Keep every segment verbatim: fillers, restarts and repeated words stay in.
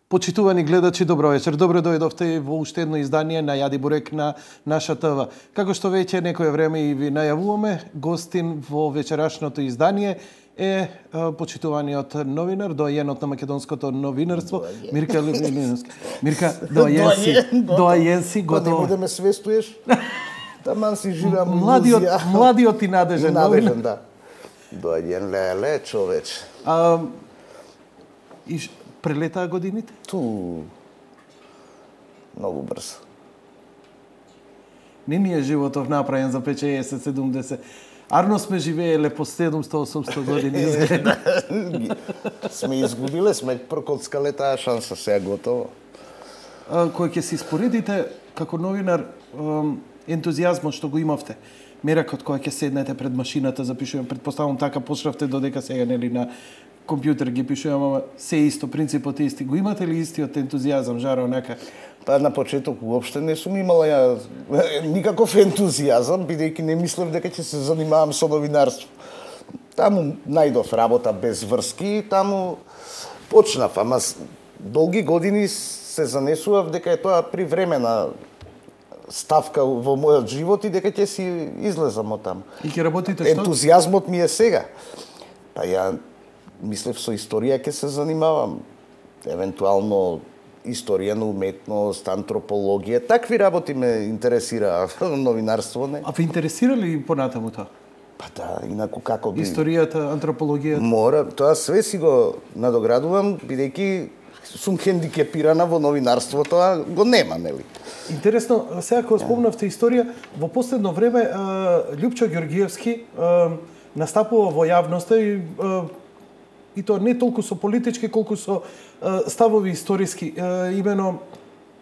Почитувани гледачи, добро вечер. Добро дојдовте во уште едно издание на Јади Бурек на наша ТВ. Како што веќе некое време и ви најавуваме, гостин во вечерашното издание е почитуваниот новинар, доајенот на македонското новинарство, Мирка Левиновски. Мирка, доајен, доајен си, готово. Па не будеме свестуеш? Таман си живеам младиот, младиот и надежен новинар. Надежен, да. Доајен леле, човеч. А, и прелетаа годините? Ту многу брзо. Не ни е животов направен за петдесет седумдесет. Арно сме живееле по седумсто осумсто години. Сме изгубиле, сме прокоцкале таа шанса, сега готово. Кој ќе се испоредите како новинар ентузијазмот што го имавте, меракот кој ќе седнете пред машината, запишувам, предпоставам така почнавте додека сега нели на компјутер ги пишувам, ама се исто, принципот е исти. Го имате ли истиот ентузијазам, жара онака? Па на почеток уопште не сум имала ја никаков ентузијазам, бидејќи не мислев дека ќе се занимавам со новинарство. Таму најдов работа без врски, таму почнав, ама долги години се занесував дека е тоа привремена ставка во мојот живот и дека ќе си излезам од таму. И ќе работите што? Ентузијазмот ми е сега. Па ја мислев со историја ќе се занимавам. Евентуално историја на уметност, антропологија, такви работи ме интересира, новинарство не. А ве интересира ли понатаму тоа? Па да, инаку како би... Историјата, антропологијата? Мора, тоа све си го надоградувам, бидејќи сум хендикепирана во новинарство, тоа го нема, нели? Интересно, сега кога спомнавте историја, во последно време Љупчо Ѓорѓиевски настапува во јавноста и и тоа не толку со политички, колку со ставови историски. Имено,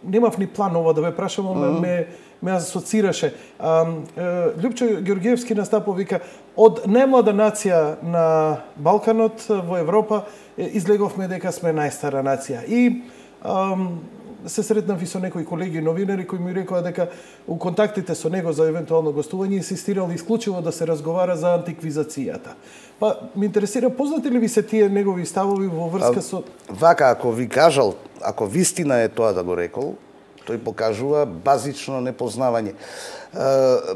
немав ни план ова да ве прашам, mm -hmm. ме, ме асоцираше. Љупчо Ѓорѓиевски настапува, вика, од најмлада нација на Балканот во Европа излеговме дека сме најстара нација. И ам, се сретнав и со некои колеги новинари кои ми рекоа дека у контактите со него за евентуално гостување инсистирал исклучиво да се разговара за антиквизацијата. Па, ми интересира, познати ли ви се тие негови ставови во врска со... Вака, ако ви кажал, ако вистина е тоа да го рекол, тој покажува базично непознавање.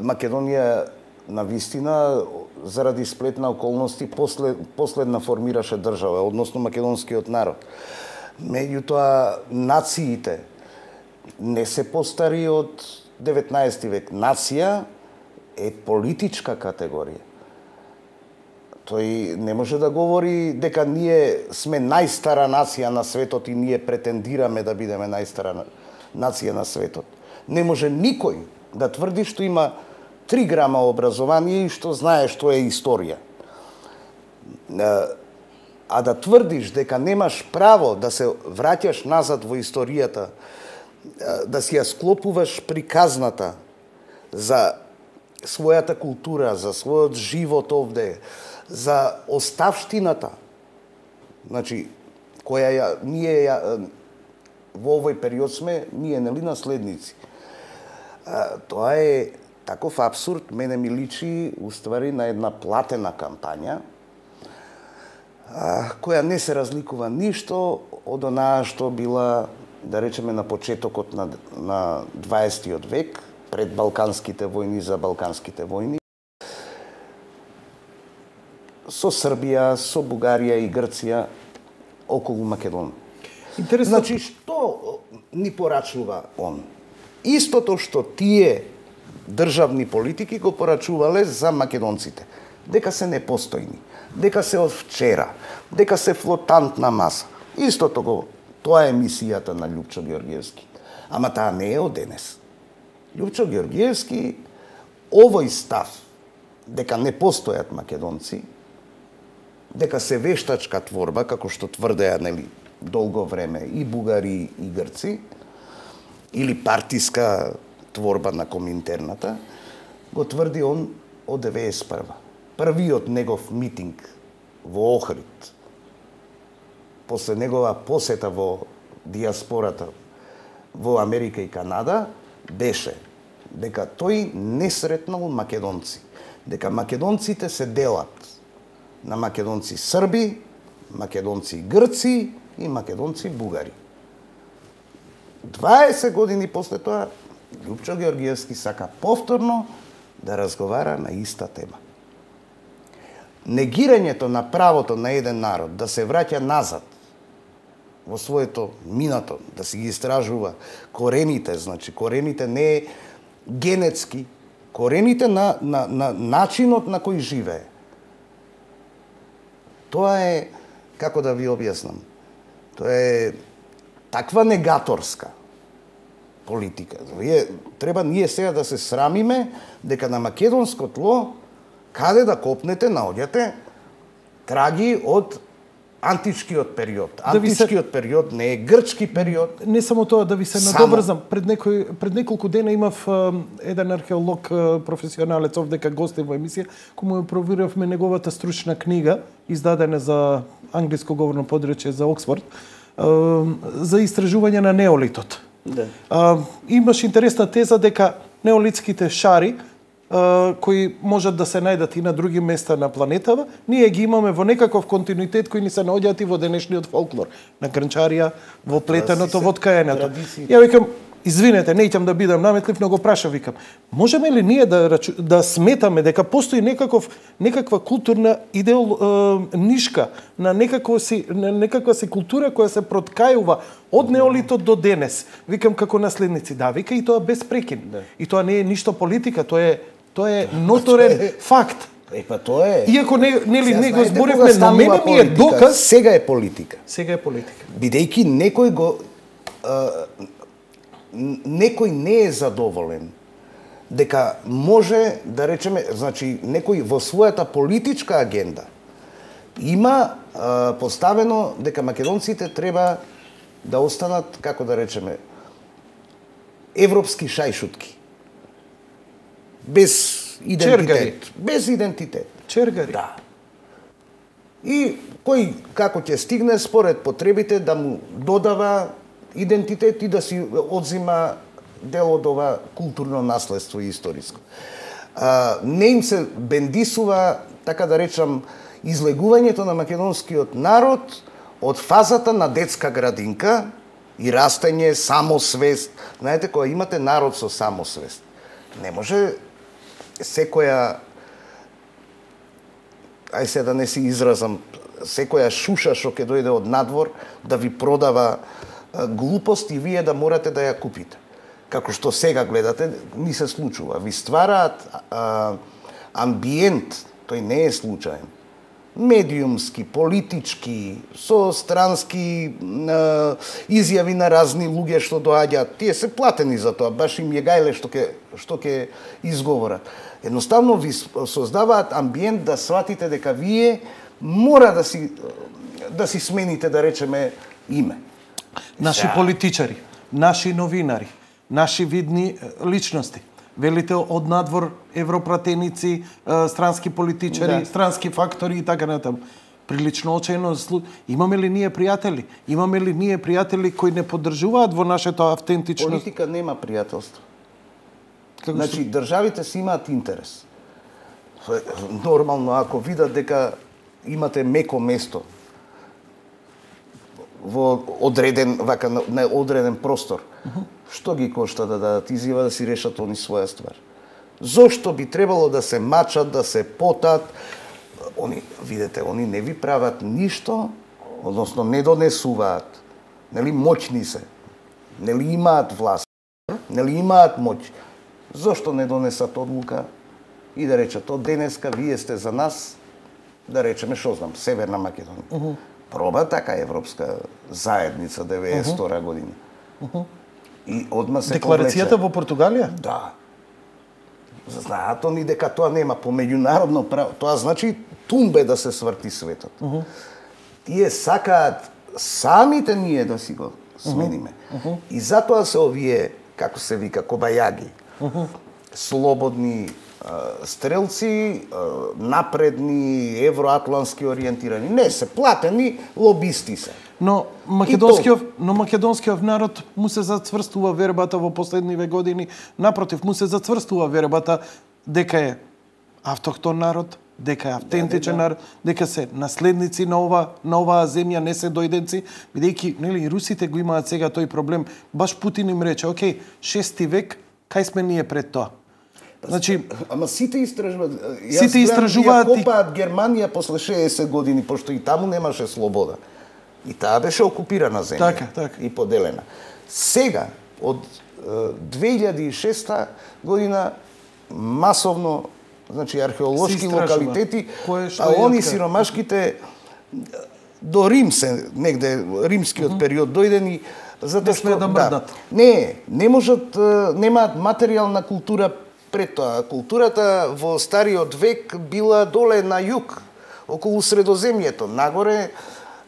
Македонија на вистина, заради сплет на околности, послед, последна формираше држава, односно македонскиот народ. Меѓутоа, нациите не се постари од деветнаесети век. Нација е политичка категорија. Тој не може да говори дека ние сме најстара нација на светот и ние претендираме да бидеме најстара нација на светот. Не може никој да тврди што има три грама образование и што знае што е историја. А да тврдиш дека немаш право да се враќаш назад во историјата, да си ја склопуваш приказната за својата култура, за својот живот овде, за оставштината, значи, која ја, ние ја, во овој период сме, ние нели наследници. А, тоа е таков абсурд, мене ми личи уствари на една платена кампања, а, која не се разликува ништо од онаа што била, да речеме, на почетокот на, на дваесеттиот век, пред балканските војни, за балканските војни, со Србија, со Бугарија и Грција околу Македонија. Интересно... Значи, што ни порачува он? Истото што тие државни политики го порачувале за македонците. Дека се непостојни, дека се од вчера, дека се флотантна маса. Истото го, тоа е мисијата на Љупчо Ѓорѓиевски. Ама таа не е од денес. Љупчо Ѓорѓиевски, овој став, дека не постојат македонци, дека се вештачка творба, како што тврдеа, нели, долго време и бугари и грци, или партиска творба на Коминтерната, го тврди он од деветдесет и прва. Првиот негов митинг во Охрид, после негова посета во диаспората во Америка и Канада, беше дека тој не сретнал македонци, дека македонците се делат на македонци срби, македонци грци и македонци бугари. дваесет години после тоа, Лјупчо Ѓоргиевски сака повторно да разговара на иста тема. Негирањето на правото на еден народ да се враќа назад во своето минато, да си ги истражува корените, значи корените не е генетски, корените на, на, на начинот на кој живее. Тоа е, како да ви објаснам, тоа е таква негаторска политика. Вие, треба ние сега да се срамиме дека на македонско тло, каде да копнете, наоѓате траги од античкиот период. Античкиот се... период не е грчки период. Не само тоа, да ви се само... надобрзам. Пред, некој, пред неколку дена имав а, еден археолог, а, професионалец овдека гостин во емисија, кој му проверавме неговата стручна книга, издадена за англиско говорно подречје за Оксфорд, а, за истражување на неолитот. Да. А, имаш интересна теза дека неолитските шари кои можат да се најдат и на други места на планетава, ние ги имаме во некаков континуитет кои ни се наоѓаат и во денешниот фолклор, на грнчарија, во плетеното, во ткаењето. Ја викам, извинете, неќам да бидам наметлив, но го праша, викам, можеме ли ние да рачу, да сметаме дека постои некаков некаква културна идеол е, нишка на некаква си на некаква си култура која се проткајува од неолитот до денес. Викам како наследници, да, вика и тоа без прекин. Да. И тоа не е ништо политика, тоа е тоа е ноторен факт. Е, па тоа е. Иако не нели не го зборевме, но мене ми е доказ. Сега е политика. Сега е политика. Бидејќи некој го а, некој не е задоволен дека може да речеме, значи некој во својата политичка агенда има а, поставено дека македонците треба да останат, како да речеме, европски шајшутки. Без идентитет. Чергари. Без идентитет. Чергари. Да. И кој како ќе стигне според потребите да му додава идентитет и да си одзима дел од ова културно наследство и историско. А, не им се бендисува, така да речам, излегувањето на македонскиот народ од фазата на детска градинка и растење, самосвест. Знаете, кога имате народ со самосвест, не може секоја, ај се да не си изразам, секоја шуша што ќе дојде од надвор да ви продава глупост и вие да морате да ја купите. Како што сега гледате, ни се случува. Ви ствараат а, амбиент, тој не е случаен, медиумски, политички, со странски а, изјави на разни луѓе што доаѓаат. Тие се платени за тоа, баш им е гајле што ќе што ќе изговорат. Едноставно ви создаваат амбиент да сватите дека вие мора да си да си смените, да речеме, име. Наши да. Политичари, наши новинари, наши видни личности. Велите од надвор европратеници, странски политичари, да. Странски фактори и така натаму. Прилично очајно, имаме ли ние пријатели? Имаме ли ние пријатели кои не поддржуваат во нашето автентично? Политика нема пријателство. Како значи, што... државите си имаат интерес. Нормално, ако видат дека имате меко место во одреден, вака, на одреден простор, uh -huh. што ги кошта да дадат изјава да си решат они своја ствар? Зошто би требало да се мачат, да се потат? Они, видете, они не ви прават ништо, односно не донесуваат. Нели моćни се? Нели имаат власт? Нели имаат моќ? Зошто не донесат одлука и да речат од денеска вие сте за нас, да речеме, што знам, Северна Македонија. Uh -huh. Проба така европска заедница деветдесет и втора година. Uh -huh. И одма се декларацијата во Португалија? Да. Знаат они дека тоа нема по меѓународно право. Тоа значи тумбе да се сврти светот. Uh -huh. Тие сакаат самите ние да си го смениме. Uh -huh. И затоа се овие, како се вика, кобајаги. Uh -huh. Слободни стрелци, напредни, евроатлански ориентирани. Не се платени, лобисти се. Но македонскиот, но македонскиот народ му се зацврстува вербата во последниве години. Напротив, му се зацврстува вербата дека е автохтон народ, дека е автентичен народ, дека се наследници на ова на оваа земја, не се дојденци, бидејќи нели русите го имаат сега тој проблем. Баш Путин им рече, окей, шести век, кај сме ние пред тоа? Значи, ама сите истражуваат. Сите истражуваат и копаат Германија после шеесет години, пошто и таму немаше слобода. И таа беше окупирана земја. Така, така. И поделена. Сега, од две илјади и шеста година, масовно, значи археолошки локалитети, а они сиромашките до Рим се, негде римскиот mm-hmm. период дојдени, затоа што да мрдат. Да, не, не можат, немаат материјална култура пред тоа. Културата во стариот век била доле на југ, околу Средоземјето, нагоре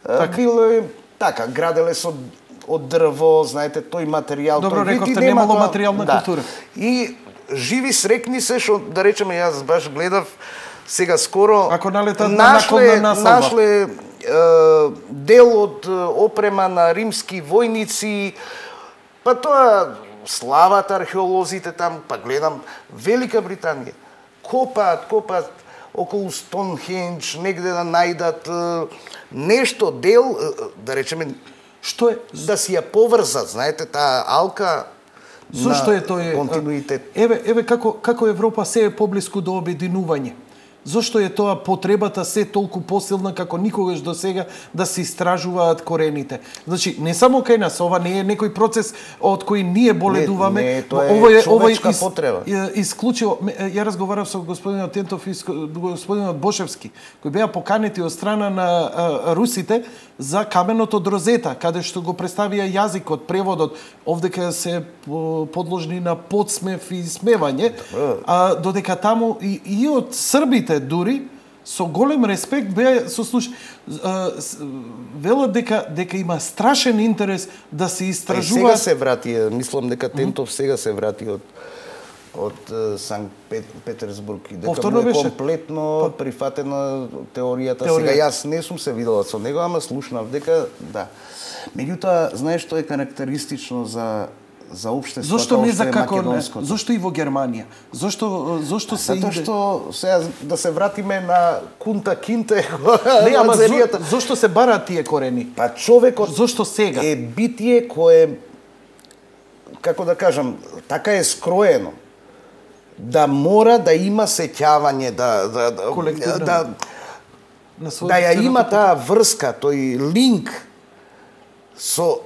така. Било така, граделе со од дрво, знаете, тој материјал, добро, тој рекавте, немало материјална да. култура. И живи срекни се, што да речеме, јас баш гледав сега скоро, ако налетат нашле, на нашле е, дел од опрема на римски војници, па тоа слават археолозите там, па гледам Велика Британија, копаат, копаат околу Стоунхендж, негде да најдат нешто дел, да речеме, што е да си ја поврзат, знаете, таа алка. Зошто е тој континуитет? Еве, еве како како Европа се е поблиску до обединување. Зошто е тоа потребата се толку посилна како никогаш до сега да се истражуваат корените? Значи, не само кај нас, ова не е некој процес од кој ние боледуваме. Не, не, тоа е ова е, човечка ова е из, потреба. Исклучиво, ја разговарав со господинот Тентов и господинот Бошевски, кои беа поканети од страна на а, русите за каменото дрозета, каде што го представија јазикот, преводот, овдека се подложни на подсмев и смевање, а додека таму и, и од србите дури со голем респект беа со слуш велат дека дека има страшен интерес да се истражува. Сега се врати, мислам дека Тентов сега се врати од од Санкт Петерсбург и дека му е комплетно прифатена теоријата. Теорија. Сега јас не сум се видела со него, ама слушнав дека да. Меѓутоа, знаеш што е карактеристично за за општеството, зошто не за како не? Зошто и во Германија? Зошто зошто се Затоа иде? што сега да се вратиме на Кунта Кинте. Не, ама зо, зошто се бараат тие корени? Па човекот зошто сега е битие кое, како да кажам, така е скроено да мора да има сеќавање, да да да да, да ја има таа врска, тој линк со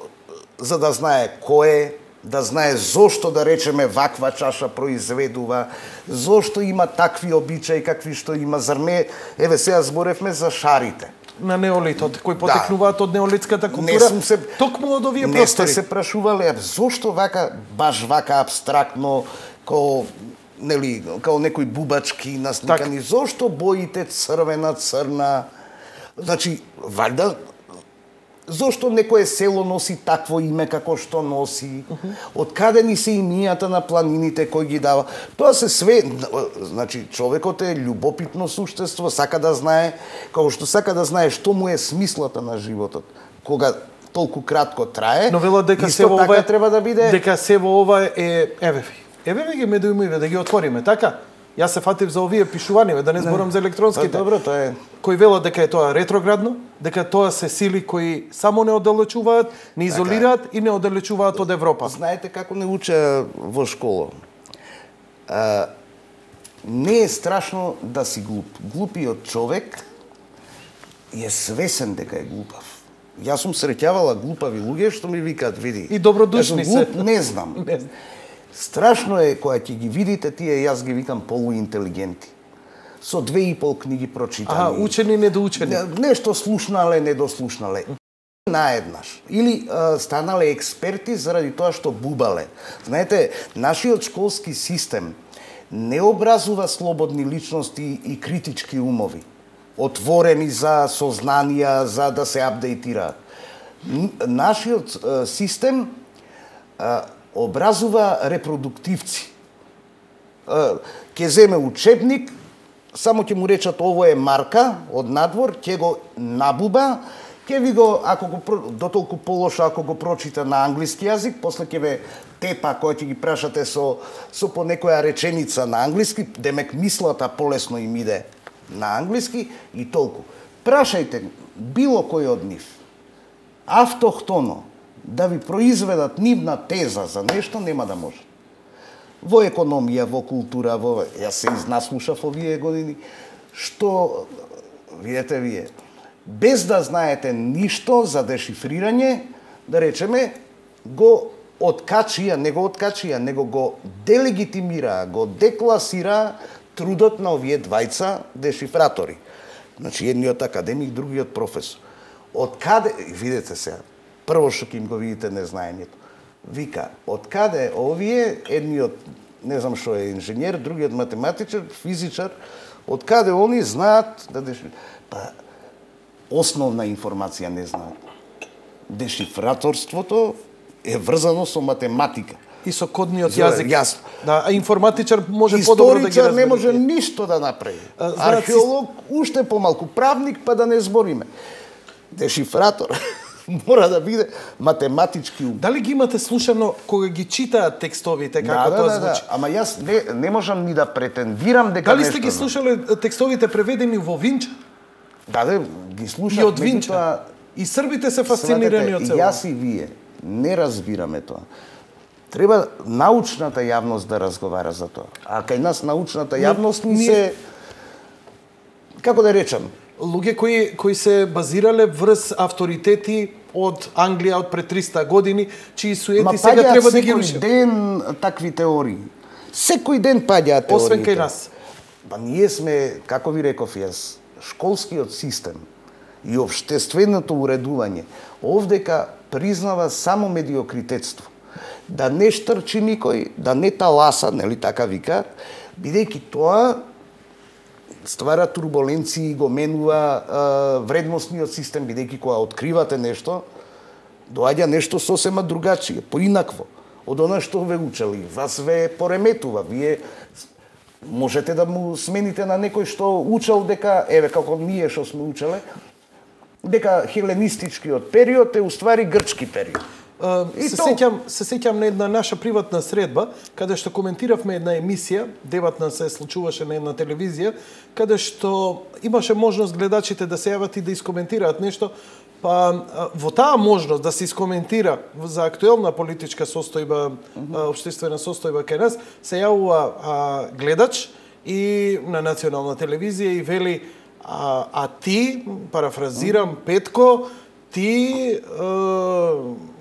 за да знае кој е, да знае зошто, да речеме, ваква чаша произведува, зошто има такви обичаи какви што има, зар не, еве сега зборевме за шарите. На неолитот, кои потекнуваат да. од неолитската култура, не сум се, токму од овие не простори. Не сте се прашувале, зошто вака, баш вака абстрактно, ко нели, као некои бубачки насликани, так. Зошто боите црвена, црна, значи, валјда, зошто некое село носи такво име како што носи? Uh-huh. Од каде ни се имијата на планините кои ги дава? Тоа се све, значи човекот е љубопитно суштество, сака да знае, како што сака да знае што му е смислата на животот. Кога толку кратко трае, но велат дека исто се така ова треба да биде. Дека се во ова е еве ви. Еве ви ги медиумиве да ги отвориме, така? Јас се фатив за овие пишувања, да не зборам за електронските. Па, добро, тоа е. Кои велат дека е тоа ретроградно, дека тоа се сили кои само не оддалечуваат, не изолираат така. И не оддалечуваат од Европа. Знаете како не уча во школа? А, не е страшно да си глуп. Глупиот човек е свесен дека е глупав. Јас сум среќавала глупави луѓе што ми викаат, види. И добродушни се. Не знам. Не знам. Страшно е кога ќе ги видите тие, јас ги викам полуинтелигенти. Со две и пол книги прочитани. Аха, учени, недоучени. Нешто слушнале, недослушнале. Наеднаш. Или а, станале експерти заради тоа што бубале. Знаете, нашиот школски систем не образува слободни личности и критички умови. Отворени за сознанија, за да се апдейтираат. Нашиот а, систем а, образува репродуктивци. Ке земе учебник, само ќе му речат ово е марка од надвор, ќе го набуба, ќе ви го, ако го дотолку полошо ако го прочита на англиски јазик, после ќе ве тепа која ќе ги прашате со со по некоја реченица на англиски, демек мислата полесно им иде на англиски и толку. Прашајте било кој од нив автохтоно да ви произведат нивна теза за нешто, нема да може. Во економија, во култура, во јас се изнаслушав овие години, што видете вие, без да знаете ништо за дешифрирање, да речеме, го откачија, не го откачија, него го делегитимира, го декласира трудот на овие двајца дешифратори. Значи, едниот академик, другиот професор. Од каде, видете сега, прво што ќе им го видите незнаењето. Вика, од каде овие, едниот, не знам што е инженер, другиот математичар, физичар, од каде они знаат да дешифрираат? Па, основна информација не знаат. Дешифраторството е врзано со математика. И со кодниот јазик. Јасно. Да, а информатичар може подобро да ги разбере. Историчар не може ништо да направи. А, знаат, археолог уште помалку, правник па да не збориме. Дешифратор мора да биде математички ум. Дали ги имате слушано кога ги читаат текстовите, како да, тоа да, звучи? Да, ама јас не, не можам ни да претендирам дека дали нешто... сте ги слушале текстовите преведени во Винч? Да, да, ги слушав. И од Винча. Тоа... И србите се фасцинирани од цело. Јас и вие не разбираме тоа. Треба научната јавност да разговара за тоа. А кај нас научната јавност ни се... Како да речам? Луѓе кои, кои се базирале врз авторитети од Англија од пред триста години, чии суети сега треба да ги рушат. Секој ден такви теории. Секој ден паѓаат теориите. Освен кај нас. Па ние сме, како ви реков јас, школскиот систем и општественото уредување овдека признава само медиокритетство. Да не штрчи никој, да не таласа, нели така викаат, бидејќи тоа ствара турбуленции, го менува а, вредносниот систем, бидејќи кога откривате нешто, доаѓа нешто сосема другачие, поинакво од она што ве учели. Вас ве пореметува, вие можете да му смените на некој што учел дека, еве како ние што сме учеле, дека хеленистичкиот период е уствари грчки период. Uh, се, то... сеќам, се сеќам на една наша приватна средба, каде што коментиравме една емисија, дебатна се случуваше на една телевизија, каде што имаше можност гледачите да се јават и да искоментираат нешто, па во таа можност да се искоментира за актуелна политичка состојба, uh-huh. општествена состојба кај нас, се јавува а, гледач и на национална телевизија и вели а, а ти, парафразирам, uh-huh. Петко, ти е,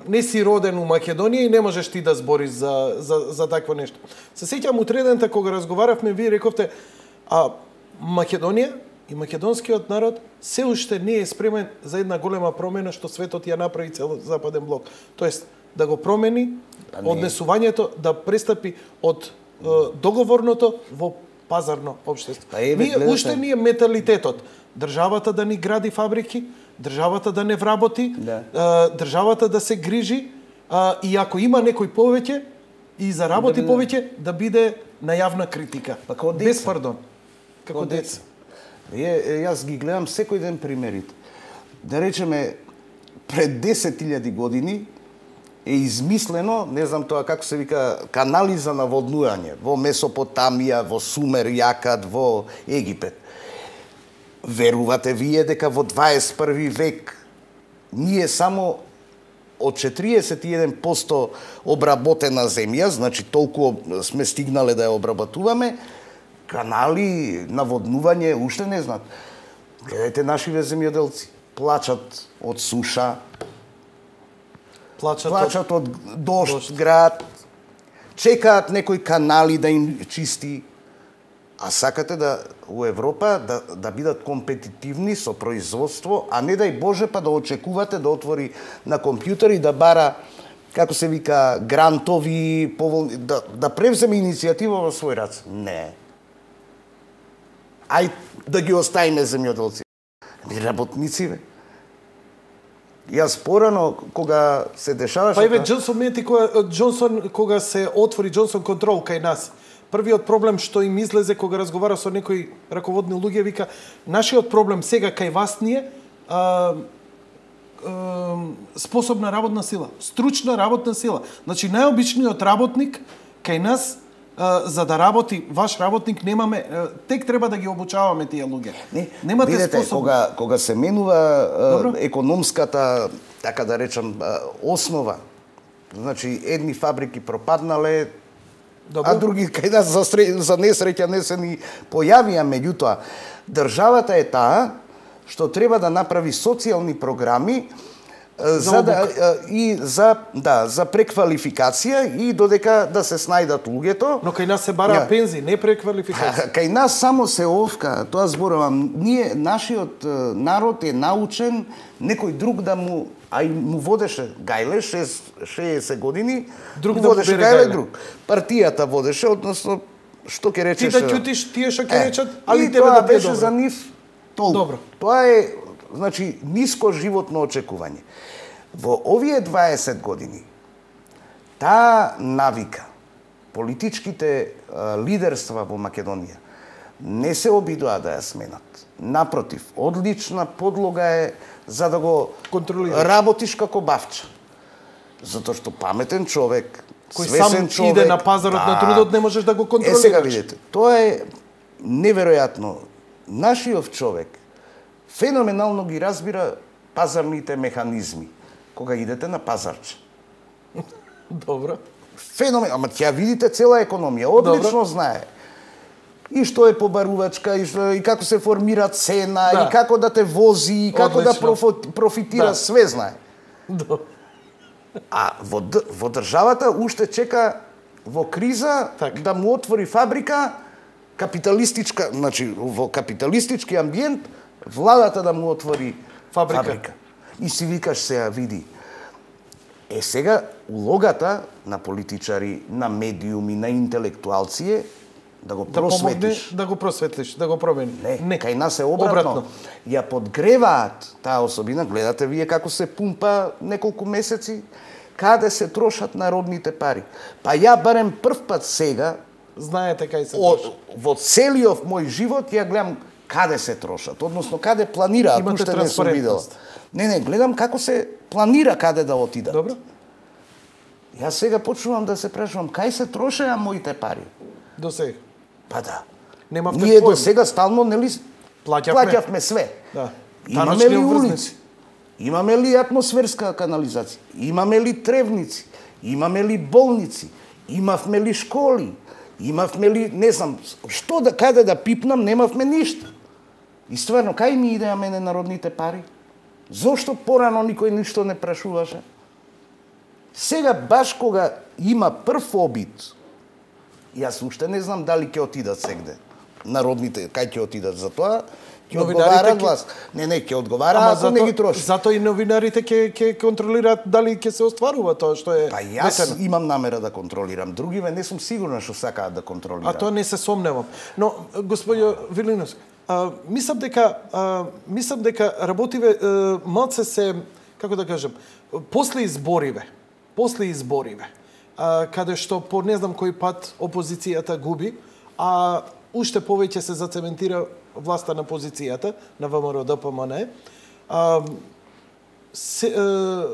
не си роден у Македонија и не можеш ти да збориш за, за, за такво нешто. Се сеќам утредента кога разговаравме, вие рековте, а Македонија и македонскиот народ се уште не е спремен за една голема промена што светот ја направи цел западен блок. Тоест, да го промени однесувањето, да престапи од е, договорното во пазарно општество. Па е, ние гледате... уште ни е менталитетот. Државата да ни гради фабрики, државата да не вработи, да. државата да се грижи, и ако има некој повеќе и заработи да биде... повеќе, да биде на јавна критика. Па како деца. Без пардон. Како деца. Е, јас ги гледам секој ден примерите. Да речеме, пред десет илјади години е измислено, не знам тоа како се вика, канали за наводнување во Месопотамија, во Сумер, Јакат, во Египет. Верувате вие дека во дваесет и први век ние само од четириесет и еден проценти обработена земја, значи толку сме стигнале да ја обработуваме, канали, наводнување, уште не знаат. Гледајте нашиве земјоделци, плачат од суша, плачат, плачат од, од дожд, град, чекаат некои канали да им чисти. А сакате да у Европа да, да бидат компетитивни со производство, а не дај Боже па да очекувате да отвори на компјутер и да бара, како се вика, грантови, поволни, да, да превземе иницијатива во свој раце. Не. Ај да ги оставиме земјоделци. Ми работници, бе. Јас порано, кога се дешаваше... Па еве, Джонсон Мети, кога, Джонсон, кога се отвори Джонсон Контрол кај нас, првиот проблем што им излезе кога разговара со некои раководни луѓе, вика, нашиот проблем сега кај вас ни е а, а, способна работна сила, стручна работна сила. Значи, најобичниот работник кај нас за да работи ваш работник немаме, тек треба да ги обучаваме тие луѓе. Не, немате видете, способ. кога кога се менува Добро. економската, така да речам, основа. Значи едни фабрики пропаднале, Добро. а други кај нас за, за несреќа не се ни појавија, меѓутоа државата е таа што треба да направи социјални програми за, за да и за да за преквалификација и додека да се снајдат луѓето. Но кај нас се бара пензии, не преквалификација. Кај нас само се овка, тоа зборувам. Ние нашиот народ е научен некој друг да му а и му водеше Гајле шеесет години, друг му да водеше му Гајле друг. Партијата водеше, односно што ќе речеш? Ти да ќутиш тие што ќе речат, али тебе тоа да беше добро. за нив толку. Добро. Тоа е, значи, ниско животно очекување. Во овие дваесет години таа навика политичките а, лидерства во Македонија не се обидоа да ја сменат. Напротив, одлична подлога е за да го контролираш, работиш како бавча. Затоа што паметен човек, кој свесен сам човек, иде на пазарот да, на трудот, не можеш да го контролираш. Е, сега видите, тоа е неверојатно. Нашиот човек феноменално ги разбира пазарните механизми кога идете на пазарче. Добро. Феномен, ама ќе видите цела економија, одлично Добро. знае. И што е побарувачка, и, што, и како се формира цена, да. и како да те вози, и како Одлично. да профо, профитира, да. све знае. Добро. А во, во државата уште чека во криза так. да му отвори фабрика, капиталистичка, значи во капиталистички амбиент, владата да му отвори фабрика. фабрика. И си викаш сега, види, е сега улогата на политичари, на медиуми, на интелектуалци е да го да просветиш. Помогне, да го просветлиш, да го промени. Не, не. Кај нас е обратно. обратно. Ја подгреваат таа особина, гледате вие како се пумпа неколку месеци, каде се трошат народните пари. Па ја барем прв пат сега, знаете кај се о, трошат. Во целиот мој живот ја гледам каде се трошат, односно каде планираат, имате уште не сум видела. Не, не, гледам како се планира каде да отидат. Добро. Јас сега почнувам да се прашувам кај се трошеа моите пари. До сега. Па да. Немавте Ние поем. до сега стално нели плаќавме, плаќавме све. Да. Имаме ли улици? Имаме ли атмосферска канализација? Имаме ли тревници? Имаме ли болници? Имавме ли школи? Имавме ли, не знам, што да каде да пипнам, немавме ништо. И стварно, кај ми идеа мене народните пари? Зошто порано никој ништо не прашуваше? Сега баш кога има прв обид, јас уште не знам дали ќе отидат сегде. Народните, кај ќе отидат за тоа? Ќе одговараат власт. Не, не, ќе одговараат, ако не ги троши. Зато и новинарите ќе ќе контролираат дали ќе се остварува тоа што е. Па јас ветено. Имам намера да контролирам. Другиве не сум сигурна што сакаат да контролираат. А тоа не се сомневам. Но господјо Вилиновски, а, мислам дека а, мислам дека работиве а, малце се, како да кажам, после избориве, после избориве, а, каде што по не знам кој пат опозицијата губи, а уште повеќе се зацементира власта на позицијата на ВМРО Д П М Н, а, се, а,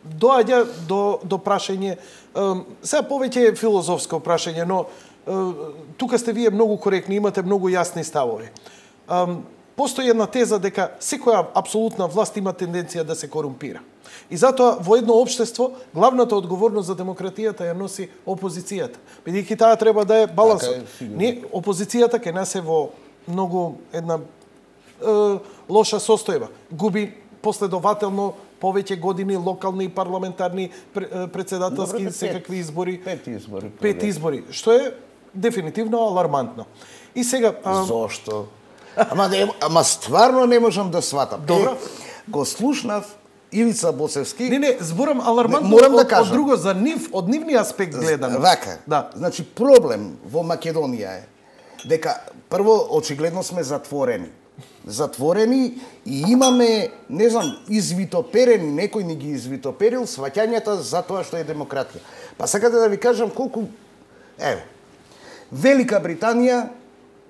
доаѓа до, до прашање, а, сега повеќе е филозофско прашање, но а, тука сте вие многу коректни, имате многу јасни ставови. А, постои една теза дека секоја апсолутна власт има тенденција да се корумпира. И затоа во едно општество главната одговорност за демократијата ја носи опозицијата. Бидејќи таа треба да е балансот. Не, опозицијата кај нас е во многу една е, лоша состојба. Губи последователно повеќе години локални и парламентарни председателски Добре, секакви избори. Пет избори. Пет избори, што е дефинитивно алармантно. И сега а... Зошто? Ама не, ама стварно не можам да сватам. Добро. Е, го слушнав Ивица Боцевски. Не, не, зборам алармантно морам да од, кажам. од друго за нив, од нивни аспект гледано. Вака. Да. Значи проблем во Македонија е дека прво очигледно сме затворени. Затворени и имаме, не знам, извитоперени, некој ни ги извитоперил сваќањата за тоа што е демократија. Па сакате да ви кажам колку еве Велика Британија,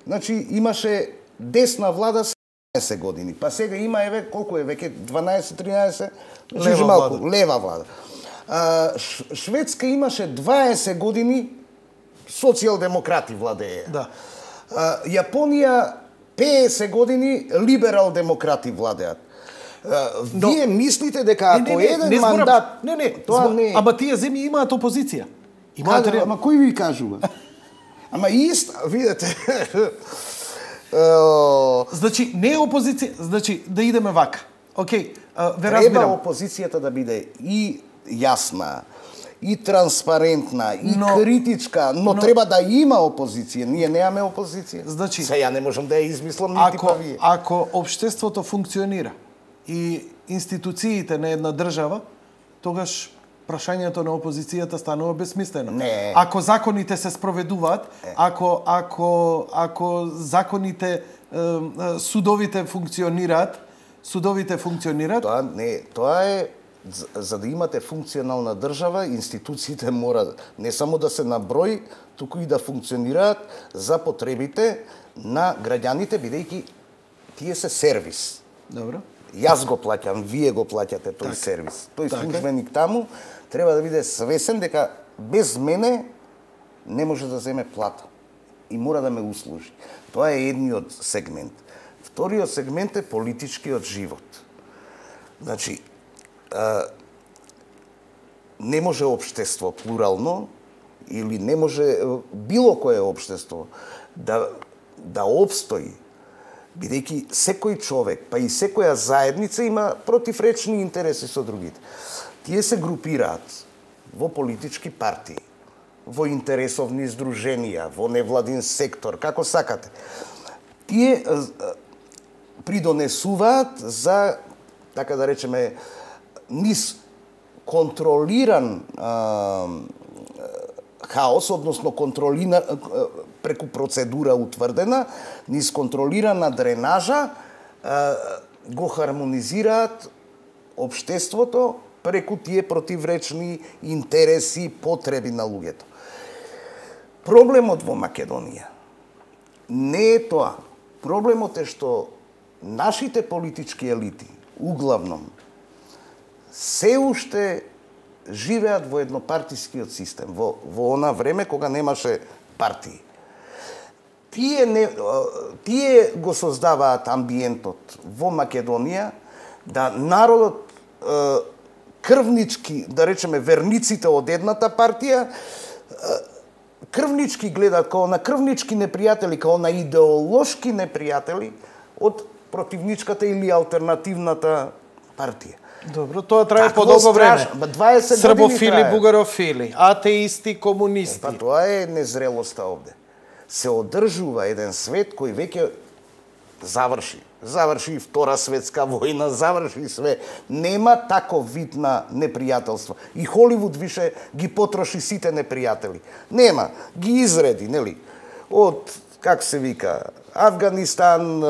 значи имаше десна влада седумнаесет години. Па сега има еве колку е веќе дванаесет-тринаесет лева малку, влада. лева влада. А, Шведска имаше дваесет години социјалдемократи владее. Да. А, Јапонија петдесет години либерал-демократи владеат. Но, вие мислите дека ако не, не, еден не, мандат... Не, не, тоа збор, не... Ама тие земји имаат опозиција. Имаат Каде, ама кој ви кажува? Ама ист, видете... Значи, не е опозиција, значи, да идеме вака. Океј, ве разбирам. Треба опозицијата да биде и јасна, и транспарентна, и но, критичка, но, но треба да има опозиција. Ние немаме опозиција. Значи, се ја не можам да ја измислам нити ако, па вие. Ако општеството функционира и институциите на една држава, тогаш прашањето на опозицијата станува безсмислено. Не. Ако законите се спроведуваат, ако ако ако законите судовите функционираат, судовите функционираат, тоа не, тоа е за да имате функционална држава, институциите мора не само да се на број, туку и да функционираат за потребите на граѓаните, бидејќи тие се сервис. Добро. Јас го плаќам, вие го плаќате тој так, сервис. Тој так, службеник таму треба да биде свесен дека без мене не може да земе плата и мора да ме услужи. Тоа е едниот сегмент. Вториот сегмент е политичкиот живот. Значи, а, не може општество плурално или не може било кое општество да да опстои, бидејќи секој човек, па и секоја заедница има противречни интереси со другите. Тие се групираат во политички партии, во интересовни здруженија, во невладин сектор, како сакате. Тие придонесуваат за, така да речеме, низ контролиран а, хаос, односно контролина, преку процедура утврдена, низ контролирана дренажа, го хармонизираат општеството преку тие противречни интереси, потреби на луѓето. Проблемот во Македонија не е тоа. Проблемот е што нашите политички елити, углавном, се уште живеат во еднопартискиот систем, во, во она време кога немаше партии. Тие, не, тие го создаваат амбиентот во Македонија да народот крвнички, да речеме верниците од едната партија, крвнички гледаат као на крвнички непријатели, као на идеолошки непријатели од противничката или алтернативната партија. Добро, тоа трае по долго време. Србофили, трае. бугарофили, атеисти, комунисти. Па тоа е незрелоста овде. Се одржува еден свет кој веќе заврши. Заврши и Втора светска војна, заврши све. Нема таков вид на непријателство. И Холивуд више ги потроши сите непријатели. Нема. Ги изреди, нели? Од, как се вика, Авганистан,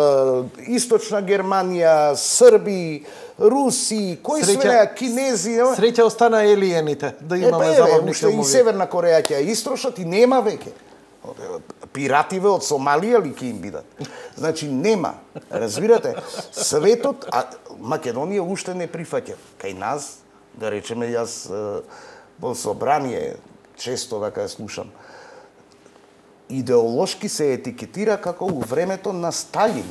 Источна Германија, Срби, Руси, кои све, Кинези... Среќа остана елиените, да имаме забавни филмови. И Северна Кореја ќе ја истрошат и нема веќе. Пиративе од Сомалија ли ќе им бидат? Значи нема. Разбирате? Светот, а Македонија уште не прифаќа. Кај нас, да речеме, јас во собрание често вака ја слушам, идеолошки се етикетира како у времето на Сталин.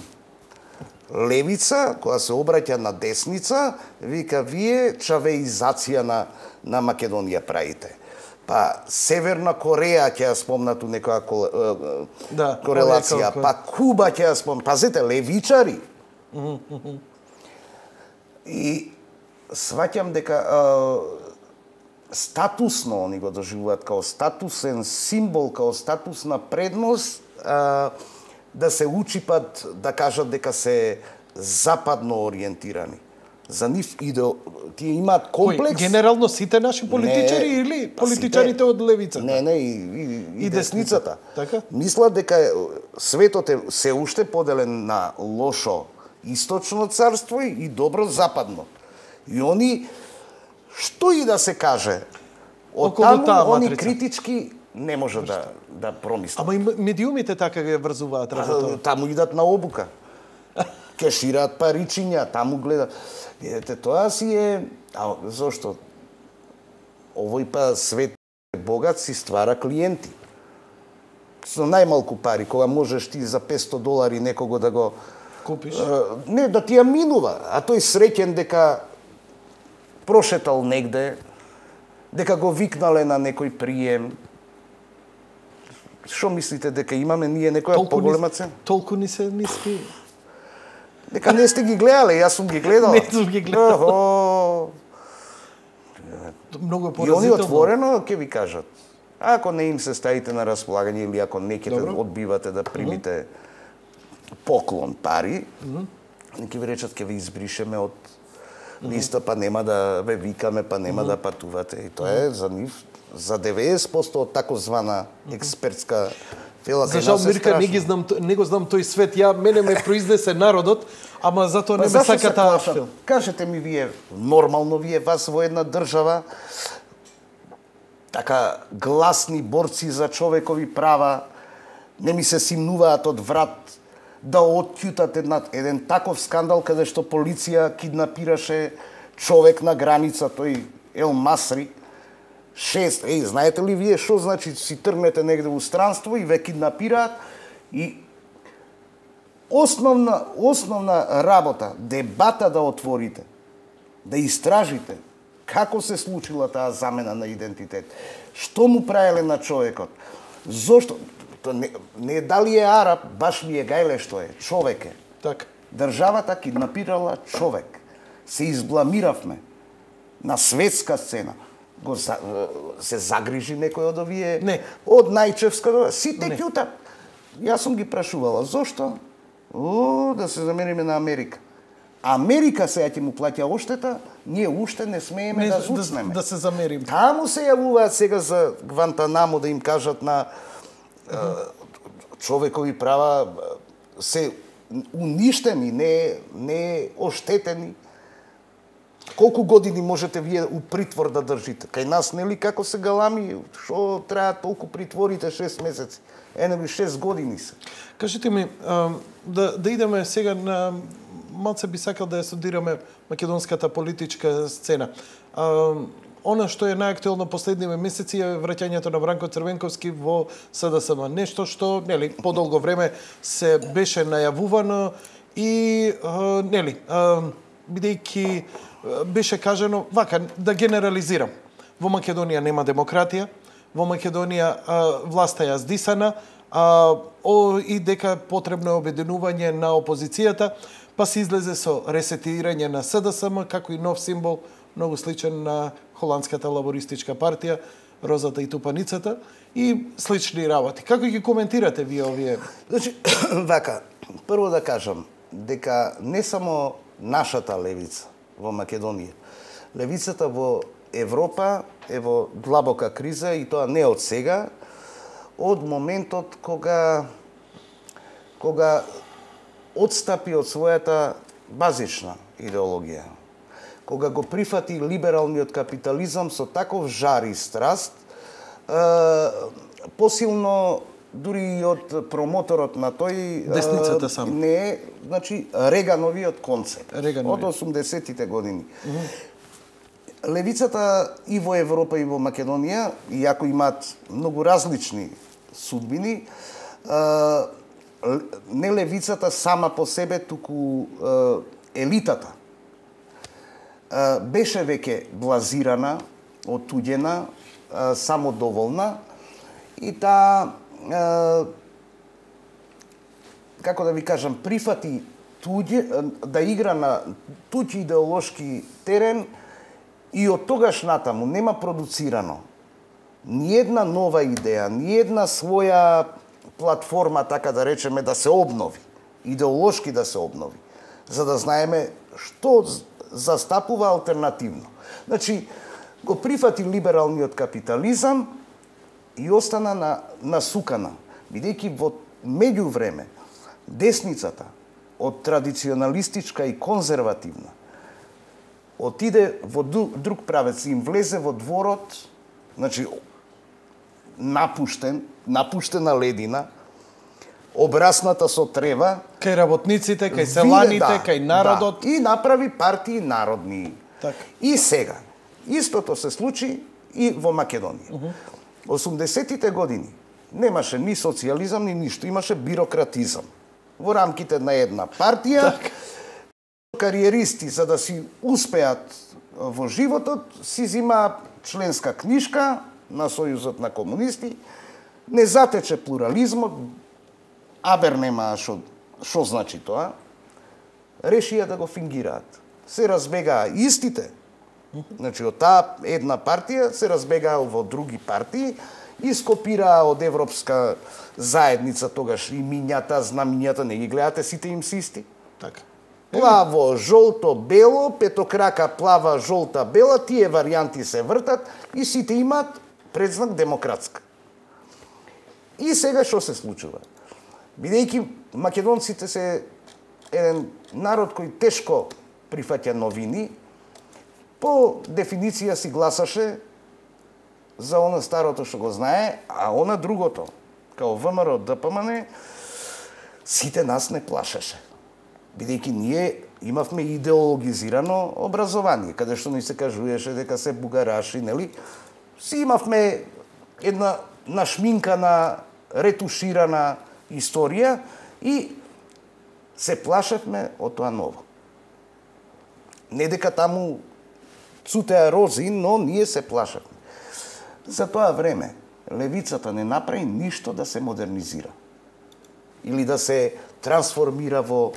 Левица, која се обраќа на десница, вика, вие чавеизација на, на Македонија правите. Па Северна Кореја ќе ја спомнат у некоја кол, да, корелација, па Куба ќе ја спомнат. Пазете, левичари. И сваќам дека а, статусно они го доживуваат као статусен символ, као статусна предност, а, да се учипат, да кажат дека се западно ориентирани. За нив идео, тие имаат комплекс. Кој, генерално сите наши политичари не, или политичарите сите, од левицата? Не, не, и, и, и десницата. Така? Мислат дека светот е се уште поделен на лошо источно царство и добро западно. И они, што и да се каже, од таму они критички не може да, да промислат. Ама и медиумите така ги врзуваат работа. Таму идат на обука. Кешираат паричиња, таму гледаат. Видете, тоа си е... А зошто? Овој па свет богат си ствара клиенти. со најмалку пари, кога можеш ти за петсто долари некого да го купиш, не да ти ја минува, а тој среќен дека прошетал негде, дека го викнале на некој прием. Што мислите, дека имаме ние некоја поголема цена? Толку ни се ниски. Дека не сте ги гледале, јас сум ги гледал. Не сум ги гледал. Охо. Многу И они отворено ќе ви кажат. Ако не им се ставите на располагање или ако не ќе одбивате да примите mm -hmm. поклон пари, mm -hmm. ќе ви речат ќе ви избришеме од листа, па нема да ве викаме, па нема mm -hmm. да патувате. И тоа е за нив, за деветдесет проценти од такозвана експертска фела. За жал, Мирка, не ги знам, не го знам тој свет. Ја мене ме произнесе народот, ама затоа не ме сака таа филм. Кажете ми вие, нормално вие вас во една држава така гласни борци за човекови права не ми се симнуваат од врат да откјутат една, еден таков скандал каде што полиција киднапираше човек на граница, тој Ел Масри, шест, еј, знаете ли вие што значи си тргнете негде во странство и ве киднапираат и основна основна работа, дебата да отворите, да истражите како се случила таа замена на идентитет, што му правеле на човекот, зошто не, не дали е араб, баш ми е гајле што е, човек е. Так. Државата киднапирала човек. Се избламиравме на светска сцена. Го се загрижи некој од овие не. Од најчевска сите ќутат. Јас сум ги прашувала зошто? О, да се замериме на Америка. Америка сега ќе му плаќа оштета, ние уште не смееме не, да зуцнеме. Да, да се замериме. Таму се јавуваат сега за Гвантанамо да им кажат на uh -huh. човекови права се уништени, не не оштетени. Колку години можете вие у притвор да држите? Кај нас нели како се галами, што трае толку притворите шест месеци? Ене шест години се. Кажете ми, да да идеме сега на малце би сакал да ја студираме македонската политичка сцена. Она што е најактуелно последниве месеци е враќањето на Бранко Црвенковски во С Д С М. Нешто што, нели, подолго време се беше најавувано и нели, бидејќи беше кажано вака, да генерализирам. Во Македонија нема демократија, во Македонија власта ја здисана, а, о, и дека потребно е обединување на опозицијата, па се излезе со ресетирање на С Д С М како и нов символ, многу сличен на холандската лабористичка партија, розата и тупаницата и слични работи. Како ги коментирате вие овие? Значи, вака, прво да кажам дека не само нашата левица во Македонија, левицата во Европа е во длабока криза и тоа не од сега, од моментот кога кога отстапи од својата базична идеологија, кога го прифати либералниот капитализам со таков жар и страст, е, посилно дури и од промоторот на тој десницата само. Не, значи Регановиот концепт Реганови. од осумдесетите години. Mm -hmm. Левицата и во Европа и во Македонија, иако имаат многу различни судбини, не левицата сама по себе, туку елитата беше веќе блазирана, отуѓена, самодоволна и таа, како да ви кажам, прифати туѓе, да игра на туѓ идеолошки терен и од тогаш натаму нема продуцирано ниедна нова идеја, ниедна своја платформа, така да речеме, да се обнови, идеолошки да се обнови, за да знаеме што застапува алтернативно. Значи, го прифати либералниот капитализам и остана на насукана, бидејќи во меѓувреме десницата од традиционалистичка и конзервативна отиде во друг правец, им влезе во дворот, значи напуштен, напуштена ледина, обрасната со трева, кај работниците, кај селаните, да, кај народот. Да, и направи партии народни. Так. И сега, истото се случи и во Македонија. Uh -huh. осумдесетите години, немаше ни социјализам, ни ништо, имаше бирократизам. Во рамките на една партија, так. Кариеристи, за да си успеат во животот, си зима членска книжка на Сојузот на комунисти, не затече плурализмот, абер нема шо, шо значи тоа, решија да го фингираат. Се разбегаа истите, значи од таа една партија се разбегаа во други партии, и скопираа од Европска заедница тогаш имињата, знамињата, не ги гледате, сите им си исти. Така. Плаво, жолто, бело, петокрака, плава, жолта, бела, тие варијанти се вртат и сите имаат предзнак демократска. И сега што се случува? Бидејќи македонците се еден народ кој тешко прифаќа новини, по дефиниција си гласаше за она старото што го знае, а она другото, као ВМРО, ДПМН, сите нас не плашеше. Бидејќи ние имавме идеологизирано образование, каде што ни се кажуеше дека се бугараши, нели? Си имавме една нашминкана, ретуширана историја и се плашевме од тоа ново. Не дека таму цутеа рози, но ние се плашевме. За тоа време левицата не направи ништо да се модернизира или да се трансформира во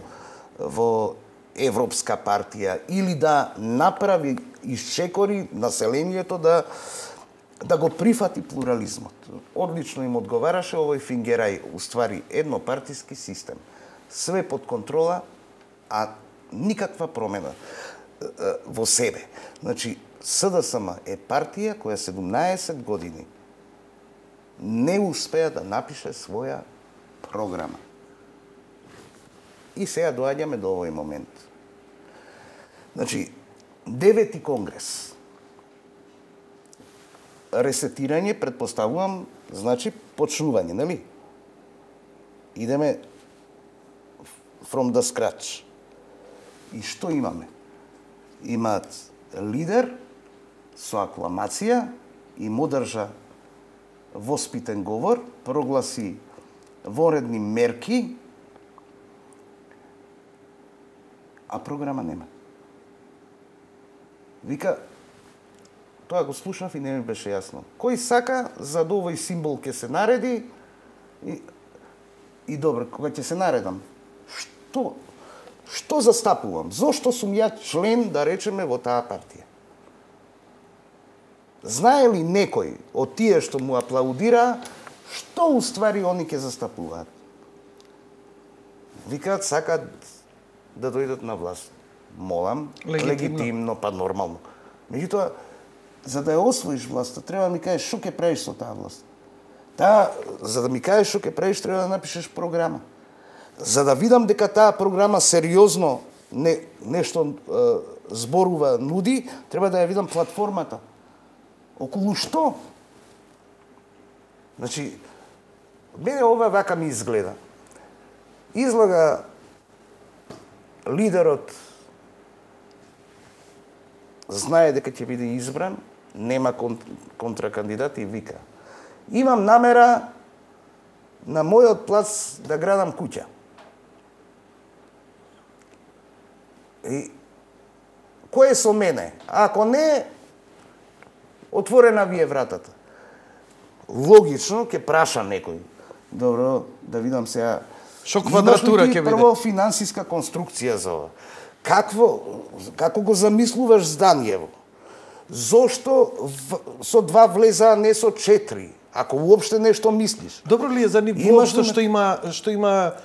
во европска партија или да направи исчекори населението да да го прифати плурализмот. Одлично им одговараше овој фингерај, уствари еднопартиски систем. Све под контрола, а никаква промена во себе. Значи, СДСМ е партија која седумнаесет години не успеа да напише своја програма. И сега доаѓаме до овој момент. Значи, девети конгрес. Ресетирање, предпоставувам, значи почнување, нели? Идеме from the scratch. И што имаме? Имаат лидер со акламација и му држа воспитен говор, прогласи воредни мерки, а програма нема. Вика, тоа го слушнав и не ми беше јасно. Кој сака за да овој символ ќе се нареди и, и добро, кога ќе се наредам, што што застапувам? Зошто сум ја член, да речеме, во таа партија? Знае ли некој од тие што му аплаудира, што уствари они ќе застапуваат? Викаат, сакат да дојдат на власт. Молам, легитимно, легитимно па нормално. Меѓутоа, за да ја освоиш власта, треба да ми кажеш што ќе правиш со таа власт. Таа, за да ми кажеш што ќе правиш, треба да напишеш програма. За да видам дека таа програма сериозно не, нешто е, зборува, нуди, треба да ја видам платформата. Околу што? Значи, мене ова вака ми изгледа. Излага лидерот знае дека ќе биде избран, нема контракандидат и вика: имам намера на мојот плац да градам куќа. И кој е со мене? Ако не, отворена ви е вратата. Логично ќе праша некој. Добро, да видам сега. Што квадратура ќе биде? Прво финансиска конструкција за ова. Какво, како го замислуваш зданиево? Зошто в, со два влеза, а не со четири? Ако уопште нешто мислиш. Добро ли е за нив воопшто што има што има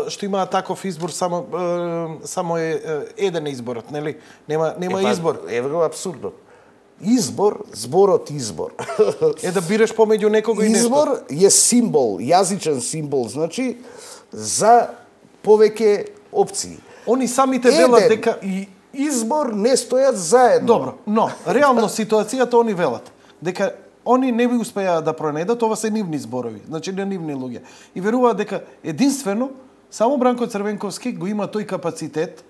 што има таков избор, само само е еден изборот, нели? Нема нема е, па, избор. Еве го абсурдот. Избор, зборот избор. Е да бираш помеѓу некого и нешто. Избор е символ, јазичен символ, значи за повеќе опции. Они самите велат дека и избор не стојат заедно. Добро, но реално ситуацијата они велат дека они не би успеа да пронедат, ова се нивни зборови, значи не нивни луѓе. И веруваат дека единствено само Бранко Црвенковски го има тој капацитет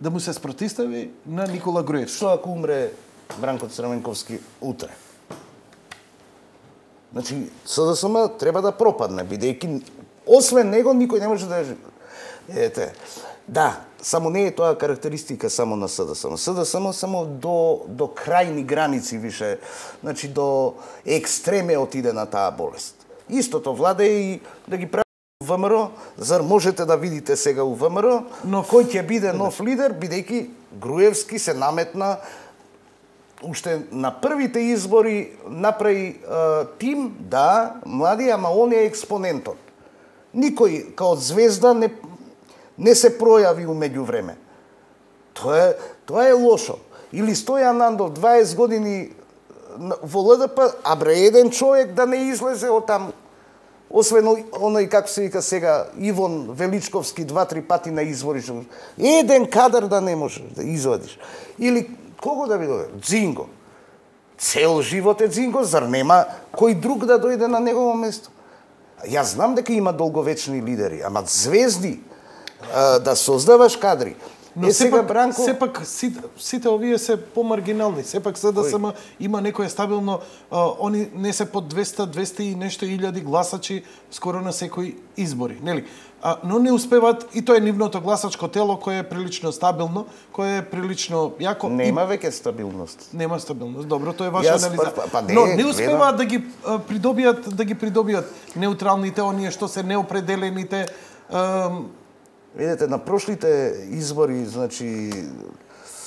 да му се спротистави на Никола Груевски. Што ако умре Бранко Црвенковски утре? Значи, СДСМ треба да пропадне, бидејќи освен него никој не може да ете. Да, само не е тоа карактеристика само на СДСМ. СДСМ само до до крајни граници више, значи до екстреме отиде на таа болест. Истото влада и да ги прави ВМРО, зар можете да видите сега у ВМРО, но кој ќе биде нов лидер, бидејќи Груевски се наметна уште на првите избори направи е, тим, да, млади, ама он е експонентот. Никој као звезда не не се пројави умеѓу време. Тоа е тоа е лошо. Или Стојан Андов дваесет години во ЛДП, а бре еден човек да не излезе од там. Освен оној, како се вика сега, Ивон Величковски два-три пати на избори. Еден кадар да не можеш да извадиш. Или кого да ви дојде? Дзинго. Цел живот е Дзинго, зар нема кој друг да дојде на негово место? Јас знам дека има долговечни лидери, ама звезди, да создаваш кадри. Но е сега сепак, Бранко... сепак сите, сите овие се помаргинални. Сепак СДСМ има некое стабилно, а, они не се под двеста, двеста и нешто илјади гласачи скоро на секои избори, нели? А, но не успеваат, и тоа е нивното гласачко тело кое е прилично стабилно, кое е прилично јако. Нема и... веќе стабилност. Нема стабилност. Добро, тоа е ваша Јас, анализа. па, па, не, но не успеваат гледам... да ги а, придобијат, да ги придобијат неутралните, оние што се неопределените. А, Видете, на прошлите избори, значи...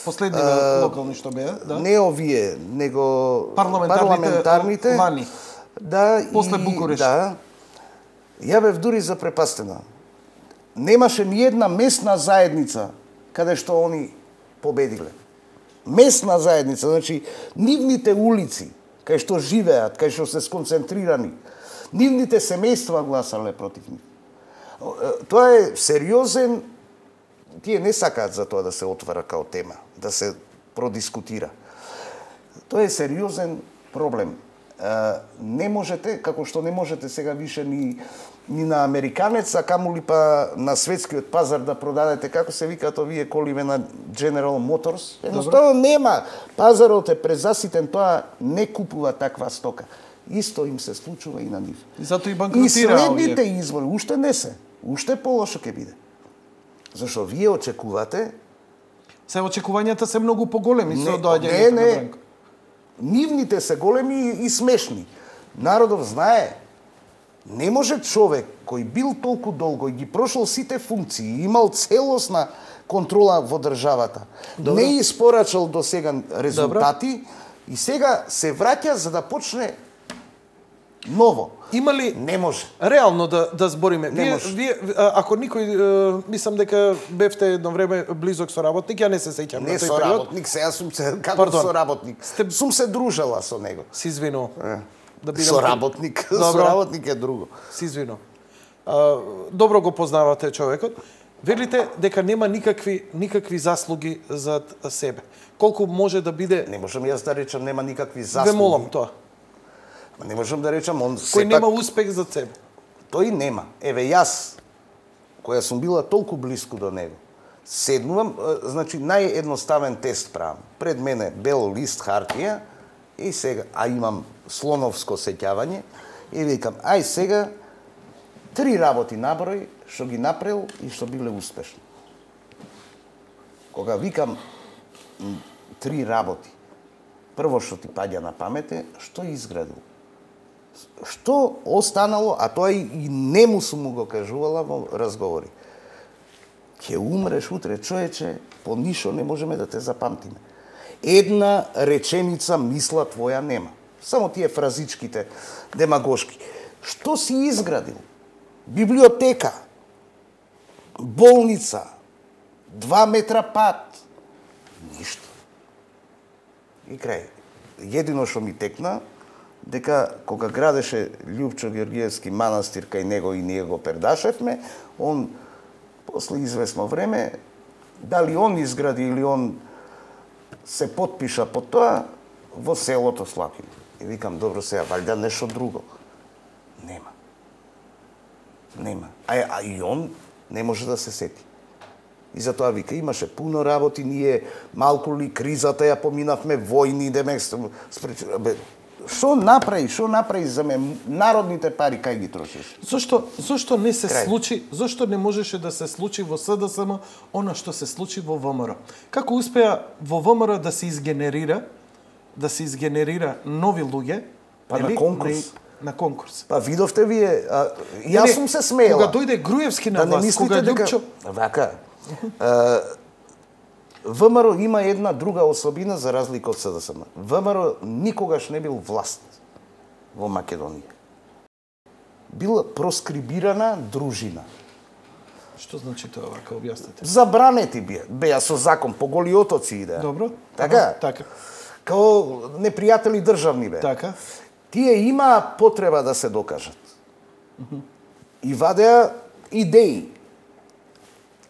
Последниве а, локални што беа, да? Не овие, него парламентарните, парламентарните лани. Да, после и, Букуреш. Да. Ја бев дури запрепастена. Немаше ни една местна заедница каде што они победиле. Местна заедница, значи нивните улици, кај што живеат, кај што се сконцентрирани, нивните семејства гласале против нив. Тоа е сериозен, тие не сакаат за тоа да се отвара као тема, да се продискутира. Тоа е сериозен проблем. Не можете, како што не можете сега више ни, ни на американец, а камули па на светскиот пазар да продадете, како се викаат овие коливе на General Motors. Едноставно нема. Пазарот е презаситен, тоа не купува таква стока. Исто им се случува и на нив. И затоа и банкротира. И следните овие избори, уште не се. Уште полошо ќе биде. Зашо вие очекувате... Се очекувањата се многу поголеми со доаѓањето не, на не. Бранко. Нивните се големи и смешни. Народов знае. Не може човек кој бил толку долго и ги прошол сите функции, имал целосна контрола во државата, Добро. не испорачал до сега резултати, Добро. И сега се враќа за да почне ново. Има ли Не може. Реално да да збориме. Не Вие, може. вие ако никој мислам дека бевте едно време близок соработник, ја не се сеќам Не на тој со период. работник, сега сум се како Пардон. со работник. Сте- Сум се дружела со него. Си извинувам. Е. Да бидам Со работник, со Добро. работник е друго. Си извинувам. А, добро го познавате човекот. Велите дека нема никакви никакви заслуги за себе. Колку може да биде? Не можам јас да речам нема никакви Ве заслуги. молам тоа. Не можам да речам он Кој сепак нема успех за себе. тој нема. Еве јас која сум била толку блиску до него. Седнувам, е, значи наједноставен тест правам. Пред мене бел лист хартија и сега а имам слоновско сеќавање и викам ај сега три работи наброј што ги направил и што биле успешни. Кога викам м, три работи, прво што ти паѓа на памет е што изградил. Што останало, а тоа и нему сум му го кажувала во разговори. Ќе умреш утре, човече, по ништо не можеме да те запамтиме. Една реченица мисла твоја нема. Само тие фразичките, демагошки. Што си изградил? Библиотека, болница, два метра пат. Ништо. И крај. Едино што ми текна, дека кога градеше Љупчо Георгиевски манастир кај него и ние го пердашевме, он после известно време, дали он изгради или он се потпиша по тоа, во селото Слапино. И викам, добро сега, валјда нешто друго. Нема. Нема. А, а и он не може да се сети. И затоа вика, имаше пуно работи, ние малку ли кризата ја поминавме, војни, демек, спреч... Бе, што направи, што направи за ме народните пари кај ги трошиш? Зошто зошто не се Крај. случи, зошто не можеше да се случи во СДСМ она што се случи во ВМРО? Како успеа во ВМРО да се изгенерира, да се изгенерира нови луѓе, Па на нели? конкурс. На, на конкурс. Па видовте вие, а, јас сум се смеела. Кога дојде Груевски на Да не власт, мислите кога дека Лјупчо вака а, ВМРО има една друга особина за разлика од СДСМ. ВМРО никогаш не бил власт во Македонија. Била проскрибирана дружина. Што значи тоа вака, објаснете? Забранети беа, беа со закон, по голи отоци идеа. Добро? Така? Ага, така. Као непријатели државни беа. Така. Тие имаа потреба да се докажат. И вадеа идеи.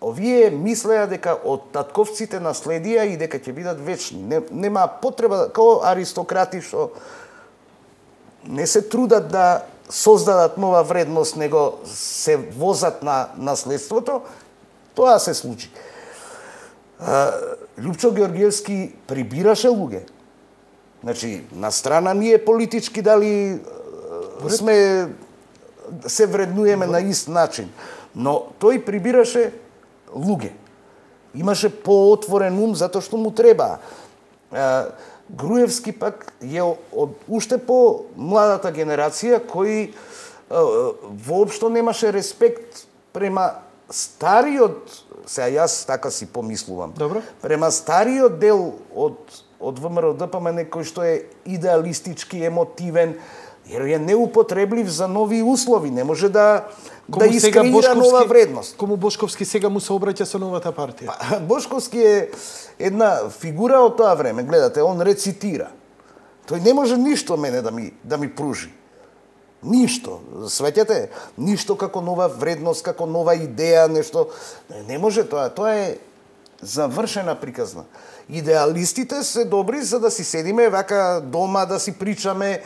Овие мислеа дека од татковците наследија и дека ќе бидат вечни. Не, нема потреба, као аристократи што не се трудат да создадат нова вредност, него се возат на наследството, тоа се случи. А, Лјупчо Георгиевски прибираше луѓе. Значи, на страна ние политички дали сме се вреднуеме на ист начин, но тој прибираше луѓе. Имаше поотворен ум затоа што му треба. Груевски пак е од уште по младата генерација кој воопшто немаше респект према стариот, сега јас така си помислувам. Добро. Према стариот дел од од ВМРО-ДПМН кој што е идеалистички, емотивен, jer je neupotrebljiv za novi uslovi, ne može da da iskreira nova vrednost. Кому Бошковски сега му се обраќа со новата партија? Pa, Бошковски е една фигура од тоа време, гледате, он рецитира. Тој не може ништо мене да ми да ми пружи. Ништо, свеќате, ништо како нова вредност, како нова идеја, нешто не, не може тоа, тоа е завршена приказна. Идеалистите се добри за да си седиме вака дома да си причаме.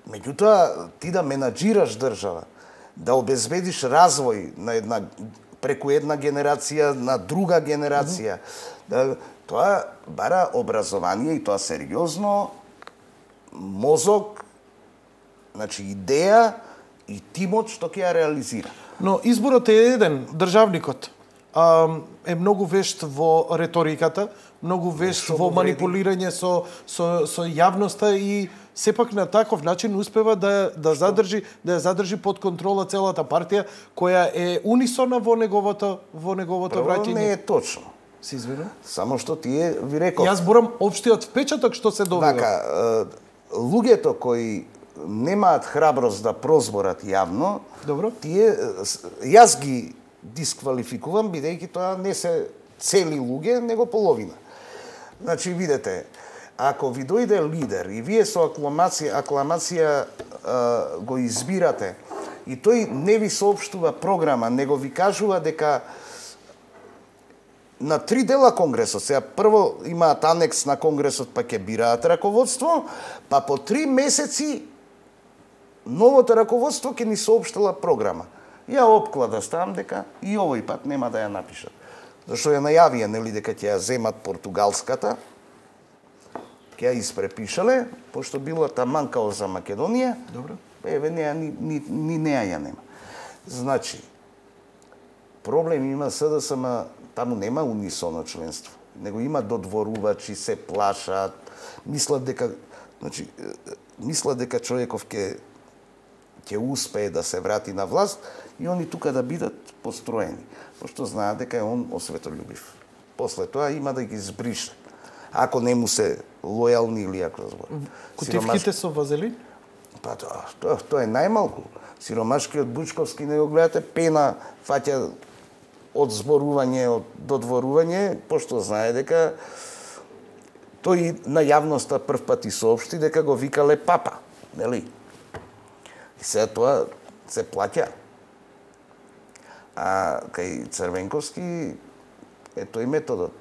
Меѓутоа, ти да менаџираш држава, да обезбедиш развој на една преку една генерација на друга генерација, да, тоа бара образование и тоа сериозно, мозок, значи идеја и тимот што ќе ја реализира. Но изборот е еден, државникот а, е многу вешт во реториката, многу вешт во манипулирање со со со јавноста и сепак на таков начин успева да да задржи да ја задржи под контрола целата партија која е унисона во неговото во неговото Прво, враќање. не е точно. Се извинувам. Само што тие ви реков. Јас зборам општиот впечаток што се добива. Вака, луѓето кои немаат храброст да прозборат јавно, Добро. тие јас ги дисквалификувам бидејќи тоа не се цели луѓе, него половина. Значи видете, ако ви дојде лидер и вие со акламација, акламација а, го избирате и тој не ви соопштува програма, него ви кажува дека на три дела конгресот, сега прво имаат анекс на конгресот па ќе бираат раководство, па по три месеци новото раководство ќе ни соопштила програма. Ја опклада ставам дека и овој пат нема да ја напишат. Зашто ја најавија, нели, дека ќе ја земат португалската, ќе ја испрепишале, пошто била таман као за Македонија. Добро. Еве неа ни ни ни неа ја нема. Значи, проблем има СДСМ, таму нема унисоно членство, него има додворувачи, се плашат, мислат дека, значи, мислат дека човеков ќе ќе успее да се врати на власт и они тука да бидат построени, пошто знаат дека е он осветољубив. После тоа има да ги збрише, ако не му се лојални или ако збор. Кутивките со вазелин? Па тоа, тоа, тоа е најмалку. Сиромашкиот Бучковски не го гледате, пена фаќа од зборување, од додворување, пошто знае дека тој на јавноста прв пат и соопшти дека го викале папа, нели? И сега тоа се плаќа. А кај Црвенковски е тој методот.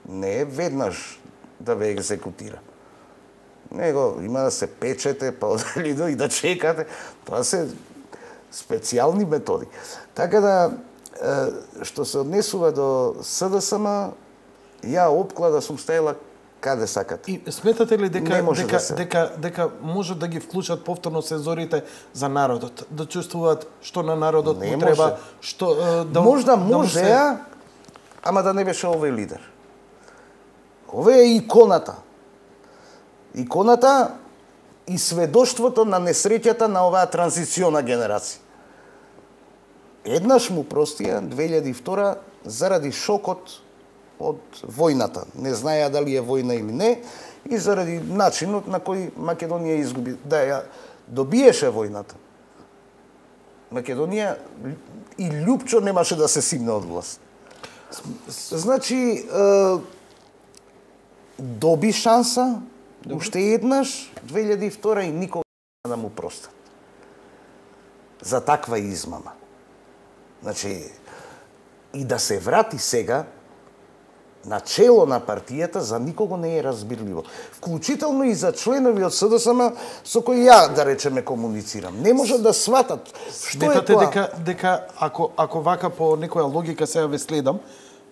Не е веднаш да ве екзекутира. Него има да се печете, па одели до и да чекате. Тоа се специјални методи. Така да, што се однесува до СДСМ, ја опклада сум ставила каде сакате. И сметате ли дека дека, да се... дека дека може да ги вклучат повторно сензорите за народот, да чувствуваат што на народот не му треба, може. што да Можда да може, се... ама да не беше овој лидер. Овој е иконата. Иконата и сведоштвото на несреќата на оваа транзициона генерација. Еднаш му простија две илјади и втора заради шокот од војната. Не знаеа дали е војна или не и заради начинот на кој Македонија изгуби. Да ја добиеше војната. Македонија и Лјупчо немаше да се симне од власт. Значи, е, доби шанса, Добре. Уште еднаш, две илјади и втора и никога да му простат. За таква измама. Значи, и да се врати сега на чело на партијата за никого не е разбирливо. Вклучително и за членови од СДСМ со кои ја, да речеме, комуницирам. Не можат да сватат што сметате е тоа. дека дека ако ако вака по некоја логика сега ве следам,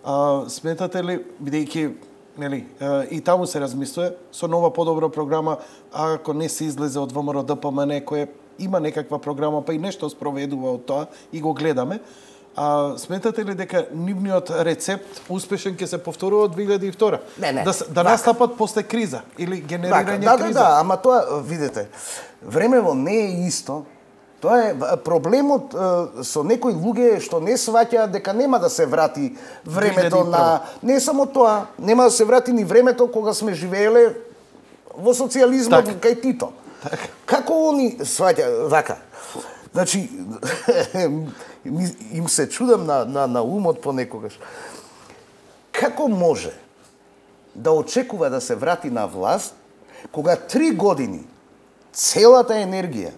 а, сметате ли бидејќи нели и таму се размислува со нова подобра програма, ако не се излезе од ВМРО Д П М Н кој има некаква програма па и нешто спроведува од тоа и го гледаме. А сметате ли дека нивниот рецепт успешен ќе се повторува од две илјади и втора? Не, не. Да, да настапат после криза или генерирање да, криза? Да, да, ама тоа, видете, времево не е исто. Тоа е проблемот е, со некои луѓе што не сваќаат дека нема да се врати времето на... Не само тоа, нема да се врати ни времето кога сме живееле во социјализмот так. Кај Тито. Так. Како они сваќаат вака? Значи, им се чудам на, на, на умот понекогаш. Како може да очекува да се врати на власт, кога три години целата енергија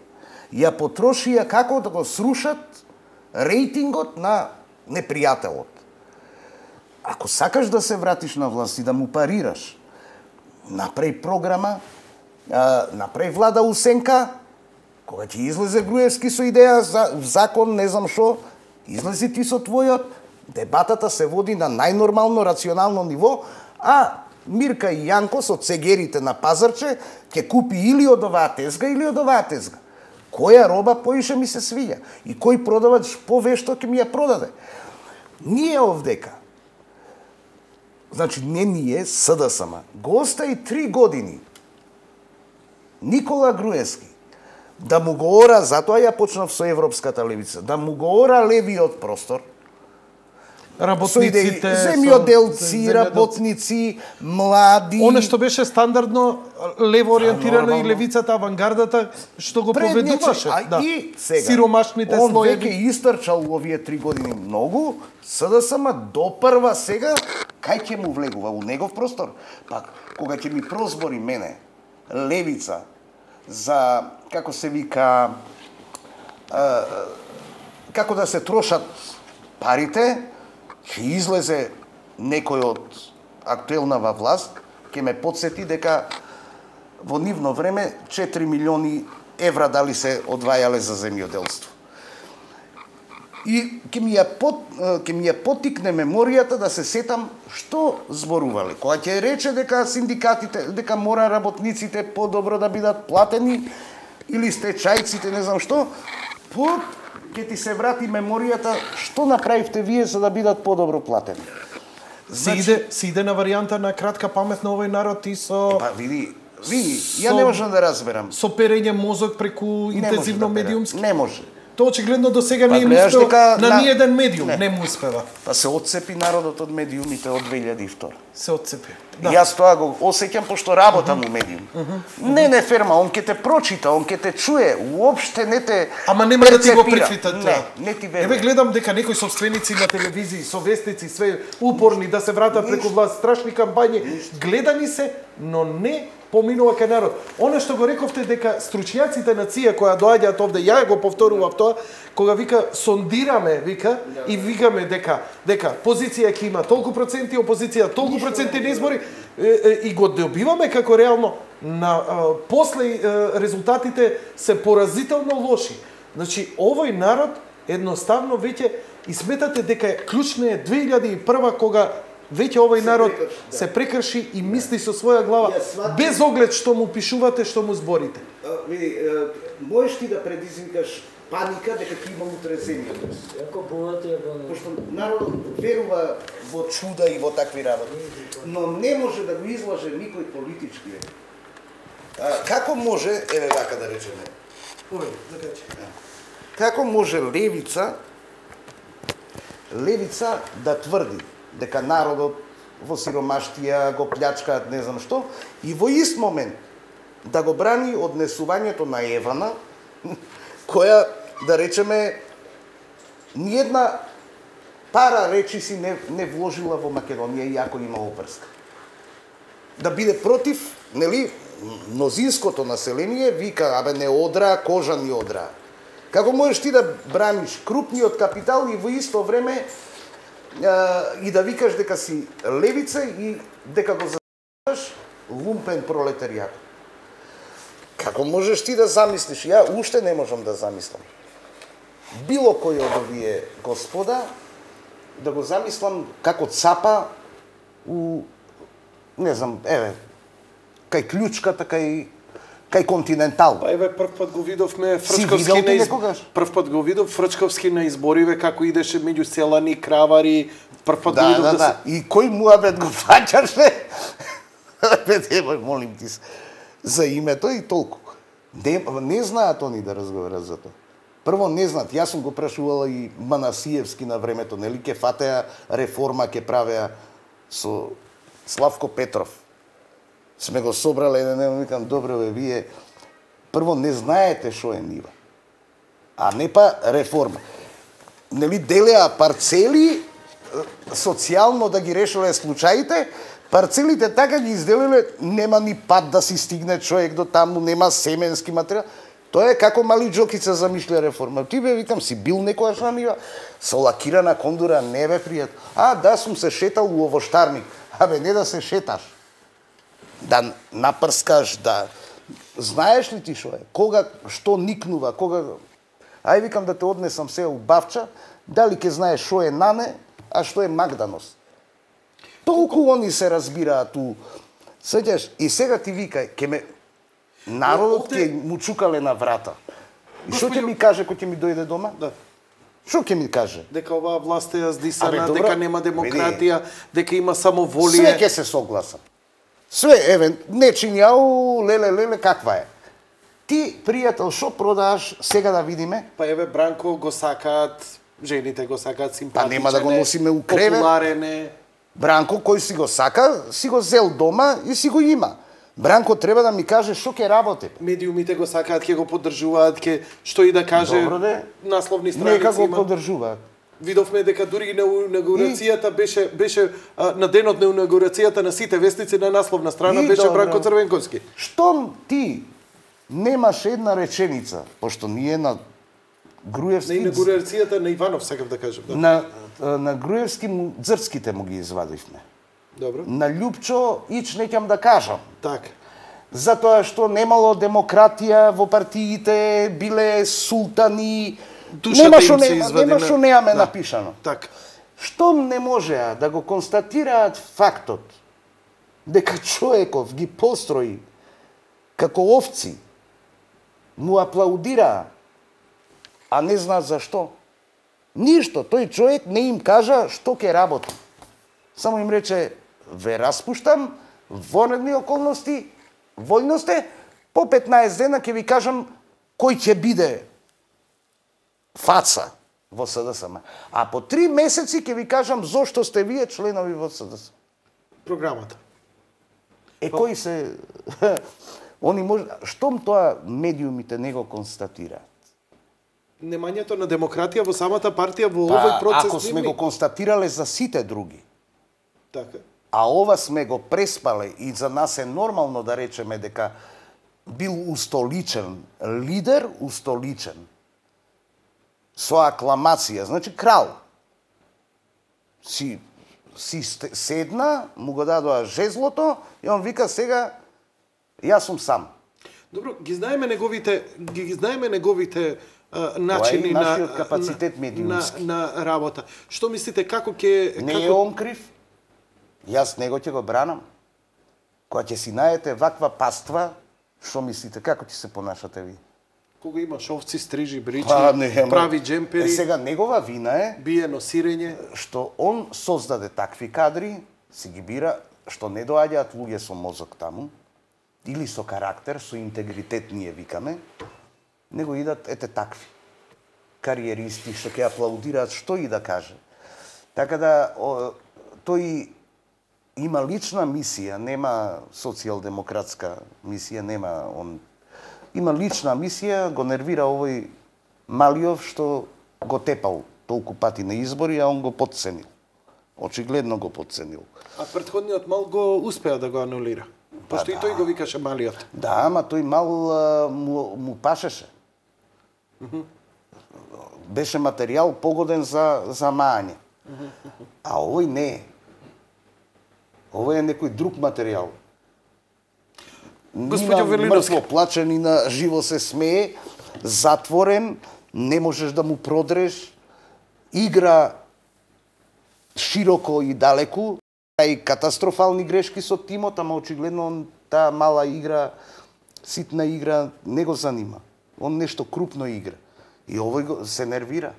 ја потрошија како да го срушат рейтингот на непријателот. Ако сакаш да се вратиш на власт и да му парираш, направи програма, направи влада Усенка, кога ќе излезе Груевски со идеја за закон, не знам шо, излези ти со твојот, дебатата се води на најнормално, рационално ниво, а Мирка и Јанко со цегерите на пазарче ќе купи или од оваа тезга, или од оваа тезга. Која роба поише ми се свиѓа и кој продавач повешто ќе ми ја продаде. Ние овдека, значи не ние, СДСМ, го остави три години Никола Груевски да му го ора, затоа ја почнав со Европската левица, да му го ора левиот простор, работниците, земјоделци, работници, млади. Оно што беше стандардно лево ориентирано и левицата, авангардата, што го поведуваше. А да. И сега, сиромашните он слоеви. Он веќе истрчал овие три години многу, СДСМ допрва сега, кај ќе му влегува? У негов простор? Пак, кога ќе ми прозбори мене, левица, за, како се вика, а, како да се трошат парите, ќе излезе некој од актуелнава власт, ќе ме подсети дека во нивно време четири милиони евра дали се одвајале за земјоделство. И ќе ми ја под, ќе ми ја поттикне меморијата да се сетам што зборувале. Кога ќе рече дека синдикатите, дека мора работниците подобро да бидат платени или стечајците, не знам што, по ќе ти се врати меморијата што направивте вие за да бидат подобро платени. Значи, си иде, си иде на варијанта на кратка памет на овој народ и со... Па види, види, ја со, не можам да разберам. Со перење мозок преку интензивно да медиумски? Не може. Тоа очигледно до сега па, не им успеа дека, на, на ниеден медиум, не. не му успева. Па се отцепи народот од медиумите од две илјади и втора. Се отцепи. Да. Јас тоа го осеќам пошто работам uh -huh. у медиум. Uh -huh. Не, не ферма, он ќе те прочита, он ќе те чуе, уопште не те Ама нема да ти го прифита тоа. Не, не ти верува. Еве гледам дека некои собственици на телевизии, со вестници, све упорни да се вратат преку власт, страшни кампањи, гледани се, но не поминува кај народ. Оно што го рековте дека стручњаците на ЦИА која доаѓаат овде, ја го повторував тоа, кога вика сондираме, вика, и викаме дека дека позиција ќе има толку проценти, опозиција толку проценти на избори, и го добиваме како реално на а, после а, резултатите се поразително лоши. Значи овој народ едноставно веќе и сметате дека клучна е две илјади и прва кога веќе овој народ се прекрши и мисли со своја глава, без оглед што му пишувате, што му зборите. Види, можеш ти да предизвикаш паника дека ќе има утре земја. Ако богати е богати. Пошто народот верува во чуда и во такви работи, но не може да го излаже никој политички. А, како може, еве вака да речеме, Овој, закачи. како може левица левица да тврди дека народот во сиромаштија го плячкаат не знам што и во ист момент да го брани однесувањето на Евана, која, да речеме, ниедна пара речи си не, не вложила во Македонија, иако има обврска. Да биде против, нели, мнозинското население вика, абе не одра, кожа ни одра. Како можеш ти да браниш крупниот капитал и во исто време а, и да викаш дека си левица и дека го застапаш лумпен пролетаријат? Како можеш ти да замислиш? Ја уште не можам да замислам. Било кој од овие господа да го замислам како цапа у, не знам, еве, кај клучката, кај кај Континентал. Па еве прв пат го видовме Фрчковски на из... прв пат го видов Фрчковски на избориве како идеше меѓу селани, кравари, прв пат да, го видов да, да, да. се... И кој муабет го фаќаше? Бе, немој, молим ти се, за името и толку. Не, не знаат они да разговарат за тоа. Прво не знаат, јас сум го прашувала и Манасиевски на времето, нели ке фатеа реформа, ке правеа со Славко Петров. Сме го собрале еден ден, викам, добро бе, вие прво не знаете што е нива, а не па реформа. Нели делеа парцели, социјално да ги решиле случаите, парцелите така ги изделиле, нема ни пат да си стигне човек до таму, нема семенски материјал. Тоа е како мали Джокица замишля реформа. Ти бе, викам, си бил некојаш на нива, со лакирана кондура, не бе пријат. А, да, сум се шетал у овоштарник. Абе, не да се шеташ. Да напрскаш, да... Знаеш ли ти шо е? Кога, што никнува, кога... Ај, викам да те однесам се у Бавча, дали ке знаеш шо е Нане, а што е Магданос. Толку они се разбираат у... Сеќаш, и сега ти викај, ке ме... Народот ќе му чукале на врата. И што ќе ми каже кој ќе ми дојде дома? Да. Што ќе ми каже? Дека оваа власт е здисана, Абе, дека нема демократија, дека има само волија. Све ќе се согласам. Све, еве, не чинјау, леле, леле, каква е? Ти, пријател, што продаваш, сега да видиме? Па еве Бранко го сакаат, жените го сакаат, симпатичен. Па нема да го носиме у кревет. Популарен е. Бранко, кој си го сака, си го зел дома и си го има. Бранко треба да ми каже што ќе работи. Медиумите го сакаат, ќе го поддржуваат, ќе што и да каже. Добро де. Насловни страници Нека го има. поддржуваат. Видовме дека дури на инаугурацијата беше беше а, на денот на инаугурацијата на сите вестници на насловна страна И беше добро. Бранко Црвенковски. Штом ти немаш една реченица, пошто ние на На Груевски инаугурацијата на Иванов сакав да кажам, да. на на Груевски му, дзрцките му ги извадивме. Добро. На Љупчо ич неќам да кажам. Така. Затоа што немало демократија во партиите, биле султани, Душата нема им што се нема, извади нема на- што немаме Да. напишано. Така. Штом не можеа да го констатираат фактот дека човеков ги построи како овци, му аплаудираа, а не знаат зашто. Ништо, тој човек не им кажа што ќе работи. Само им рече, ве распуштам, вонредни околности, војно сте, по петнаесет дена ќе ви кажам кој ќе биде фаца во С Д С М. А по три месеци ќе ви кажам зошто сте вие членови во С Д С М. Програмата. Е, кои се... Они може... Штом тоа медиумите не го констатираат? Немањето на демократија во самата партија во Па, овој процес ако сме нивни. го констатирале за сите други, Така. а ова сме го преспале и за нас е нормално да речеме дека бил устоличен лидер, устоличен, со акламација, значи крал. Си, си сте- седна, му го дадоа жезлото и он вика сега, јас сум сам. Добро, ги знаеме неговите ги знаеме неговите а, начини на нашиот капацитет на, медиумски. на, на работа. Што мислите како ќе Не како е он крив? Јас него ќе го бранам. Кога ќе си најдете ваква паства, што мислите, како ќе се понашате ви? Кога имаш овци, стрижи, бричи, Па, не, прави джемпери, Е, сега негова вина е бие носирење, што он создаде такви кадри, си ги бира, што не доаѓаат луѓе со мозок таму, или со карактер, со интегритет ние викаме, него идат ете такви кариеристи што ќе аплаудираат што и да каже. Така да о, тој има лична мисија, нема социјалдемократска мисија, нема он има лична мисија, го нервира овој Малиов што го тепал толку пати на избори, а он го потценил. Очигледно го потценил. А претходниот Мал го успеа да го анулира. Пошто и тој го викаше Малиот. Да, ама тој Мал а, му, му пашеше. Беше материјал погоден за, за мање. А овој не е. Овој е некој друг материјал. Господјо Ни на Велиновски. мртво плаче, ни на живо се смее, затворен, не можеш да му продреш, игра широко и далеку, и катастрофални грешки со тимот, ама очигледно он таа мала игра, ситна игра, не го занима. Он нешто крупно игра. И овој го, се нервира.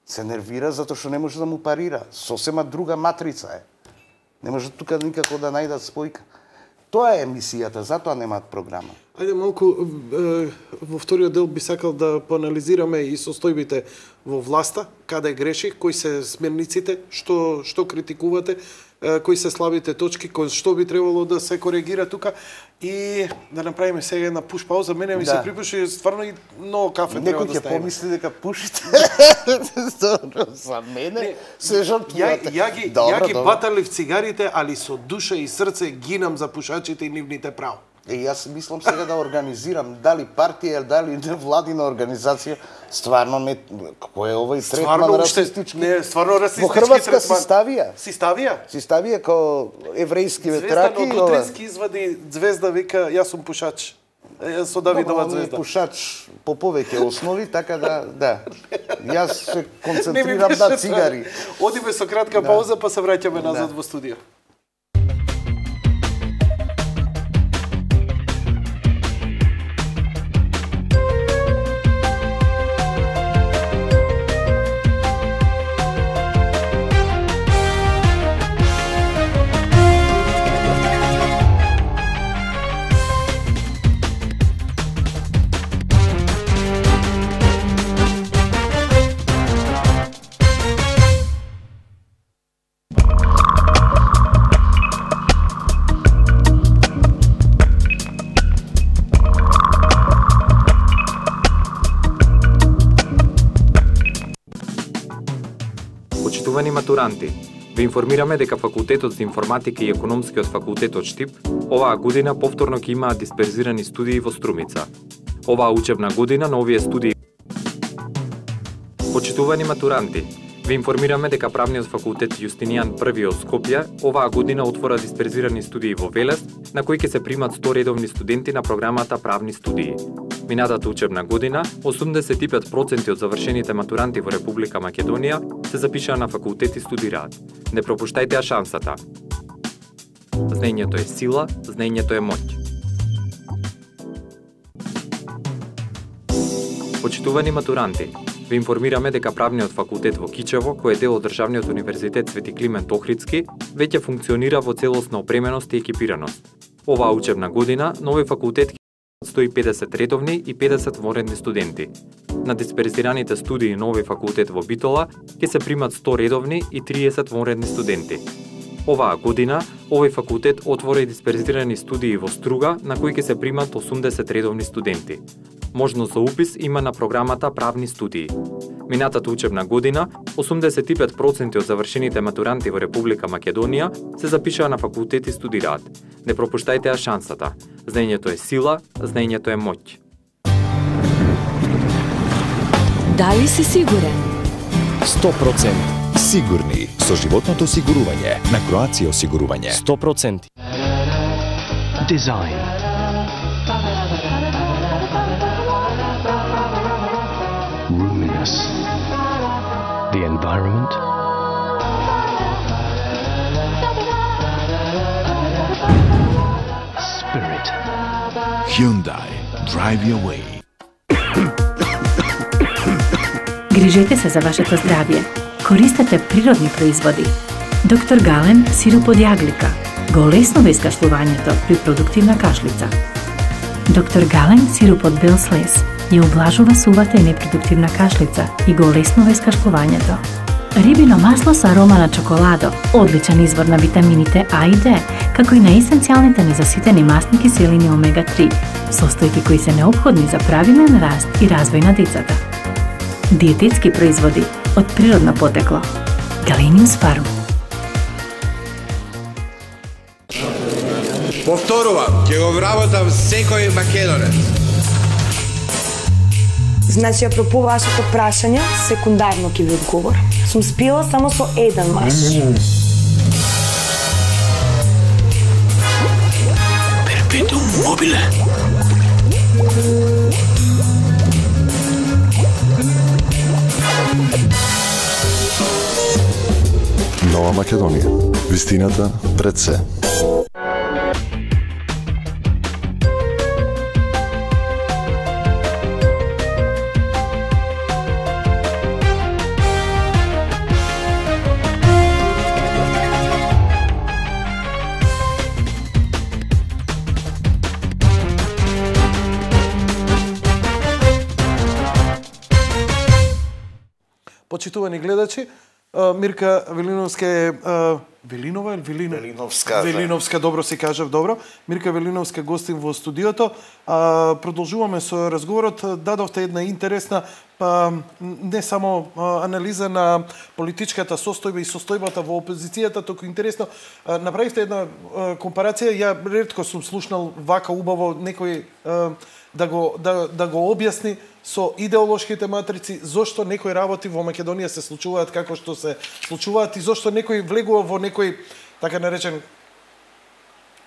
Се нервира затоа што не може да му парира. Сосема друга матрица е. Не може тука никако да најдат спојка. Тоа е емисијата, затоа немаат програма. Ајде малку е, во вториот дел би сакал да поанализираме и состојбите во власта, каде греши, кои се смерниците, што што критикувате, е, кои се слабите точки, кои што би требало да се коригира тука и да направиме сега една пуш пауза. Мене ми Да. се припуши стварно и многу кафе треба Некој да ќе ставиме. помисли дека пушите. За мене Не, се Ја, жртвувате. ја ги, ја ги баталив цигарите, али со душа и срце гинам за пушачите и нивните право. Е, јас мислам сега да организирам дали партија, дали невладина организација, стварно не кој е овој третман Стварно уште расистички. не, стварно Во расистички Хрватска си третман. ставија. Си ставија? Си ставија како еврејски Звездан ветраки. од утрински извади звезда, вика, јас сум пушач. Е, со Давидова Добро, он е звезда. пушач по повеќе основи, така да, да. Јас се Не ми концентрирам беше на страшно. цигари. Одиме со кратка пауза, па се враќаме назад Да. во студио. Почитувани матуранти, ве информираме дека Факултетот за информатика и Економскиот факултет од Штип оваа година повторно ќе имаат дисперзирани студии во Струмица. Оваа учебна година на овие студии. Почитувани матуранти, ве информираме дека Правниот факултет Јустинијан Први од Скопје оваа година отвора дисперзирани студии во Велес, на кои ќе се примат сто редовни студенти на програмата Правни студии. Минатата учебна година, осумдесет и пет проценти од завршените матуранти во Република Македонија се запишаа на факултет и студираат. Не пропуштајте ја шансата. Знаењето е сила, знаењето е моќ. Почитувани матуранти, ве информираме дека Правниот факултет во Кичево, кој е дел од Државниот универзитет Свети Климент Охридски, веќе функционира во целосна опременост и екипираност. Оваа учебна година, нови факултет сто и педесет редовни и педесет вонредни студенти. На дисперзираните студии на овој факултет во Битола ќе се примат сто редовни и триесет вонредни студенти. Оваа година, овој факултет отвори дисперзирани студии во Струга, на кои ќе се примат осумдесет редовни студенти. Можност за упис има на програмата Правни студии. Минатата учебна година, осумдесет и пет проценти од завршените матуранти во Република Македонија се запишаа на факултет и студираат. Не пропуштајте ја шансата. Знаењето е сила, знаењето е моќ. Дали си сигурен? сто проценти сигурни со животното осигурување на Кроација осигурување. сто проценти. Design. Roominess. The environment. Hyundai. Drive your way. Грижете се за вашето здравје. Користете природни производи. Доктор Гален сироп од јаглика го олеснува искашлувањето при продуктивна кашлица. Доктор Гален сироп од бел слез ја облажува сувата и непродуктивна кашлица и го олеснува искашлувањето. Рибино масло со арома на чоколадо, одличен извор на витамините А и Д, како и на есенцијалните незаситени масни киселини омега три, состојки кои се неопходни за правилен раст и развој на децата. Диететски производи од природно потекло. Galenius Farm. Повторувам, ќе го вработам секој македонец. Значи, апропо вашето прашање, секундарно ќе ви одговорам. Сум спила само со еден маж. Перпетум мобиле. Нова Македонија. Вистината пред се. Почитувани гледачи, Мирка Велиновска е Велинова или Велина? Велиновска. Велиновска, добро си кажав, добро. Мирка Велиновска гостин во студиото. А, продолжуваме со разговорот. Дадовте една интересна па, не само а, анализа на политичката состојба и состојбата во опозицијата, току интересно а, направивте една а, компарација. Ја ретко сум слушнал вака убаво некој а, да го да да го објасни со идеолошките матрици зошто некои работи во Македонија се случуваат како што се случуваат и зошто некој влегува во некој така наречен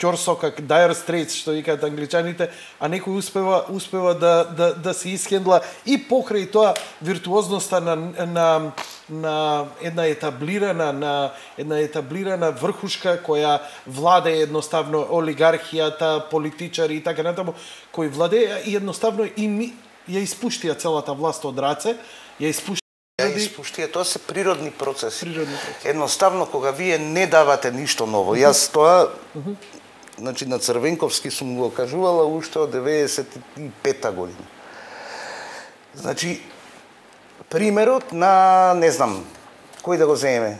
ќорсокак, dire straits, што викаат англичаните, а некој успева успева да да да се исхендла и покрај тоа виртуозноста на на на една етаблирана на една етаблирана врхушка која владее едноставно олигархијата, политичари и така натаму, кои владеја и едноставно и ми ја испуштија целата власт од раце, ја испуштија Ја испуштија, тоа се природни процеси. Природни процеси. Едноставно кога вие не давате ништо ново. Јас тоа значи на Црвенковски сум го кажувала уште од деветдесет и пета година. Значи примерот на не знам кој да го земеме,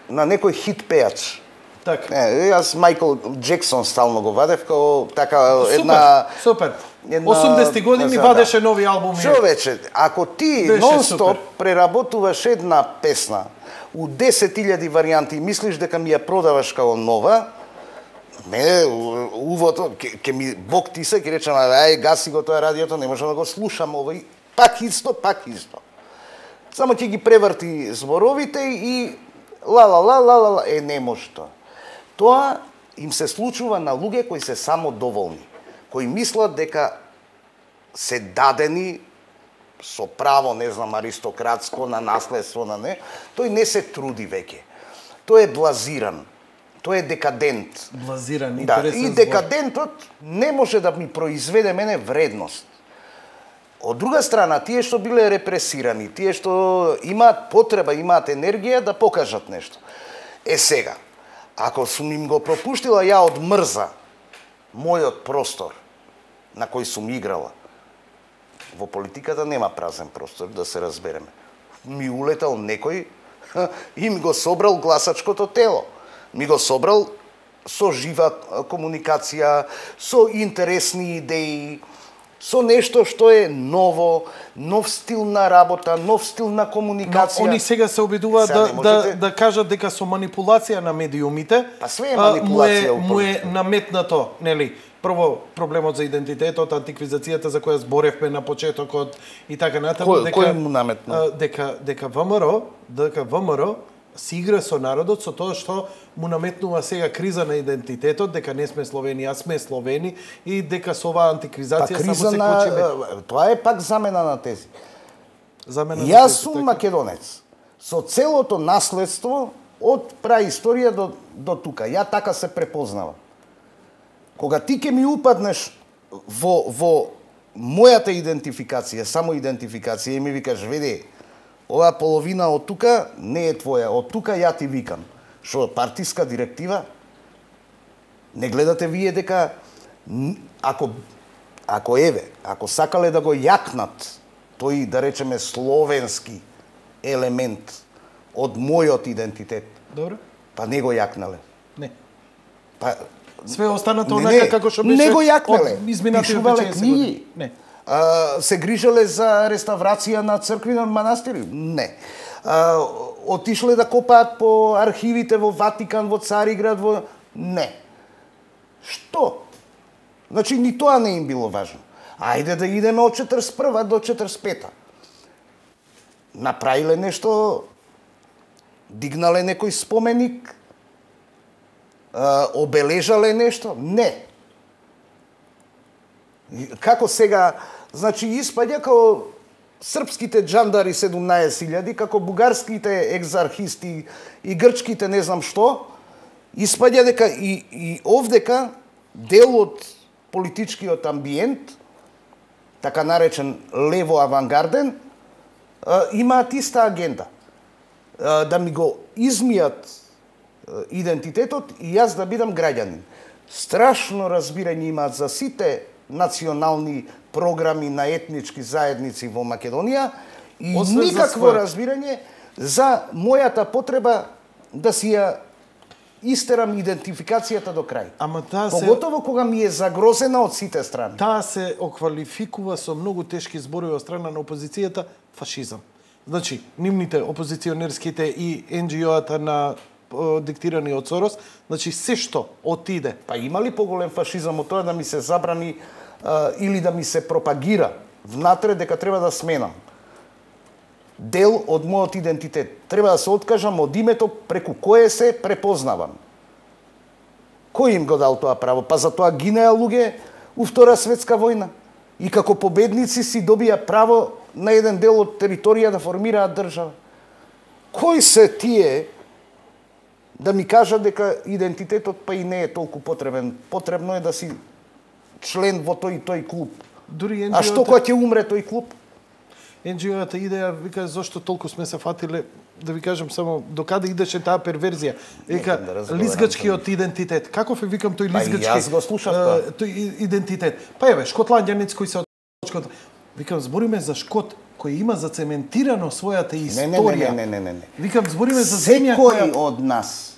на некој хит пејач. Така. Не, јас Майкл Джексон стално го вадев како така една супер. Една, осумдесети години да, вадеше нови албуми. Човече, ако ти нон-стоп преработуваш една песна у десет илјади варијанти и мислиш дека ми ја продаваш како нова, не, увото, ке ми Бог ти се, ке речем, ај, гаси го тоа радиото, не можам да го слушам овој, пак исто, пак исто. Само ќе ги преврти зборовите и ла-ла-ла-ла-ла, е, не може тоа. Тоа им се случува на луѓе кои се само доволни, кои мислат дека се дадени со право, не знам, аристократско, на наследство, на не, тој не се труди веќе. Тој е блазиран, тој е декадент. Блазиран, да, интересен и декадентот не може да ми произведе мене вредност. Од друга страна, тие што биле репресирани, тие што имаат потреба, имаат енергија да покажат нешто. Е сега, ако сум им го пропуштила ја од мрза мојот простор на кој сум играла, во политиката нема празен простор, да се разбереме. Ми улетал некој и ми го собрал гласачкото тело. Ми го собрал со жива комуникација, со интересни идеи, со нешто што е ново, нов стил на работа, нов стил на комуникација. Но они сега се обидуваат сега да, можете... да, да кажат дека со манипулација на медиумите, па све е манипулација, му е, му е наметнато, нели? Прво проблемот за идентитетот, антиквизацијата за која зборевме на почетокот и така натаму, кој, дека кој му наметна? дека дека ВМРО, дека ВМРО си игра со народот со тоа што му наметнува сега криза на идентитетот, дека не сме Словени, а сме Словени и дека со оваа антиквизација па, само се на... кочиме. Тоа е пак замена на тези. Замена Јас на тези, сум така. македонец. Со целото наследство од праисторија до, до тука. Ја така се препознавам. Кога ти ке ми упаднеш во во мојата идентификација, само идентификација, и ми викаш, веде, ова половина од тука не е твоја, од тука ја ти викам. Што партиска директива? Не гледате вие дека ако ако еве, ако сакале да го јакнат тој, да речеме, словенски елемент од мојот идентитет. Добро. Па не го јакнале. Не. Па све останато онака како што беше. Не го јакнале. Пишувале книги. Не. А, се грижале за реставрација на цркви на манастири? Не. А, отишле да копаат по архивите во Ватикан, во Цариград, во... Не. Што? Значи, ни тоа не им било важно. Ајде да идеме од четридесет и прва до четридесет и пета. Направиле нешто, дигнале некој споменик, обележале нешто? Не. Како сега, значи, испаѓа како српските джандари седумнаесет илјади, како бугарските екзархисти и грчките не знам што, испаѓа дека и, и овдека дел од политичкиот амбиент, така наречен лево авангарден, имаат иста агенда. Да ми го измијат идентитетот и јас да бидам граѓанин. Страшно разбирање имаат за сите национални програми на етнички заедници во Македонија и Освен никакво разбирање за мојата потреба да си ја истерам идентификацијата до крај. Ама таа се... Поготово кога ми е загрозена од сите страни. Таа се оквалификува со многу тешки зборови од страна на опозицијата фашизам. Значи, нивните опозиционерските и ен џи о-ата на диктирани од Сорос, значи се што отиде. Па има ли поголем фашизам од тоа да ми се забрани а, или да ми се пропагира внатре дека треба да сменам дел од мојот идентитет. Треба да се откажам од името преку кое се препознавам. Кој им го дал тоа право? Па за тоа гинеа луѓе у Втора светска војна. И како победници си добија право на еден дел од територија да формираат држава. Кои се тие да ми кажат дека идентитетот па и не е толку потребен? Потребно е да си член во тој и тој клуб. Дури а што кога ќе умре тој клуб? ен џи о-ата идеја вика зошто толку сме се фатиле, да ви кажам само докаде идеше таа перверзија. Вика да лизгачкиот идентитет. Каков е викам тој лизгачки? Па јас го слушав тоа. Тој идентитет. Па еве шотланѓанец кој се од викам збориме за Шкот кој има зацементирано својата историја. Не, не, не, не, не. Викам збориме за земја која секој од нас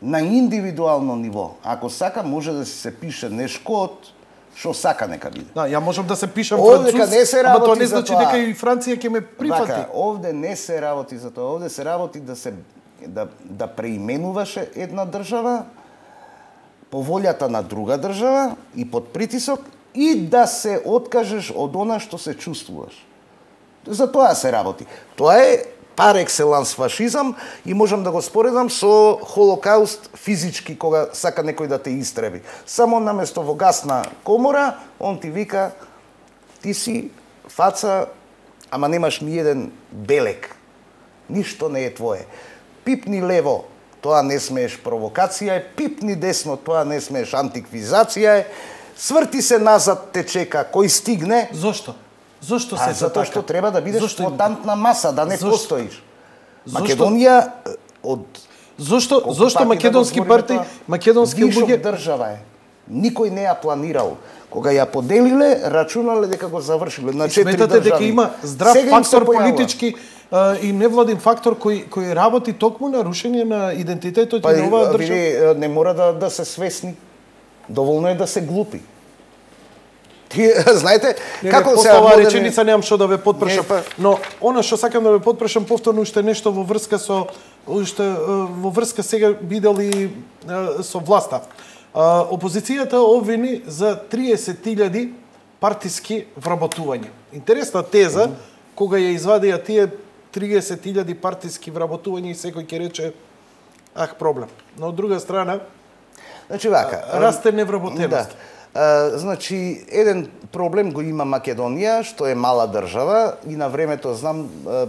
на индивидуално ниво, ако сака може да се пише не Шкот, што сака нека биде. Да, ја можам да се пишам француз, ама тоа не значи дека и Франција ќе ме прифати. Вака, овде не се работи за тоа, овде се работи да се да да преименуваше една држава по волјата на друга држава и под притисок и да се откажеш од она што се чувствуваш. За тоа се работи. Тоа е пар екселанс фашизам и можам да го споредам со Холокауст физички, кога сака некој да те истреби. Само наместо во гасна комора, он ти вика, ти си фаца, ама немаш ни еден белек. Ништо не е твое. Пипни лево, тоа не смееш провокација е, пипни десно, тоа не смееш антиквизација е, сврти се назад, те чека, кој стигне. Зошто? Зошто се а, затоа што треба да бидеш Зошто флотантна маса, да не Зошто? постоиш. Македонија од Зошто зошто македонски партии, македонски луѓе држава е. Никој не ја планирал. Кога ја поделиле, рачунале дека го завршиле на четири држави. Сметате дека има здрав Сега фактор политички а, и невладин фактор кој кој работи токму на рушење на идентитетот па, и на оваа држава? Вие не мора да да се свесни. Доволно е да се глупи. Ти знаете не, како не, се оваа модерни... реченица немам што да ве потпрашам, па... но она што сакам да ве потпрашам повторно уште нешто во врска со уште во врска сега видели со власта. Опозицијата обвини за триесет илјади партиски вработувања. Интересна теза, кога ја извадија тие триесет илјади партиски вработувања и секој ќе рече ах проблем. Но од друга страна, значи вака, расте невработеност. Да. Uh, значи, еден проблем го има Македонија, што е мала држава и на времето знам uh,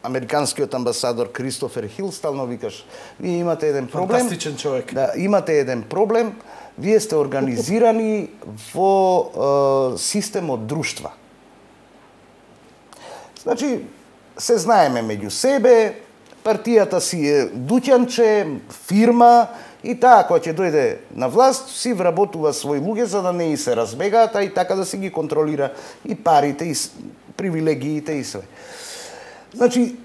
американскиот амбасадор Кристофер Хил стално викаш, вие имате еден проблем. Фантастичен човек. Да, имате еден проблем, вие сте организирани во е, систем од друштва. Значи, се знаеме меѓу себе, партијата си е дуќанче, фирма, и таа која ќе дојде на власт, си вработува своји луѓе за да не и се разбегаат, а и така да си ги контролира и парите, и привилегиите и све. Значи,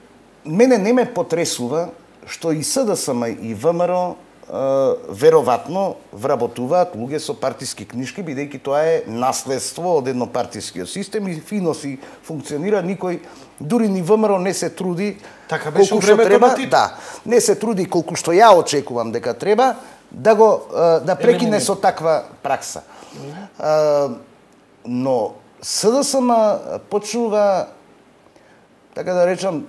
мене не ме потресува што и СДСМ и ВМРО веројатно вработуваат луѓе со партиски книшки, бидејќи тоа е наследство од еднопартискиот систем и фино си функционира, никој дури ни ВМРО не се труди така беше колку што времето треба, на Тито. да, не се труди колку што ја очекувам дека треба да го да прекине со таква пракса. Mm-hmm. Но СДСМ почнува, така да речам,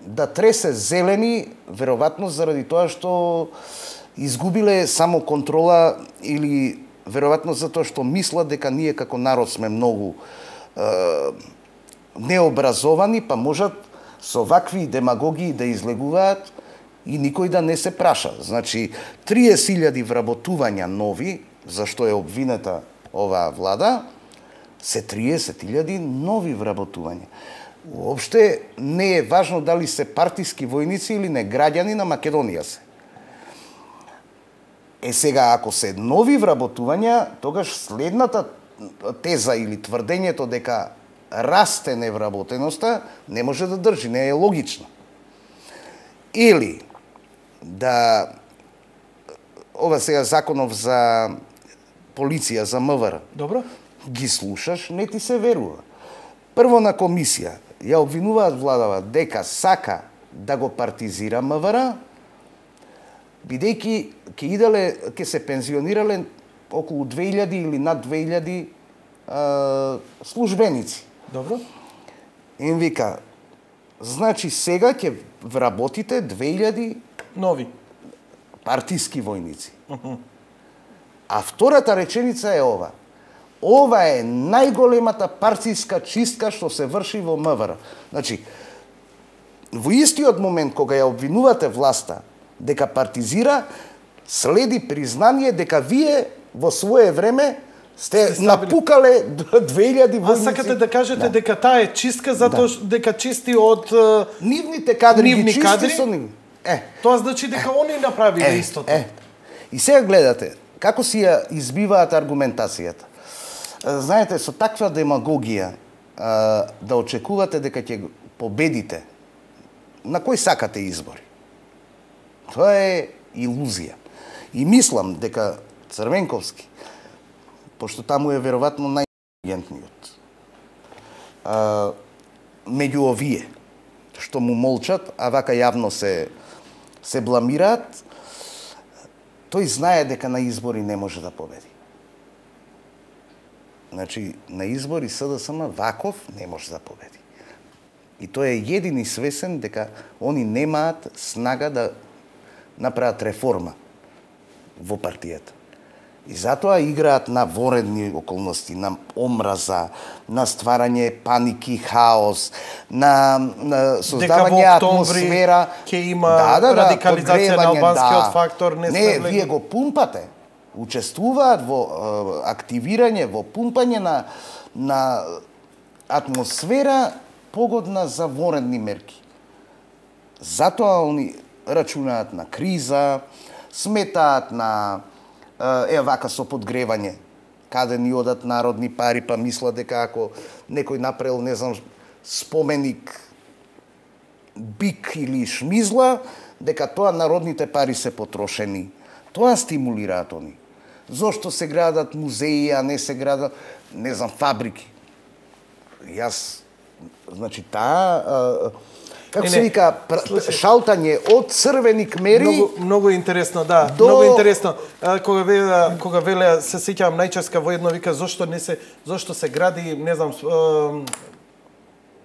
да тресе зелени, веројатно заради тоа што изгубиле само контрола или веројатно затоа што мислат дека ние како народ сме многу е, необразовани, па можат со вакви демагогии да излегуваат и никој да не се праша. Значи, триесет илјади вработувања нови, за што е обвинета оваа влада, се триесет илјади нови вработувања. Уопште не е важно дали се партиски војници или не, граѓани на Македонија се. Е сега, ако се нови вработувања, тогаш следната теза или тврдењето дека расте невработеноста не може да држи, не е логично. Или да ова сега законов за полиција, за МВР. Добро. Ги слушаш, не ти се верува. Прво на комисија ја обвинуваат владава дека сака да го партизира МВР, бидејќи ќе иделе, ќе се пензионирале околу две илјади или над две илјади а, службеници. Добро. Им вика, значи сега ќе вработите две илјади нови партиски војници. Uh-huh. А втората реченица е ова. Ова е најголемата партиска чистка што се врши во МВР. Значи, во истиот момент кога ја обвинувате власта дека партизира, следи признание дека вие во свое време сте напукале две илјади војници. А сакате да кажете да. дека таа е чистка затоа да. дека чисти од нивните кадри, нивни ги кадри чисти со нив. Е, тоа значи дека е. они направиле е, истото. Е. И сега гледате како си ја избиваат аргументацијата. Знаете, со таква демагогија да очекувате дека ќе победите, на кој сакате избори? Тоа е илузија. И мислам дека Црвенковски, пошто таму е веројатно најинтелигентниот, меѓу овие што му молчат, а вака јавно се се бламираат, тој знае дека на избори не може да победи. Значи, на избори СДСМ ваков не може да победи. И тој е едини свесен дека они немаат снага да направат реформа во партијата. И затоа играат на воредни околности, на омраза, на стварање паники, хаос, на, на создавање атмосфера. Ќе има да, да, да, радикализација на албанскиот да. фактор. Не, не вие го пумпате. Учествуваат во активирање, во пумпање на, на атмосфера погодна за воредни мерки. Затоа они рачунаат на криза, сметаат на е вака со подгревање, каде ни одат народни пари, па мислат дека ако некој направил, не знам, споменик бик или шмизла, дека тоа народните пари се потрошени. Тоа стимулираат они. Зошто се градат музеи, а не се градат, не знам, фабрики? Јас, значи, таа, како се вика, шалтање од црвени кмери... Многу, многу интересно, да, до... многу интересно. Кога веле, кога веле, се сеќавам најческа во едно вика, зошто не се, зошто се гради, не знам,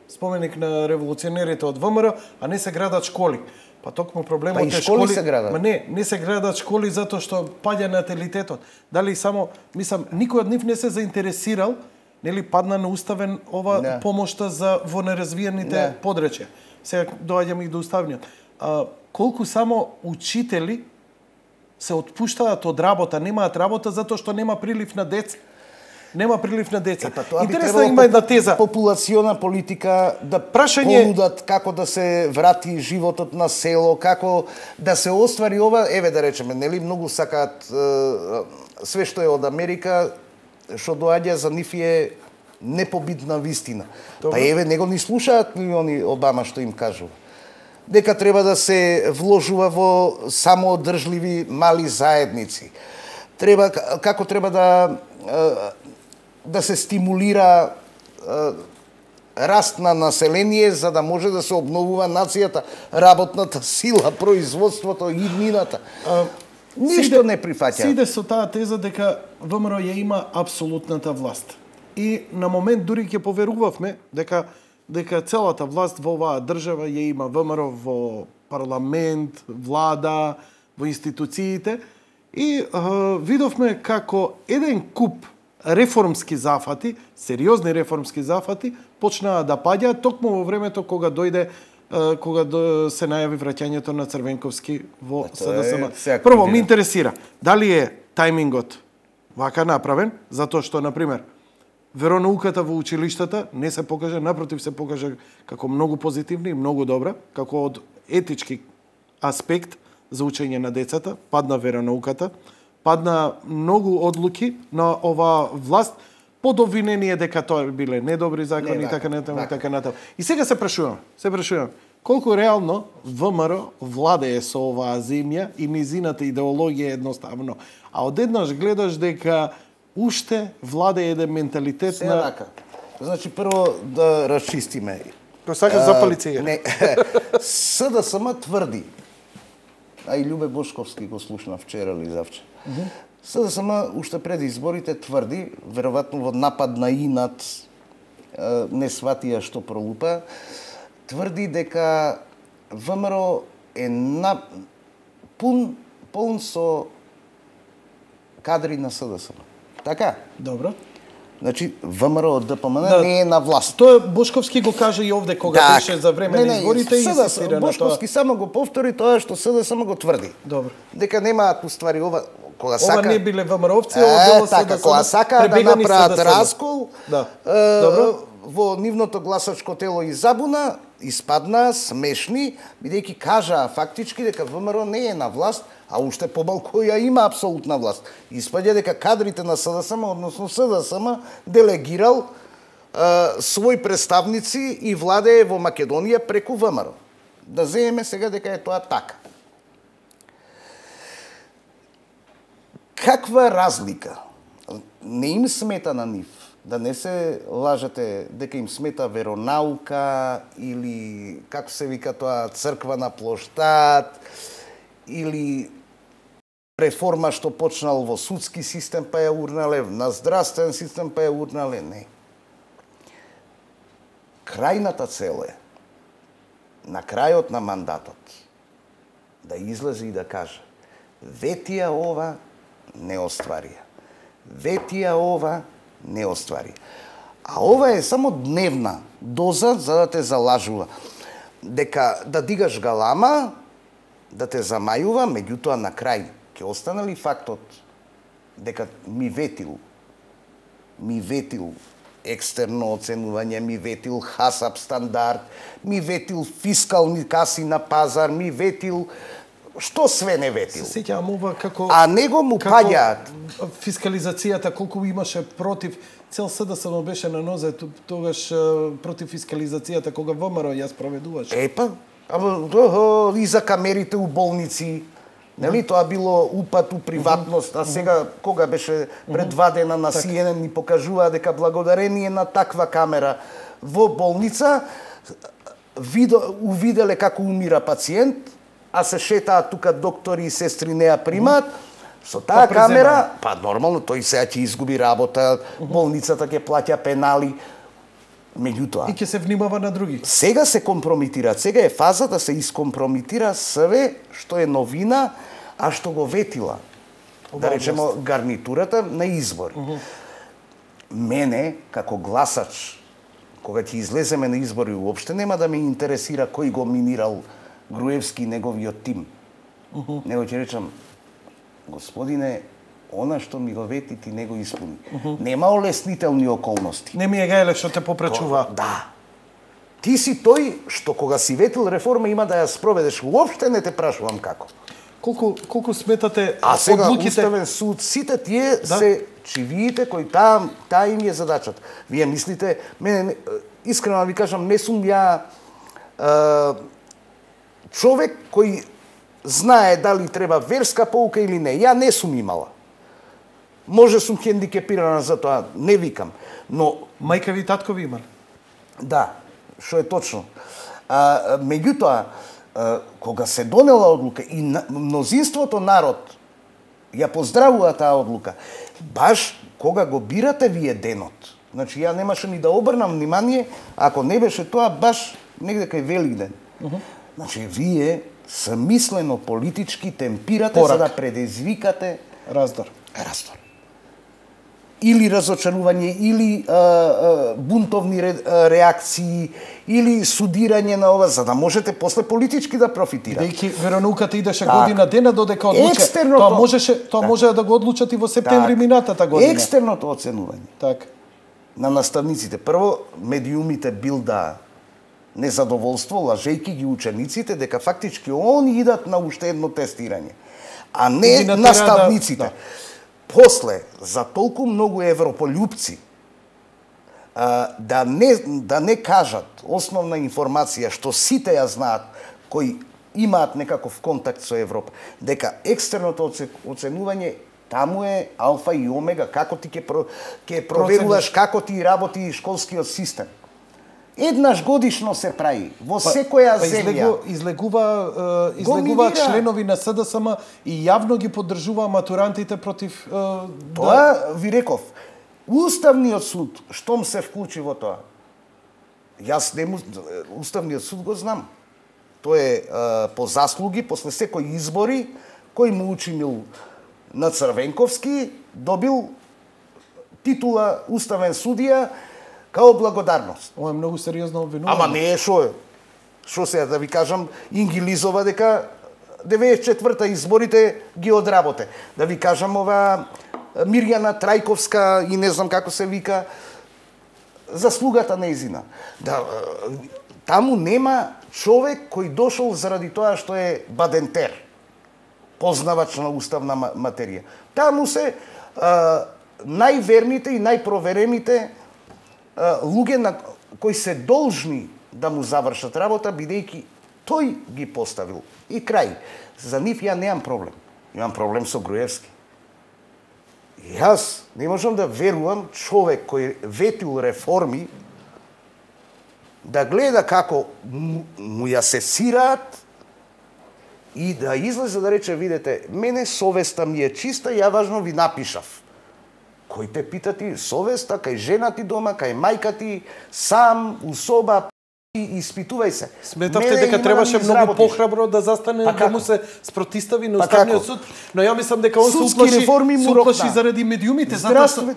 споменик на револуционерите од ВМРО, а не се градат школи. Па токму проблемот па е школи. школи се градат. Ма не, не се градат школи затоа што паѓа наталитетот. Дали само, мислам, никој од нив не се заинтересирал, нели падна на уставен ова не. помошта за во неразвиените не. подречја. сега доаѓаме и до уставниот. А, колку само учители се отпуштаат од работа, немаат работа затоа што нема прилив на деца. Нема прилив на деца. Епа, тоа би интересна има една теза. Популациона политика да прашање понудат како да се врати животот на село, како да се оствари ова, еве да речеме, нели многу сакаат е, све што е од Америка, што доаѓа за нив е непобитна вистина. Добре. Па еве него ни слушаат милиони Обама што им кажува. Дека треба да се вложува во самоодржливи мали заедници. Треба како треба да да се стимулира раст на население за да може да се обновува нацијата, работната сила, производството и иднината. Ништо не прифаќа. Сиде со таа теза дека ВМРО ја има апсолутната власт. И на момент дури ќе поверувавме дека дека целата власт во оваа држава ја има ВМРО во парламент, влада, во институциите и uh, видовме како еден куп реформски зафати, сериозни реформски зафати, почнаа да паѓаат токму во времето кога дојде uh, кога до, се најави враќањето на Црвенковски во СДСМ. Прво, ми интересира, дали е тајмингот вака направен, затоа што, например, веронауката во училиштата не се покажа, напротив се покажа како многу позитивна и многу добра, како од етички аспект за учење на децата, падна веронауката, падна многу одлуки на оваа власт, под обвинение дека тоа биле недобри закони и така натаму, така натаму. И сега се прашувам, се прашувам, колку реално ВМРО владее со оваа земја и низината идеологија едноставно. А одеднаш гледаш дека уште владе еден менталитет се на... Рака. Значи, прво да расчистиме. Кој сакаш запали цигара? Не. СДСМ тврди, а и Љубе Бошковски го слушна вчера или завчера. Mm -hmm. СДСМ уште пред изборите тврди, веројатно во напад на инат, не сватија што пролупа, тврди дека ВМРО е на... пун, полн со кадри на СДСМ. Така? Добро. Значи, ВМРО од ДПМН да, не е на власт. Тоа Бошковски го кажа и овде кога так, беше за време не, на изборите и инсистира на Бошковски тоа. Само го повтори тоа што СДСМ го тврди. Добро. Дека немаат уствари ова кога ова сака. Ова не биле ВМРО-овци, ова било така, СДСМ. Кога сака да направат раскол, да. Е, Добро. Во нивното гласачко тело и забуна, испадна смешни, бидејќи кажаа фактички дека ВМРО не е на власт, а уште помалку ја има апсолутна власт. Испаѓа дека кадрите на СДСМ, односно СДСМ, делегирал е, своји представници и владее во Македонија преку ВМРО. Да земеме сега дека е тоа така. Каква разлика? Не им смета на нив. Да не се лажете дека им смета веронаука или, како се вика тоа, црква на плоштад, или реформа што почнал во судски систем па ја урнале, на здравствен систем па ја урнале, не. Крајната цел е, на крајот на мандатот, да излезе и да каже, ветија ова не остварија. Ветија ова не оствари. А ова е само дневна доза за да те залажува. Дека да дигаш галама, да те замајува, меѓутоа на крај ќе остане ли фактот дека ми ветил, ми ветил екстерно оценување, ми ветил хасап стандард, ми ветил фискални каси на пазар, ми ветил што све не ветил. Се сеќавам ова како... А него му паѓаат. Фискализацијата, колку имаше против... Цел СДСМ беше на нозе тогаш против фискализацијата, кога ВМРО ја спроведуваше. Епа, ама и за камерите у болници, нели, тоа било упат у приватност, а сега, кога беше пред два дена на Си Ен Ен ни покажува дека благодарение на таква камера во болница, увиделе како умира пациент, а се шетаат тука доктори и сестри не ја примаат, со таа па камера, па нормално, тој сега ќе изгуби работа, болницата ќе плаќа пенали, меѓутоа... И ќе се внимава на други. Сега се компрометира, сега е фаза да се искомпрометира све што е новина, а што го ветила, да речемо, гарнитурата на избори. Мене, како гласач, кога ќе излеземе на избори, уопште нема да ме интересира кој го минирал Груевски и неговиот тим. Uh -huh. Него ќе речам, господине, она што ми го вети ти не го испуни. Uh -huh. Нема олеснителни околности. Не ми е гајле што те попречува. Да. Ти си тој што кога си ветил реформа има да ја спроведеш. Уопште не те прашувам како. Колку колку сметате а сега одлуките... Уставен суд, сите тие да? Се чивиите кои таа таа им е задачата. Вие мислите, мене искрено ви кажам, не сум ја е, човек кој знае дали треба верска поука или не. Ја не сум имала. Може сум хендикепирана за тоа, не викам, но мајка ви, татко ви имали? Да, што е точно. А, меѓутоа, кога се донела одлука и мнозинството народ ја поздравува таа одлука, баш кога го бирате вие денот. Значи, ја немаше ни да обрнам внимание, ако не беше тоа баш негде кај Великден. Uh -huh. Значи, вие самислено политички темпирате Порак. За да предизвикате раздор. Раздор. Или разочарување, или а, а, бунтовни ре, а, реакции, или судирање на ова, за да можете после политички да профитирате. Дејќи веронауката идеше так. Година дена додека одлуче. Екстерното... Тоа можеше, тоа так. Може да го одлучат и во септември так. Минатата година. Екстерното оценување. Так. На наставниците. Прво, медиумите билда незадоволство, лажејки ги учениците, дека фактички они идат на уште едно тестирање. А не наставниците. Да. После, за толку многу европољупци, а, да, не, да не кажат основна информација, што сите ја знаат, кои имаат некаков контакт со Европа, дека екстерното оценување таму е алфа и омега, како ти ќе, ќе проверуваш, како ти работи школскиот систем. Еднаш годишно се прави во секоја па, земја. Излегу, излегува е, излегуваат членови на С Д С М и јавно ги поддржуваа матурантите против е, тоа да... ви реков. Уставниот суд штом се вклучи во тоа. Јас не му... Уставниот суд го знам. Тој е, е по заслуги после секој избори кој му учинил на Црвенковски добил титула уставен судија као благодарност. Ова е многу сериозно обвинување. Ама не е шо е. Шо се да ви кажам, Ингилизова дека деветдесет и четврта изборите ги одработе. Да ви кажам ова Мирјана Трајковска и не знам како се вика заслугата нејзина. Да, таму нема човек кој дошол заради тоа што е бадентер, познавач на уставна материја. Таму се а, најверните и најпроверените луѓе на кои се должни да му завршат работа, бидејќи тој ги поставил. И крај. За нив ја немам проблем. Имам проблем со Груевски. Јас не можам да верувам човек кој ветил реформи да гледа како му, му ја сесираат и да излезе да рече, видете, мене совеста ми е чиста, ја важно ви напишав. Кој те пита ти совеста, кај жена ти дома, кај мајка ти, сам, у соба, и испитувај се. Сметавте дека требаше да многу похрабро да застане па да му се спротистави на Уставниот суд, но ја мислам дека он се уплаши, се уплаши заради медиумите. Здравствен...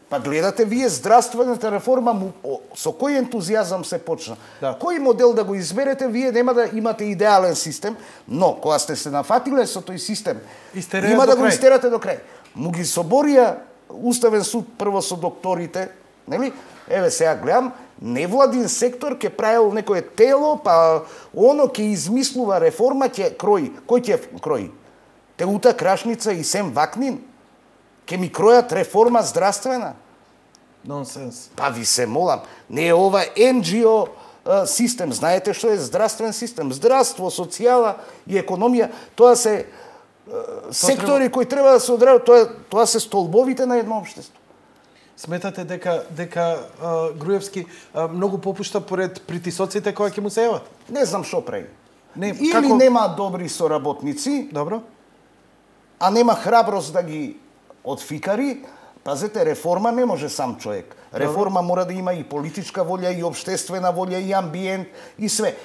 Па гледате вие здравствената реформа му, о, со кој ентузијазам се почна. Да. Кој модел да го изберете, вие нема да имате идеален систем, но кога сте се нафатиле со тој систем, Истерија има да го истерате до крај. Му ги соборија Уставен суд прво со докторите, нели? Еве сега гледам, невладин сектор ќе правил некое тело, па оно ќе измислува реформа, ќе крои. Кој ќе крои? Теута Крашница и Сем Вакнин? Ќе ми кројат реформа здравствена? Нонсенс. Па ви се молам, не е ова Ен Джи О систем. Знаете што е здравствен систем? Здравство, социјала и економија, тоа се сектори кои треба да се одработат, тоа, тоа се столбовите на едно општество. Сметате дека дека а, Груевски а, многу попушта поред притисоците кои ќе му се јават? Не знам што прави. Не, Или како... нема добри соработници, добро, а нема храброст да ги отфикари, Пазете, реформа не може сам човек. Реформа мора да има и политичка волја, и обштествена волја, и амбиент, и све.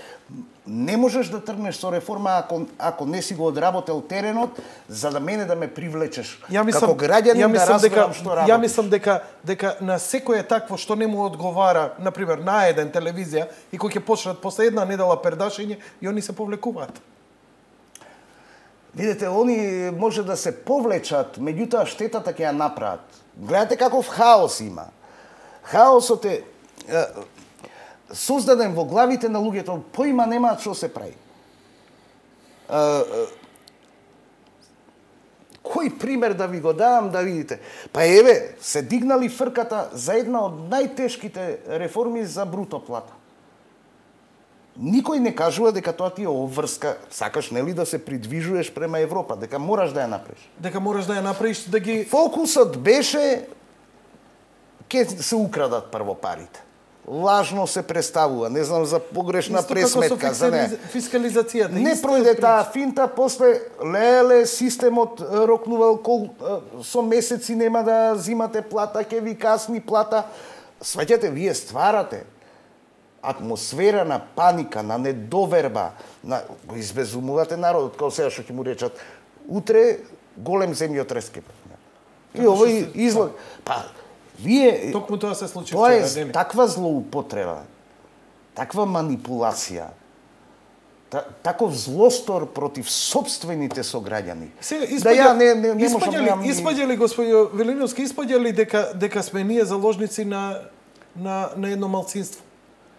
Не можеш да тргнеш со реформа ако, ако не си го одработел теренот, за да мене да ме привлечеш. Ја мислам, како граѓанин ја да мислам дека, разберам што работиш. Ја мислам дека, дека на секое такво што не му одговара, например, на еден телевизија, и кој ќе почнат после една недела пердашење, и они се повлекуваат. Видете, они може да се повлечат, меѓутоа штетата ќе ја направат. Гледате каков хаос има. Хаосот е, е создаден во главите на луѓето, поима немаат што се прави. Е, е, кој пример да ви го давам да видите? Па еве, се дигнали фрката за една од најтешките реформи за бруто плата. Никој не кажува дека тоа ти е обврска, сакаш нели да се придвижуваш према Европа, дека мораш да ја направиш. Дека мораш да ја направиш, да ги... Фокусот беше ке се украдат прво парите. Лажно се представува, не знам за погрешна Исто пресметка, како со за не. фискализацијата. Не пројде таа финта, после леле системот рокнувал кол, со месеци нема да зимате плата, ќе ви касни плата. Сваќате, вие стварате атмосфера на паника, на недоверба, на го избезумувате народот, како сега што ќе му речат утре голем земјотрес ќе. И овој излог, па вие токму тоа се случи тоа е вчера, таква злоупотреба, таква манипулација, та, таков злостор против собствените сограѓани. Сега да ја не не, не можам испаѓали, да испаѓали господио Велиновски, испаѓали дека дека сме ние заложници на на на едно малцинство.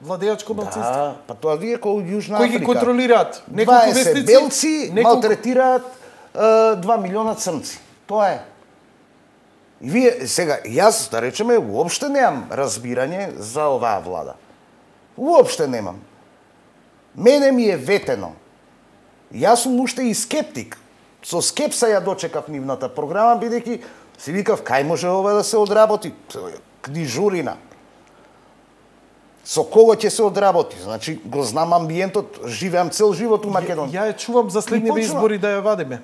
Владеачко малцинство. Да, па тоа вие кој Јужна Африка. Кои ги контролираат? Неколку вестници, белци неколку... малтретираат два милиона црнци. Тоа е. И вие, сега, јас, да речеме, уопште немам разбирање за оваа влада. Уопште немам. Мене ми е ветено. Јас сум уште и скептик. Со скепса ја дочекав нивната програма, бидејќи си викав, кај може ова да се одработи? Книжурина. Со кого ќе се одработи? Значи, го знам амбиентот, живеам цел живот у Македонија. Ја ја чувам за следниве избори да ја вадиме.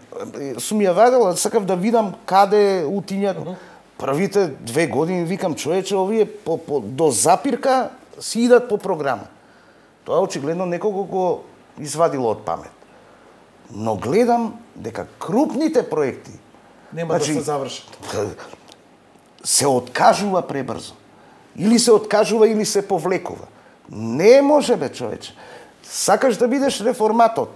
Сум ја вадела, сакав да видам каде утињат. Uh -huh. Првите две години викам, човече, овие по, по, до запирка си идат по програма. Тоа очигледно некого го извадило од памет. Но гледам дека крупните проекти нема значи, да се завршат. Се откажува пребрзо. Или се откажува, или се повлекува. Не може, бе, човече. Сакаш да бидеш реформатор.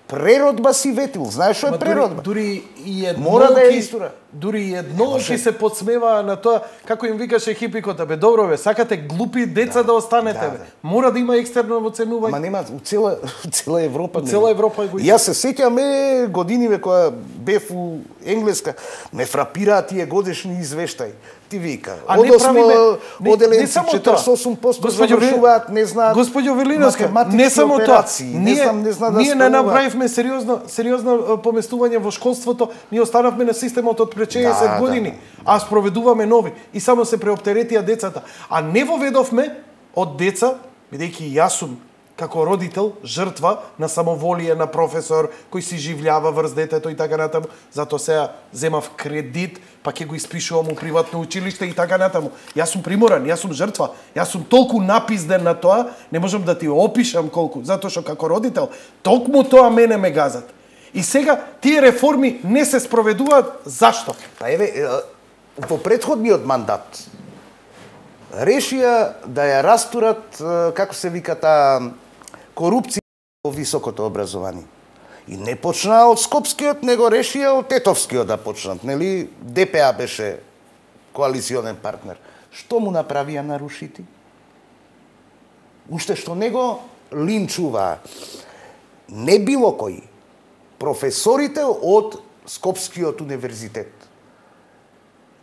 Преродба си ветил. Знаеш што е преродба? Дури, дури и едно мора да е истора. Дури и едно ќе се подсмеваа на тоа, како им викаше хипикот, бе, добро бе, сакате глупи деца да, да останете, да, бе. Мора да има екстерно оценување. Ма нема, у цела, у цела Европа. У цела Европа го. Јас се сеќаме годиниве кога бев у Енглеска, ме фрапираат тие годишни извештаи. Ти вика, одосмо оделенци четиридесет и осум проценти завршуваат, не знаат. Господјо Велиновска, не само тоа. Не знам, не знам да ние не направивме сериозно сериозно поместување во школството, ние останавме на системот од пред шеесет да, години, да. А спроведуваме нови и само се преоптеретија децата. А не воведовме од деца, бидејќи јас сум како родител жртва на самоволие на професор кој си живљава врз детето и така натаму, затоа сега земав кредит, па ќе го испишувам у приватно училиште и така натаму. Јас сум приморан, јас сум жртва, јас сум толку напизден на тоа, не можам да ти опишам колку, затоа што како родител токму тоа мене ме газат. И сега тие реформи не се спроведуваат, зашто? Па еве, во претходниот мандат решија да ја растурат, како се вика таа корупција во високото образование. И не почнаа од Скопскиот, него решија од Тетовскиот да почнат, нели? Д П А беше коалиционен партнер. Што му направија нарушити? Уште што него линчуваа. Не било кој. Професорите од Скопскиот универзитет.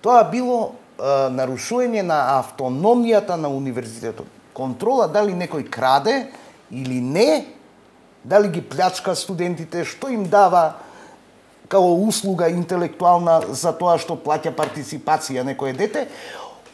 Тоа било е, нарушување на автономијата на универзитетот. Контрола дали некој краде или не, дали ги плячка студентите, што им дава као услуга интелектуална за тоа што плаќа партиципација некое дете,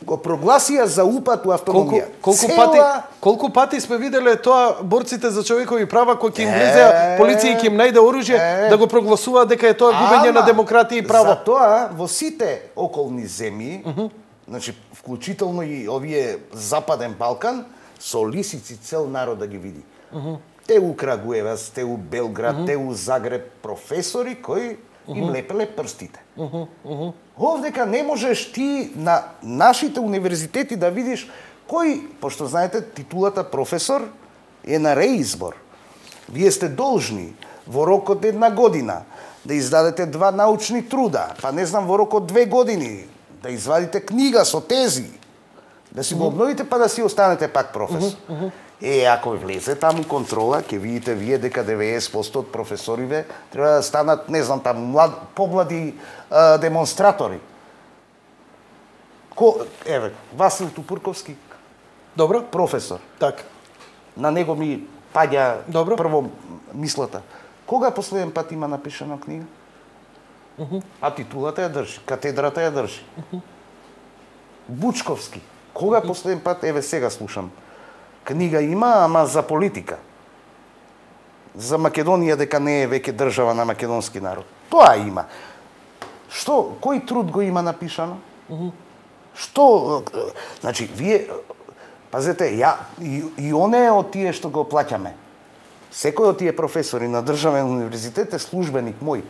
го прогласија за упату автономија. Колку, колку Цела... пати колку пати сме виделе тоа борците за човекови права кои ќе им влезеа полиција и ќе им најде оружје е... да го прогласуваат дека е тоа губење на демократија и право. За тоа во сите околни земји, uh -huh. значи вклучително и овие Западен Балкан, со лисици цел народ да ги види. Uh -huh. Те у Крагуевац, те у Белград, uh -huh. те у Загреб професори кои им uh -huh. лепеле прстите. Uh -huh. Uh -huh. Овдека не можеш ти на нашите универзитети да видиш кој, пошто знаете, титулата професор е на реизбор. Вие сте должни во рок од една година да издадете два научни труда, па не знам во рок од две години да извадите книга со тези, да си го обновите па да си останете пак професор. Uh -huh. Е, ако влезе таму контрола, ќе видите вие дека деветдесет проценти од професориве треба да станат, не знам, таму млад, помлади а, демонстратори. Ко, еве, Васил Тупурковски. Добро. Професор. Така. На него ми паѓа Добро. Прво мислата. Кога последен пат има напишана книга? Uh -huh. А титулата ја држи, катедрата ја држи. Uh -huh. Бучковски. Кога uh -huh. последен пат, еве сега слушам, книга има, ама за политика. За Македонија дека не е веќе држава на македонски народ. Тоа има. Што, кој труд го има напишано? Uh -huh. Што, значи, вие, пазете, ја, и, и оне од тие што го плаќаме. Секој од тие професори на државен универзитет е службеник мој.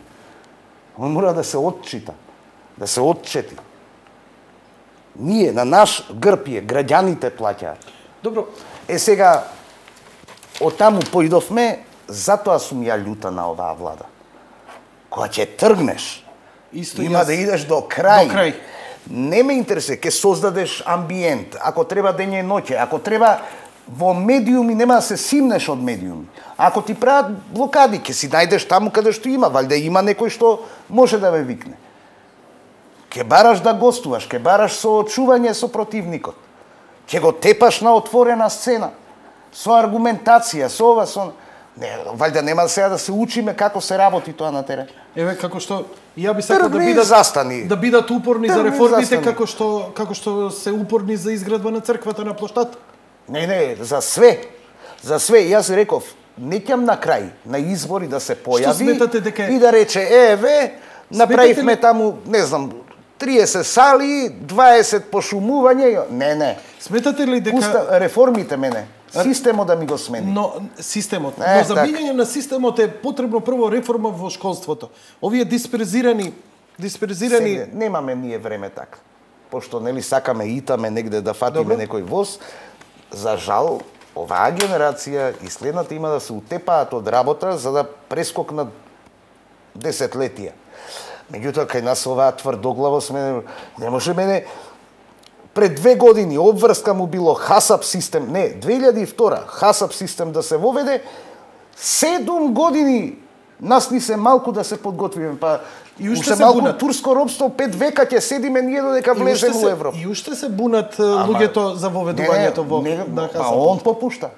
Он мора да се отчита, да се отчети. Ние, на наш грб е, граѓаните плаќаат. Добро. Е сега, од таму поидовме, затоа сум ја љута на оваа влада. Кога ќе тргнеш, Исто има јас... да идеш до крај. До крај. Не ме интересува, ќе создадеш амбиент, ако треба дење и ноќе, ако треба во медиуми, нема да се симнеш од медиуми. Ако ти прават блокади, ќе си најдеш таму каде што има, валјда има некој што може да ве викне. Ќе бараш да гостуваш, ќе бараш соочување со противникот. Ќе го тепаш на отворена сцена, со аргументација, со ова, со... Не, валјда нема сега да се учиме како се работи тоа на терен. Еве како што ја би сакал да бидат застани. Да бидат упорни Тргни за реформите застани. како што како што се упорни за изградба на црквата на плоштад. Не, не, за све. За све, јас реков, неќам на крај на избори да се појави дека... и да рече еве, направивме ли... таму, не знам, триесет сали, дваесет пошумување. Не, не. Сметате ли дека Пуста, реформите мене? Системот да ми го смени. Но системот, е, но за минење на системот е потребно прво реформа во школството. Овие дисперзирани дисперзирани Сега, немаме ние време така. Пошто нели сакаме итаме негде да фатиме Добре. некој воз, за жал оваа генерација и следната има да се утепаат од работа за да прескокнат десетлетија. Меѓутоа кај нас оваа тврдоглаво сме не може мене. Пред две години обврска му било ХАСАП систем, не, две илјади и втора ХАСАП систем да се воведе, седум години нас ни се малку да се подготвиме, па и уште се малку бунат. Турско робство, пет века ќе седиме ние додека влеземе во Европа. И уште се бунат луѓето за воведувањето во не, на ХАСАП. А он попушта.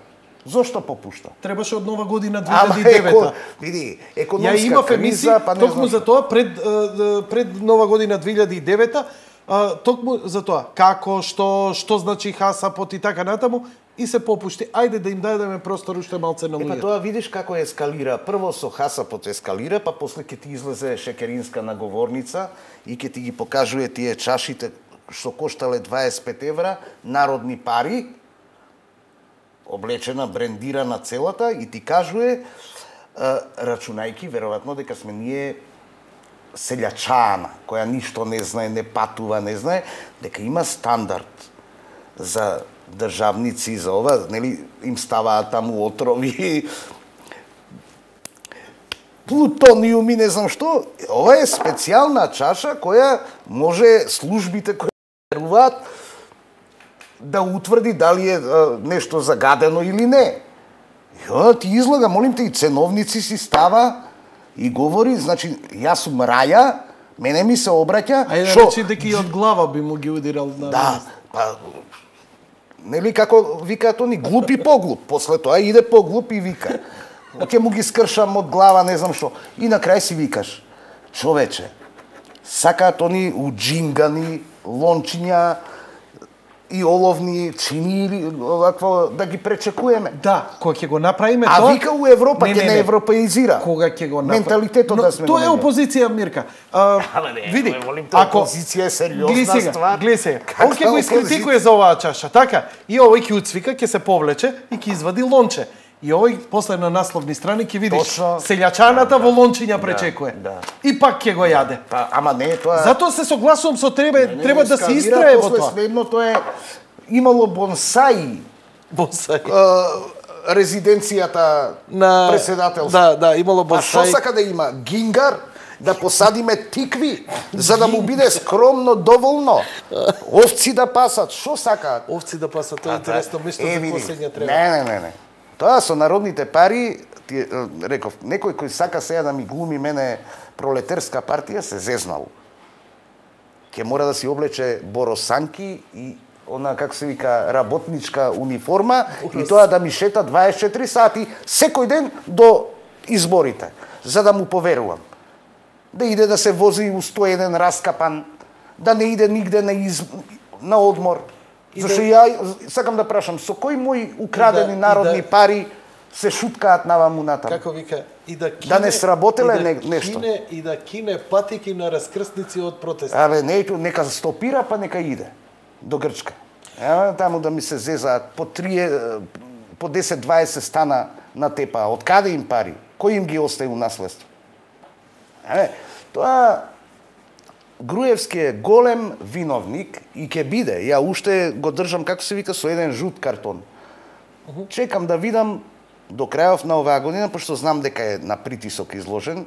Зошто попушта? Требаше од нова година две илјади и девета. Ама, еко, види, економска криза, па не токму за тоа пред пред нова година две илјади и девета. Uh, токму за тоа, како, што, што значи ХАСАПот и така натаму, и се попушти. Ајде да им дадеме простор уште малце на луѓето. Епа тоа видиш како ескалира. Прво со ХАСАПот ескалира, па после ќе ти излезе Шекеринска наговорница и ќе ти ги покажува тие чашите што коштале дваесет и пет евра, народни пари, облечена, брендирана целата, и ти кажува, рачунајки веројатно дека сме ние селјачана, која ништо не знае, не патува, не знае, дека има стандард за државници, за ова, нели, им ставаат таму отрови, плутониум и не знам што. Ова е специјална чаша која може службите кои веруваат да утврди дали е нешто загадено или не. И она ти излага, молим те, и ценовници си става и говори, значи, јас сум раја, мене ми се обраќа... А ја речи дека и од глава би му ги удирал на... Да, па... Нели како викаат они, глуп и поглуп. После тоа иде поглуп и вика. Ќе му ги скршам од глава, не знам што. И на крај си викаш, човече, сакаат они уџингани, лончиња, и оловни чини или овакво да ги пречекуваме. Да, кога ќе го направиме а тоа. А вика у Европа ќе не европеизира. Кога ќе го направиме менталитетот но, да сме. Тоа е опозиција, Мирка. А, Але не, види, ако опозиција е сериозна ствар. Гледай сега, он ќе го искритикуе за оваа чаша, така? И овој ќе уцвика, ќе се повлече и ќе извади лонче. И овој после на насловни страни ќе видиш Точно. Селјачаната во лончиња пречекуе. Да, да. И пак ќе го јаде. Па, ама не, тоа Затоа се согласувам со тебе, не, не, треба да се истрае во тоа. Следното е имало бонсаи. Бонсаи. Резиденцијата на председателство. Да, да, имало бонсаи. А што сака да има? Гингар? Да посадиме тикви, за да му биде скромно доволно. Овци да пасат, што сакаат? Овци да пасат, тоа е интересно, место за последња треба. Не, не, не, не. Тоа со народните пари, ти, реков, некој кој сака сега да ми глуми мене пролетерска партија, се зезнал. Ке мора да си облече боросанки и она, како се вика, работничка униформа и тоа да ми шета дваесет и четири сати секој ден до изборите, за да му поверувам. Да иде да се вози у сто и еден раскапан, да не иде нигде на, из... на одмор. И Зашто да... ја сакам да прашам, со кои мои украдени да, народни да... пари се шуткаат наваму натаму? Како вика, и да кине... Да не сработеле да не, нешто. Кине, и да кине патики на раскрсници од протести. Абе, не, нека стопира, па нека иде до Грчка. Ева, таму да ми се зезаат по три, по десет дваесет стана на тепа. Од каде им пари? Кој им ги остави у наследство? Е, тоа Груевски е голем виновник и ќе биде. Ја уште го држам, како се вика, со еден жут картон. Uh-huh. Чекам да видам до крајов на оваа година, пошто знам дека е на притисок изложен,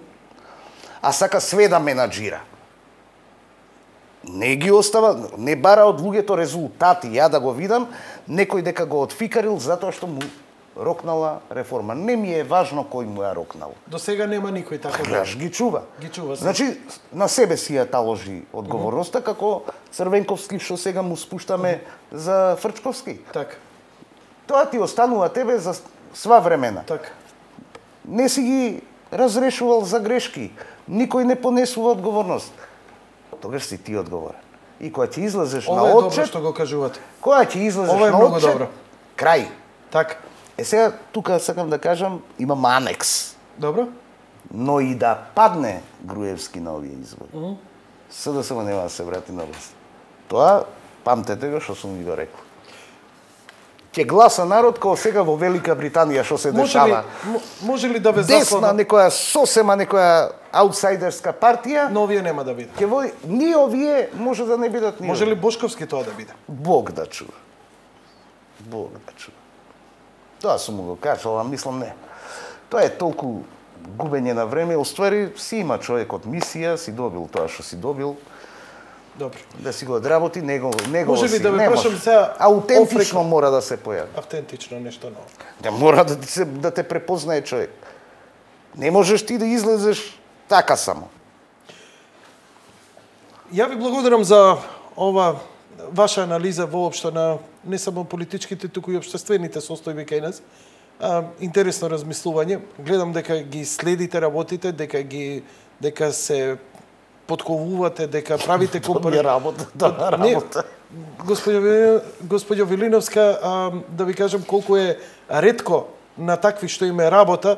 а сака све да менаџира. Не ги остава, не бара од луѓето резултати, ја да го видам, некој дека го отфикарил затоа што му рокнала реформа. Не ми е важно кој му ја рокнал. До сега нема никој така. Гледаш, ги чува. Ги чува. Значи, на себе си ја таложи одговорноста, mm-hmm. како Црвенковски, што сега му спуштаме mm-hmm. за Фрчковски. Така. Тоа ти останува тебе за сва времена. Така. Не си ги разрешувал за грешки. Никој не понесува одговорност. Тогаш си ти одговорен. И кога ти излезеш Ова на е отчет... добро што го кажувате. Кога ти излезеш Ова е на многу отчет... добро. Крај. Така. Е сега, тука сакам да кажам, имам анекс. Добро. Но и да падне Груевски на овие избори. Mm-hmm. СДСМ нема да се врати на власт. Тоа, памтете го што сум ви го рекол. Ќе гласа народ како сега во Велика Британија што се може дешава. Ли, може ли да ве Десна заслана? некоја сосема некоја аутсайдерска партија? Но овие нема да бидат. Ќе води, ни овие може да не бидат ни. Може ли Бошковски тоа да биде? Бог да чува. Бог да чува. Тоа сум му го кажал, а мислам не. Тоа е толку губење на време, оствари си има човекот мисија, си добил тоа што си добил. Добро. Да си го одработи, него него може ли си, да ве прашам сега аутентично офрика. Мора да се појави. Автентично нешто ново. Да мора да ти се да те препознае човек. Не можеш ти да излезеш така само. Ја ви благодарам за ова ваша анализа воопшто на не само политичките, туку и општествените состојби кај нас. А, интересно размислување. Гледам дека ги следите работите, дека ги дека се подковувате, дека правите компари... работа, да, работа. Господјо, господјо Вилиновска, а, да ви кажам колку е ретко на такви што име работа,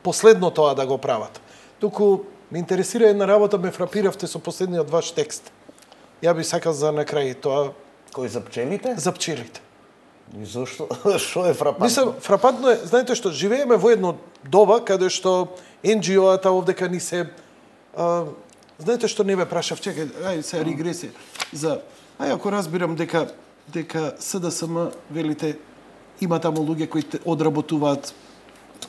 последно тоа да го прават. Туку ме интересира една работа, ме фрапиравте со последниот ваш текст. Ја би сакал за на крај тоа... Кој за пчелите? За пчелите. И зошто? Што е фрапантно? Мислам, фрапантно е, знаете што, живееме во едно доба каде што ен џи о-ата овдека ни се... А, знаете што не ве прашав, чекај, ај се регресија. За... Ај ако разбирам дека дека СДСМ, велите, има таму луѓе кои одработуваат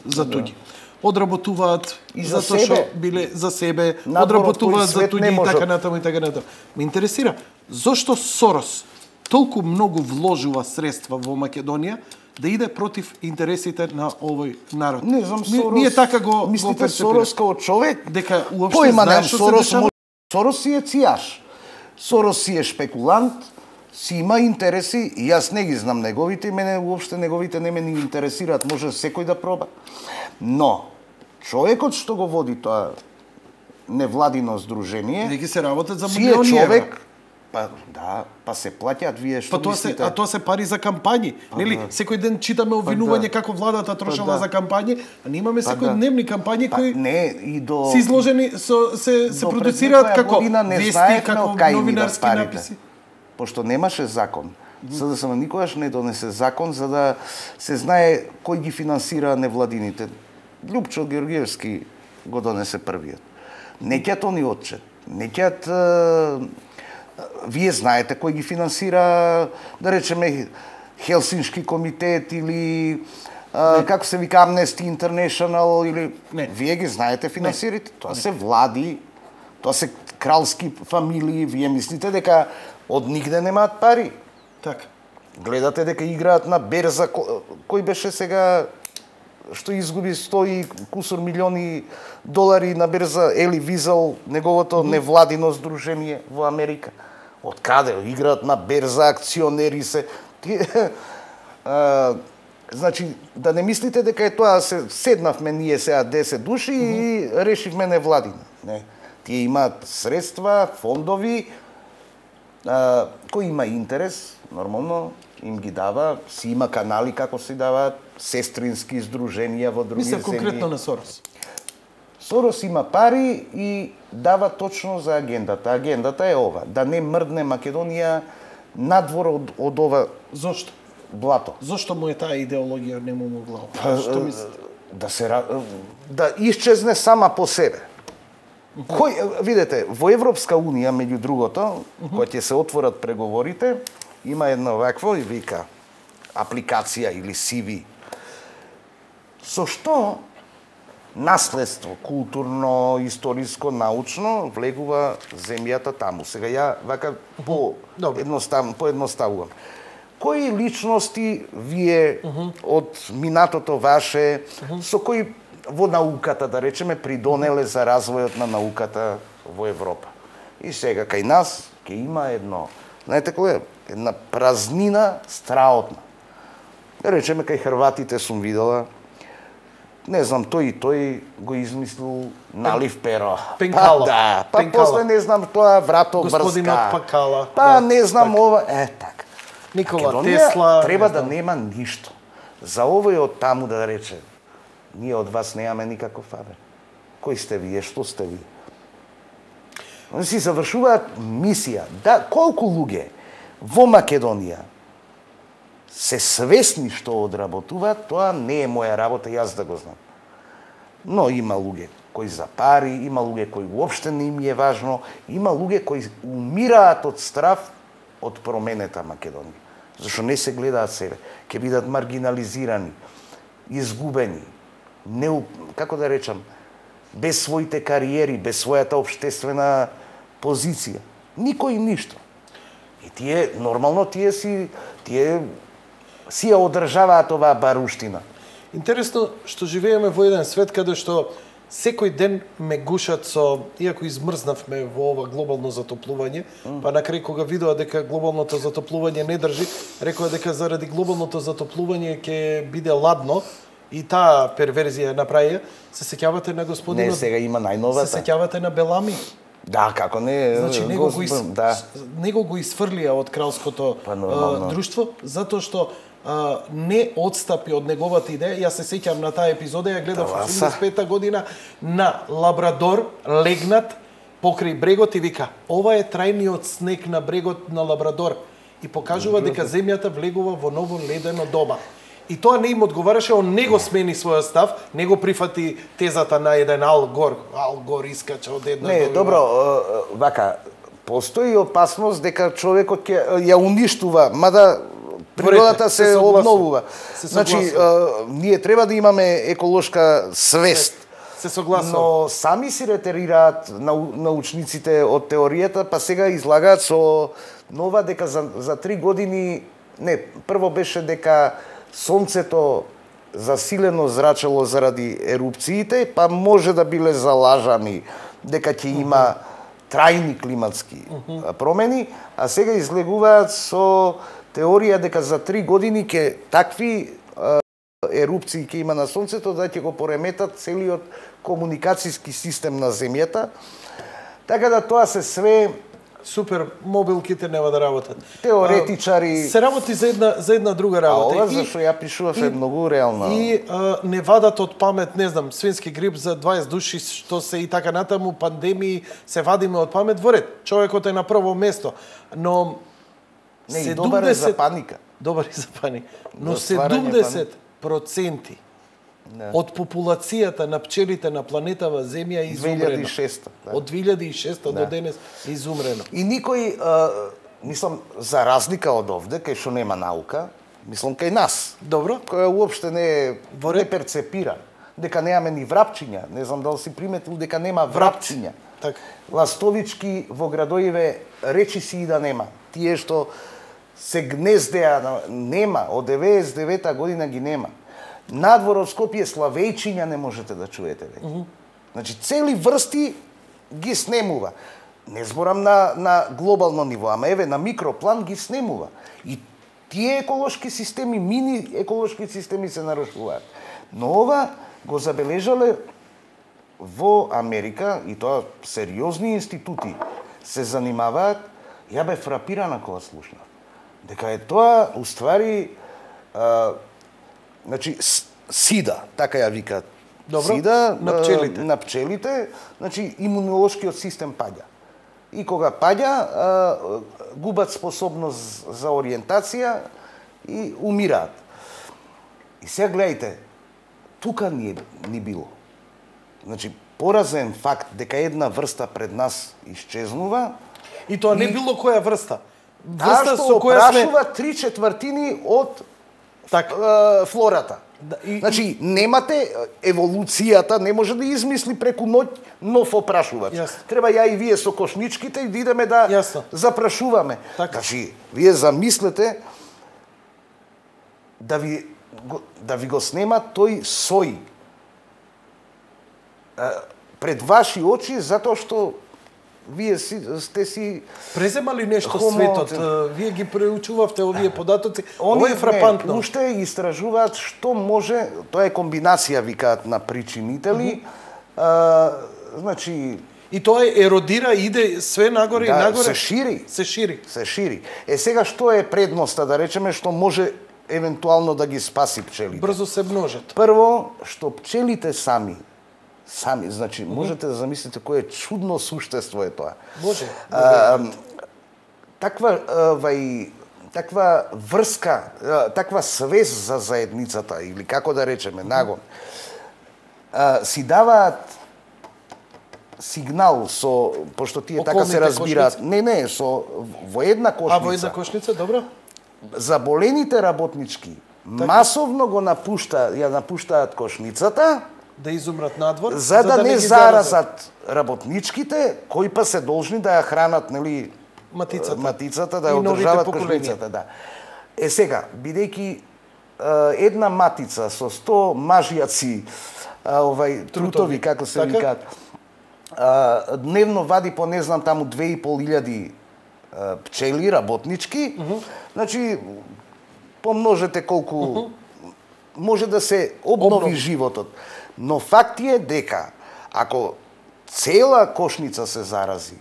за туѓи. Одработуваат и за затоа што биле за себе, Наборот одработуваат за туѓи и така натаму и така натаму. Ме интересира, зошто Сорос толку многу вложува средства во Македонија да иде против интересите на овој народ? Не знам, Сорос... Ние така го мислите го Сорос како човек? Дека уопште Појма знае нем, што Сорос, се дешава? Сорос си е цијаш. Сорос си е шпекулант, си има интереси, и јас не ги знам неговите, и мене уопште неговите не ме ни интересираат, може секој да проба. Но, човекот што го води тоа невладино здружение, Веќе се работат за си е човек, Па да, па се плаќаат вие што па тоа се, мислите? а тоа се пари за кампањи, па, нели? Да. Секој ден читаме обвинување па, како владата трошела па, да. за кампањи, а ние имаме па, секојдневни да. кампањи па, кои не, и до се изложени со се се продуцираат како вести, како новинарски написи. Пошто немаше закон. СДСМ никогаш не донесе закон за да се знае кој ги финансира невладините. Љупчо Георгиевски го донесе првиот. Не ќат они отчет. Не ќат... Вие знаете кој ги финансира, да речеме, Хелсиншки комитет или а, како се вика Amnesty International или... Не. Вие ги знаете финансирите. Тоа се влади, тоа се кралски фамилии. Вие мислите дека од нигде немаат пари. Така. Гледате дека играат на берза. Кој беше сега што изгуби сто и кусур милиони долари на берза, Ели Визел, неговото невладино здружение во Америка. Од каде? Играат на берза, акционери се. а, значи, да не мислите дека е тоа, се седнавме ние сега десет души mm -hmm. и решивме невладина. Не. Тие имаат средства, фондови, а, кој има интерес, нормално, им ги дава, си има канали како се даваат, сестрински здруженија во други земји. Мислам конкретно на Сорос. Сорос има пари и дава точно за агендата. Агендата е ова, да не мрдне Македонија надвор од, од ова Зошто? блато. Зошто му е таа идеологија не му могла? Што мислите? Да се да исчезне сама по себе. Кој, видете, во Европска унија, меѓу другото, кога ќе се отворат преговорите, има едно вакво и вика апликација или си ви. Со што наследство, културно, историско, научно, влегува земјата таму. Сега ја вака по едноставно, поедноставувам. Кои личности вие uh -huh. од минатото ваше, uh -huh. со кои во науката, да речеме, придонеле за развојот на науката во Европа? И сега кај нас ќе има едно, знаете кој е? Една празнина страотна. Да речеме, кај хрватите сум видела, не знам, тој и тој го измислил налив перо. Пенкала. Па, да, па Пенкала. после не знам тоа врато брска. Господинот Пакала. Па да, не знам так. ова, е така. Никола Македонија Тесла. треба да нема ништо. За овој од таму да рече, ние од вас немаме никаков фабер. Кој сте вие, што сте вие? Они си завршуваат мисија. Да, колку луѓе во Македонија се свесни што одработуваат, тоа не е моја работа, јас да го знам. Но има луѓе кои за пари, има луѓе кои уопште не им е важно, има луѓе кои умираат од страв од променета Македонија. Зашто не се гледаат себе, ќе бидат маргинализирани, изгубени, не, како да речам, без своите кариери, без својата општествена позиција. Никој ништо. И тие, нормално, тие си, тие си ја одржаваат оваа баруштина. Интересно што живееме во еден свет каде што секој ден ме гушат со, иако измрзнавме во ова глобално затоплување, mm. па на крај кога видоа дека глобалното затоплување не држи, рекоа дека заради глобалното затоплување ќе биде ладно и таа перверзија направија. Се сеќавате на господинот? Не, сега има најновата. Се сеќавате на Белами? Да, како не, значи него го, из... да. него го изфрлија од кралското па, а, друштво затоа што а, не отстапи од неговата идеја. Јас се сеќам на таа епизода, ја гледав во осумдесет и пета година на Лабрадор легнат покрај брегот и вика: "Ова е трајниот снег на брегот на Лабрадор." И покажува дека земјата влегува во ново ледено доба. И тоа не им одговараше, он не го смени својот став, не го прифати тезата на еден Ал Гор. Ал Гор искача од една Не, до добро, вака, постои опасност дека човекот ќе ја уништува, мада природата се, се обновува. Се значи, ние треба да имаме еколошка свест. Се согласувам. Но сами си ретерираат научниците од теоријата, па сега излагаат со нова дека за, за три години, не, прво беше дека сонцето засилено зрачело заради ерупциите, па може да биле залажани дека ќе има трајни климатски промени, а сега излегуваат со теорија дека за три години ќе такви ерупции ќе има на сонцето да ќе го пореметат целиот комуникацијски систем на земјата. Така да тоа се све Супер, мобилките нема да работат. Теоретичари се работи за една за една друга работа. А ова зашто ја пишував е многу реално. И а, не вадат од памет, не знам, свински грип за дваесет души, што се и така натаму, пандемии, се вадиме од памет во ред. Човекот е на прво место, но не, и добар е за паника. Добар е за паника. Но седумдесет проценти не. од популацијата на пчелите на планетава Земја е изумрено. две илјади и шеста Да. Од две илјади и шеста да. до денес е изумрено. И никој, а, мислам, за разлика од овде, кај што нема наука, мислам кај нас. Добро. Која уопште не, не перцепира дека немаме ни врапчиња. Не знам дали си приметил дека нема врапчиња. Така. Ластовички во градоиве речи си и да нема. Тие што се гнездеа, нема, од деветдесет и девета година ги нема. Надвор од Скопје славејчиња не можете да чуете веќе. Mm -hmm. Значи, цели врсти ги снемува. Не зборам на, на глобално ниво, ама еве на микроплан ги снемува. И тие еколошки системи, мини еколошки системи се нарушуваат. Но ова го забележале во Америка, и тоа сериозни институти се занимаваат. Ја бе фрапирана кога слушнав дека е тоа уствари а, значи сида, така ја викаат. Добро, сида на пчелите. На пчелите, значи имунолошкиот систем паѓа. И кога паѓа, а, губат способност за ориентација и умираат. И сега гледајте, тука ни, ни било. Значи, поразен факт дека една врста пред нас исчезнува. И тоа не и... било која врста. Врста со која сме три четвртини од так. Е, флората. Да, и, значи, немате еволуцијата, не може да измисли преку ноќ нов опрашувач. Јасно. Треба ја и вие со кошничките и да идеме да Јасно. запрашуваме. Так. Значи, вие замислете да ви да ви го снема тој сој пред ваши очи, затоа што вие си, сте си преземали нешто хомо... светот, вие ги преучувавте овие податоци. Ова е фрапантно. Не, уште истражуваат што може, тоа е комбинација, викаат, на причините ли, mm -hmm. а, значи... И тоа еродира, иде све нагоре да, и нагоре. се шири. Се шири. Се шири. Е, сега што е предноста, да речеме, што може евентуално да ги спаси пчелите? Брзо се множат. Прво, што пчелите сами, сами, значи, mm -hmm. можете да замислите кое чудно суштество е тоа. Може. А, таква, вај, таква врска, таква свест за заедницата, или како да речеме, нагон, а, си даваат сигнал со, пошто тие околните така се разбираат, кошници? не, не, со во една кошница. А во една кошница, добро. Заболените работнички так. масовно го напушта, ја напуштаат кошницата, да изумрат надвор, за, за да, да не, не заразат. заразат работничките, кои па се должни да ја хранат, нели, матицата, матицата да ја одржават кошницата, да. Е сега, бидејќи една матица со сто мажјаци, овај трутови, трутови како се така? викаат, а, дневно вади по не знам таму две и пол илјади пчели работнички, uh -huh. значи помножете колку uh -huh. може да се обнови Обнов. животот. Но факт е дека ако цела кошница се зарази,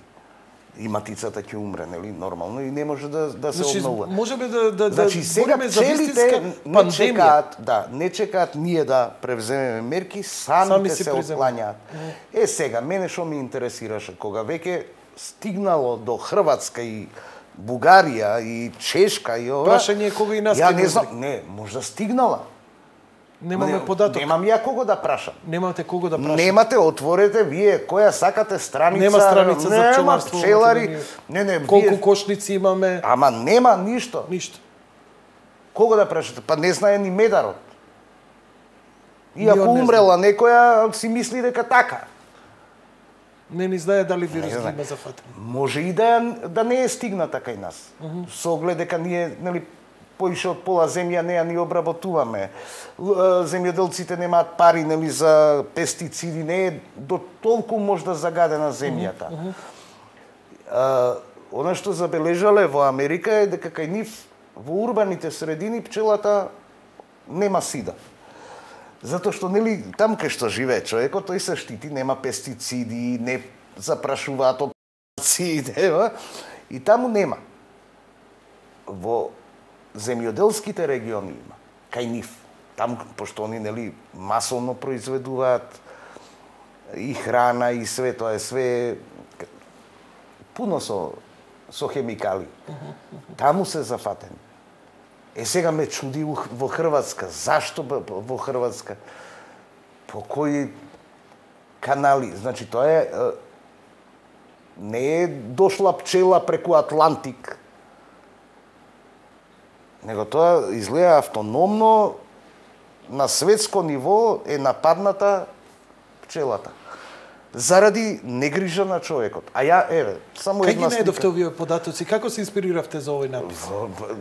и матицата ќе умре, нели, нормално, и не може да, да се значи, обновува. Можеме да, да, значи, да сега пчелите не чекаат, да, не чекаат ние да превземеме мерки, самите Сами се отклањаат. Mm. Е, сега, мене што ме интересираше, кога веќе стигнало до Хрватска и Бугарија и Чешка и ова... Прашање кога и нас ја не знам, не, можда стигнала. Немаме не, податок. Немам ја кого да прашам. Немате кого да прашам. Немате, отворете вие која сакате страница. Нема страница за пчеларство. Пчелари. Не, не, колку вие... кошници имаме? Ама нема ништо. Ништо. Кого да прашате? Па не знае ни медарот. И ако умрела некоја, си мисли дека така. Не ни знае дали вирус ги има зафатен. Може и да, да не е стигната кај нас. Uh -huh. Со оглед дека ние, нели, поише од пола земја не ја ни обработуваме. Земјоделците немаат пари, нели, за пестициди, не е до толку можда загадена земјата. Uh -huh. а, она што забележале во Америка е дека кај нив во урбаните средини пчелата нема сида. Затоа што, нели, таму кај што живее човекот, тој се штити, нема пестициди, не запрашуваат од и таму нема. Во земјоделските региони има, кај нив. Таму, пошто они, нели, масовно произведуваат и храна, и све, тоа е све пуно со, со хемикали. Таму се зафатени. Е, сега ме чуди во Хрватска. Зашто во Хрватска? По кои канали? Значи, тоа е... Не е дошла пчела преку Атлантик. Него тоа изгледа автономно, на светско ниво е нападната пчелата. Заради негрижа на човекот. А ја, еве, само Кај една ги слика. најдовте овие податоци? Како се инспириравте за овој напис?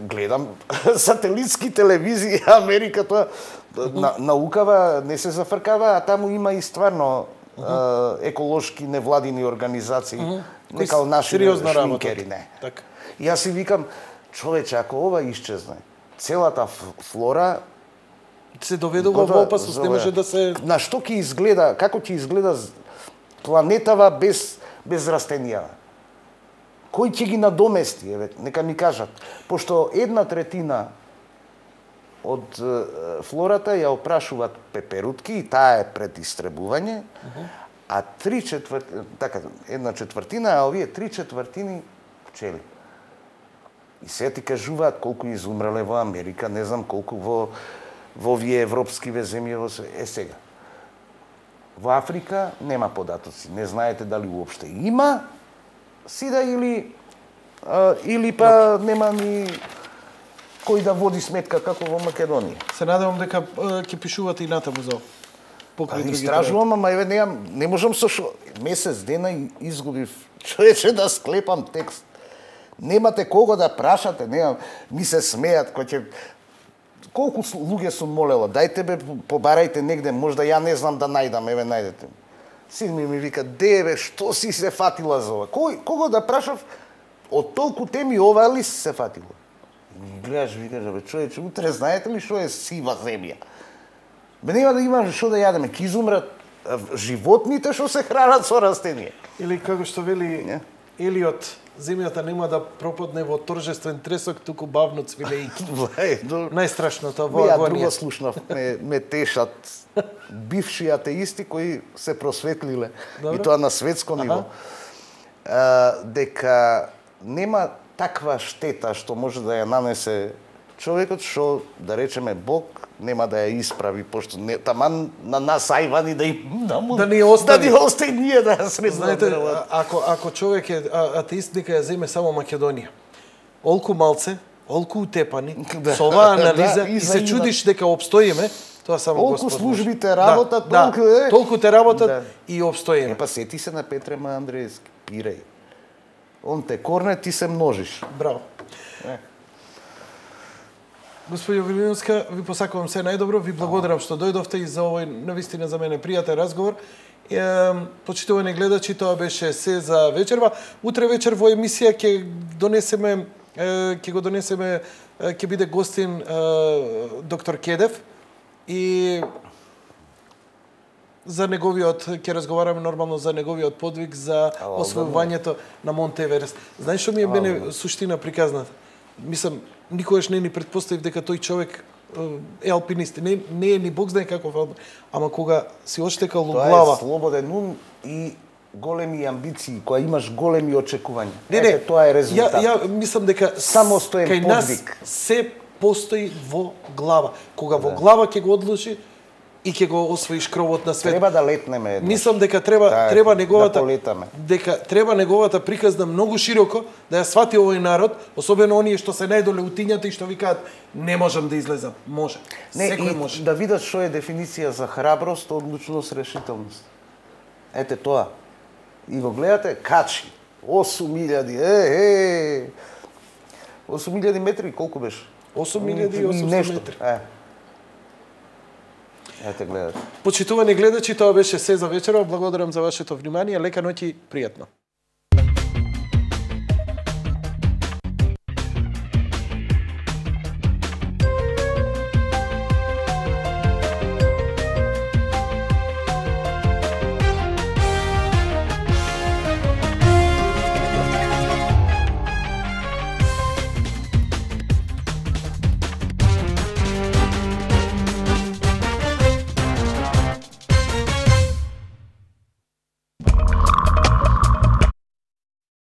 Гледам сателитски телевизии, Америка, тоа на, наукава не се зафркава, а таму има и стварно uh-huh. еколошки невладини организации, uh-huh. не као наши шминкери, не. Так. И јас си викам, човече, ако ова исчезне, целата флора се доведува во опасност, не може да се... На што ќе изгледа, како ќе изгледа планетава без, без растенија? Кој ќе ги надомести, еве, нека ми кажат. Пошто една третина од е, флората ја опрашуваат пеперутки и таа е пред истребување, uh-huh. а три четвртини, така, една четвртина, а овие три четвртини пчели. И се ти кажуваат колку изумреле во Америка, не знам колку во во овие европскиве земји во све. Е сега. Во Африка нема податоци. Не знаете дали уопште има сида или а, или па нема ни кој да води сметка како во Македонија. Се надевам дека ќе пишувате и натаму за покрај другите. Истражувам, ама еве неам, не можам со шо месец дена изгубив човече да склепам текст. Немате кого да прашате, немам, ми се смеат кој ќе колку луѓе сум молела, дајте бе, побарајте негде, можда ја не знам да најдам, еве најдете. Син ми ми вика, де бе, што си се фатила за ова? Кој, кого да прашав, од толку теми ова ли си се фатила? Гледаш, викаш, бе, човече, утре знаете ли што е сива земја? Бе, нема да има што да јадеме, ки изумрат животните што се хранат со растенија. Или како што вели не? Елиот, земјата нема да пропадне во торжествен тресок, туку бавно цвилејки. Најстрашното во агонија. Ја друго слушнав, ме, ме тешат бивши атеисти кои се просветлиле, Добре. И тоа на светско ниво, а, дека нема таква штета што може да ја нанесе човекот, што, да речеме, Бог нема да ја исправи, пошто не, таман на нас ајвани да им да, му, да ни остави, да ни остави ние да ја средно. Знаете, ако, ако човек е атеист, нека ја земе само Македонија. Олку малце, олку утепани, да, со оваа анализа да, и, и се чудиш дека обстоиме, тоа само Олку Господ службите работат, да, толку да, е. толку те работат да. И обстоиме. Е, па сети се на Петре Ма Андреевски, пирај. Он те корне, ти се множиш. Браво. Е. Господи Велиновска, ви посакувам се најдобро, ви благодарам што дојдовте и за овој навистина за мене пријатен разговор. Е, почитувани гледачи, тоа беше се за вечерва. Утре вечер во емисија ќе донесеме ќе го донесеме ќе биде гостин доктор Кедев и за неговиот ќе разговараме нормално за неговиот подвиг за освојувањето на Монт Еверест. Знаеш што ми е мене суштина приказната? Мислам, никогаш не ни предпоставив дека тој човек е алпинист. Не, не е ни Бог знае каков алпинист. Ама кога си оштекал у глава... Тоа е слободен ум и големи амбиции, кога имаш големи очекувања. Не, не, Ете, тоа е резултат. Ја, ја мислам дека самостоен кај подвиг. Нас се постои во глава. Кога во глава ќе го одлучи и ќе го освоиш кровот на свет. Треба да летнеме еднаш. Мислам дека треба да, треба неговата да дека треба неговата приказна многу широко да ја свати овој народ, особено оние што се најдоле утињата и што викаат не можам да излезам. Може. Не, Секој и може. Да видат што е дефиниција за храброст, одлучност, решителност. Ете тоа. И го гледате, качи. осум илјади, е, е. осум илјади метри, колку беше? осум илјади и осумстотини метри. Е. Ете гледате. Почитувани гледачи, тоа беше се за вечерва. Благодарам за вашето внимание. Лека ноќ и пријатно.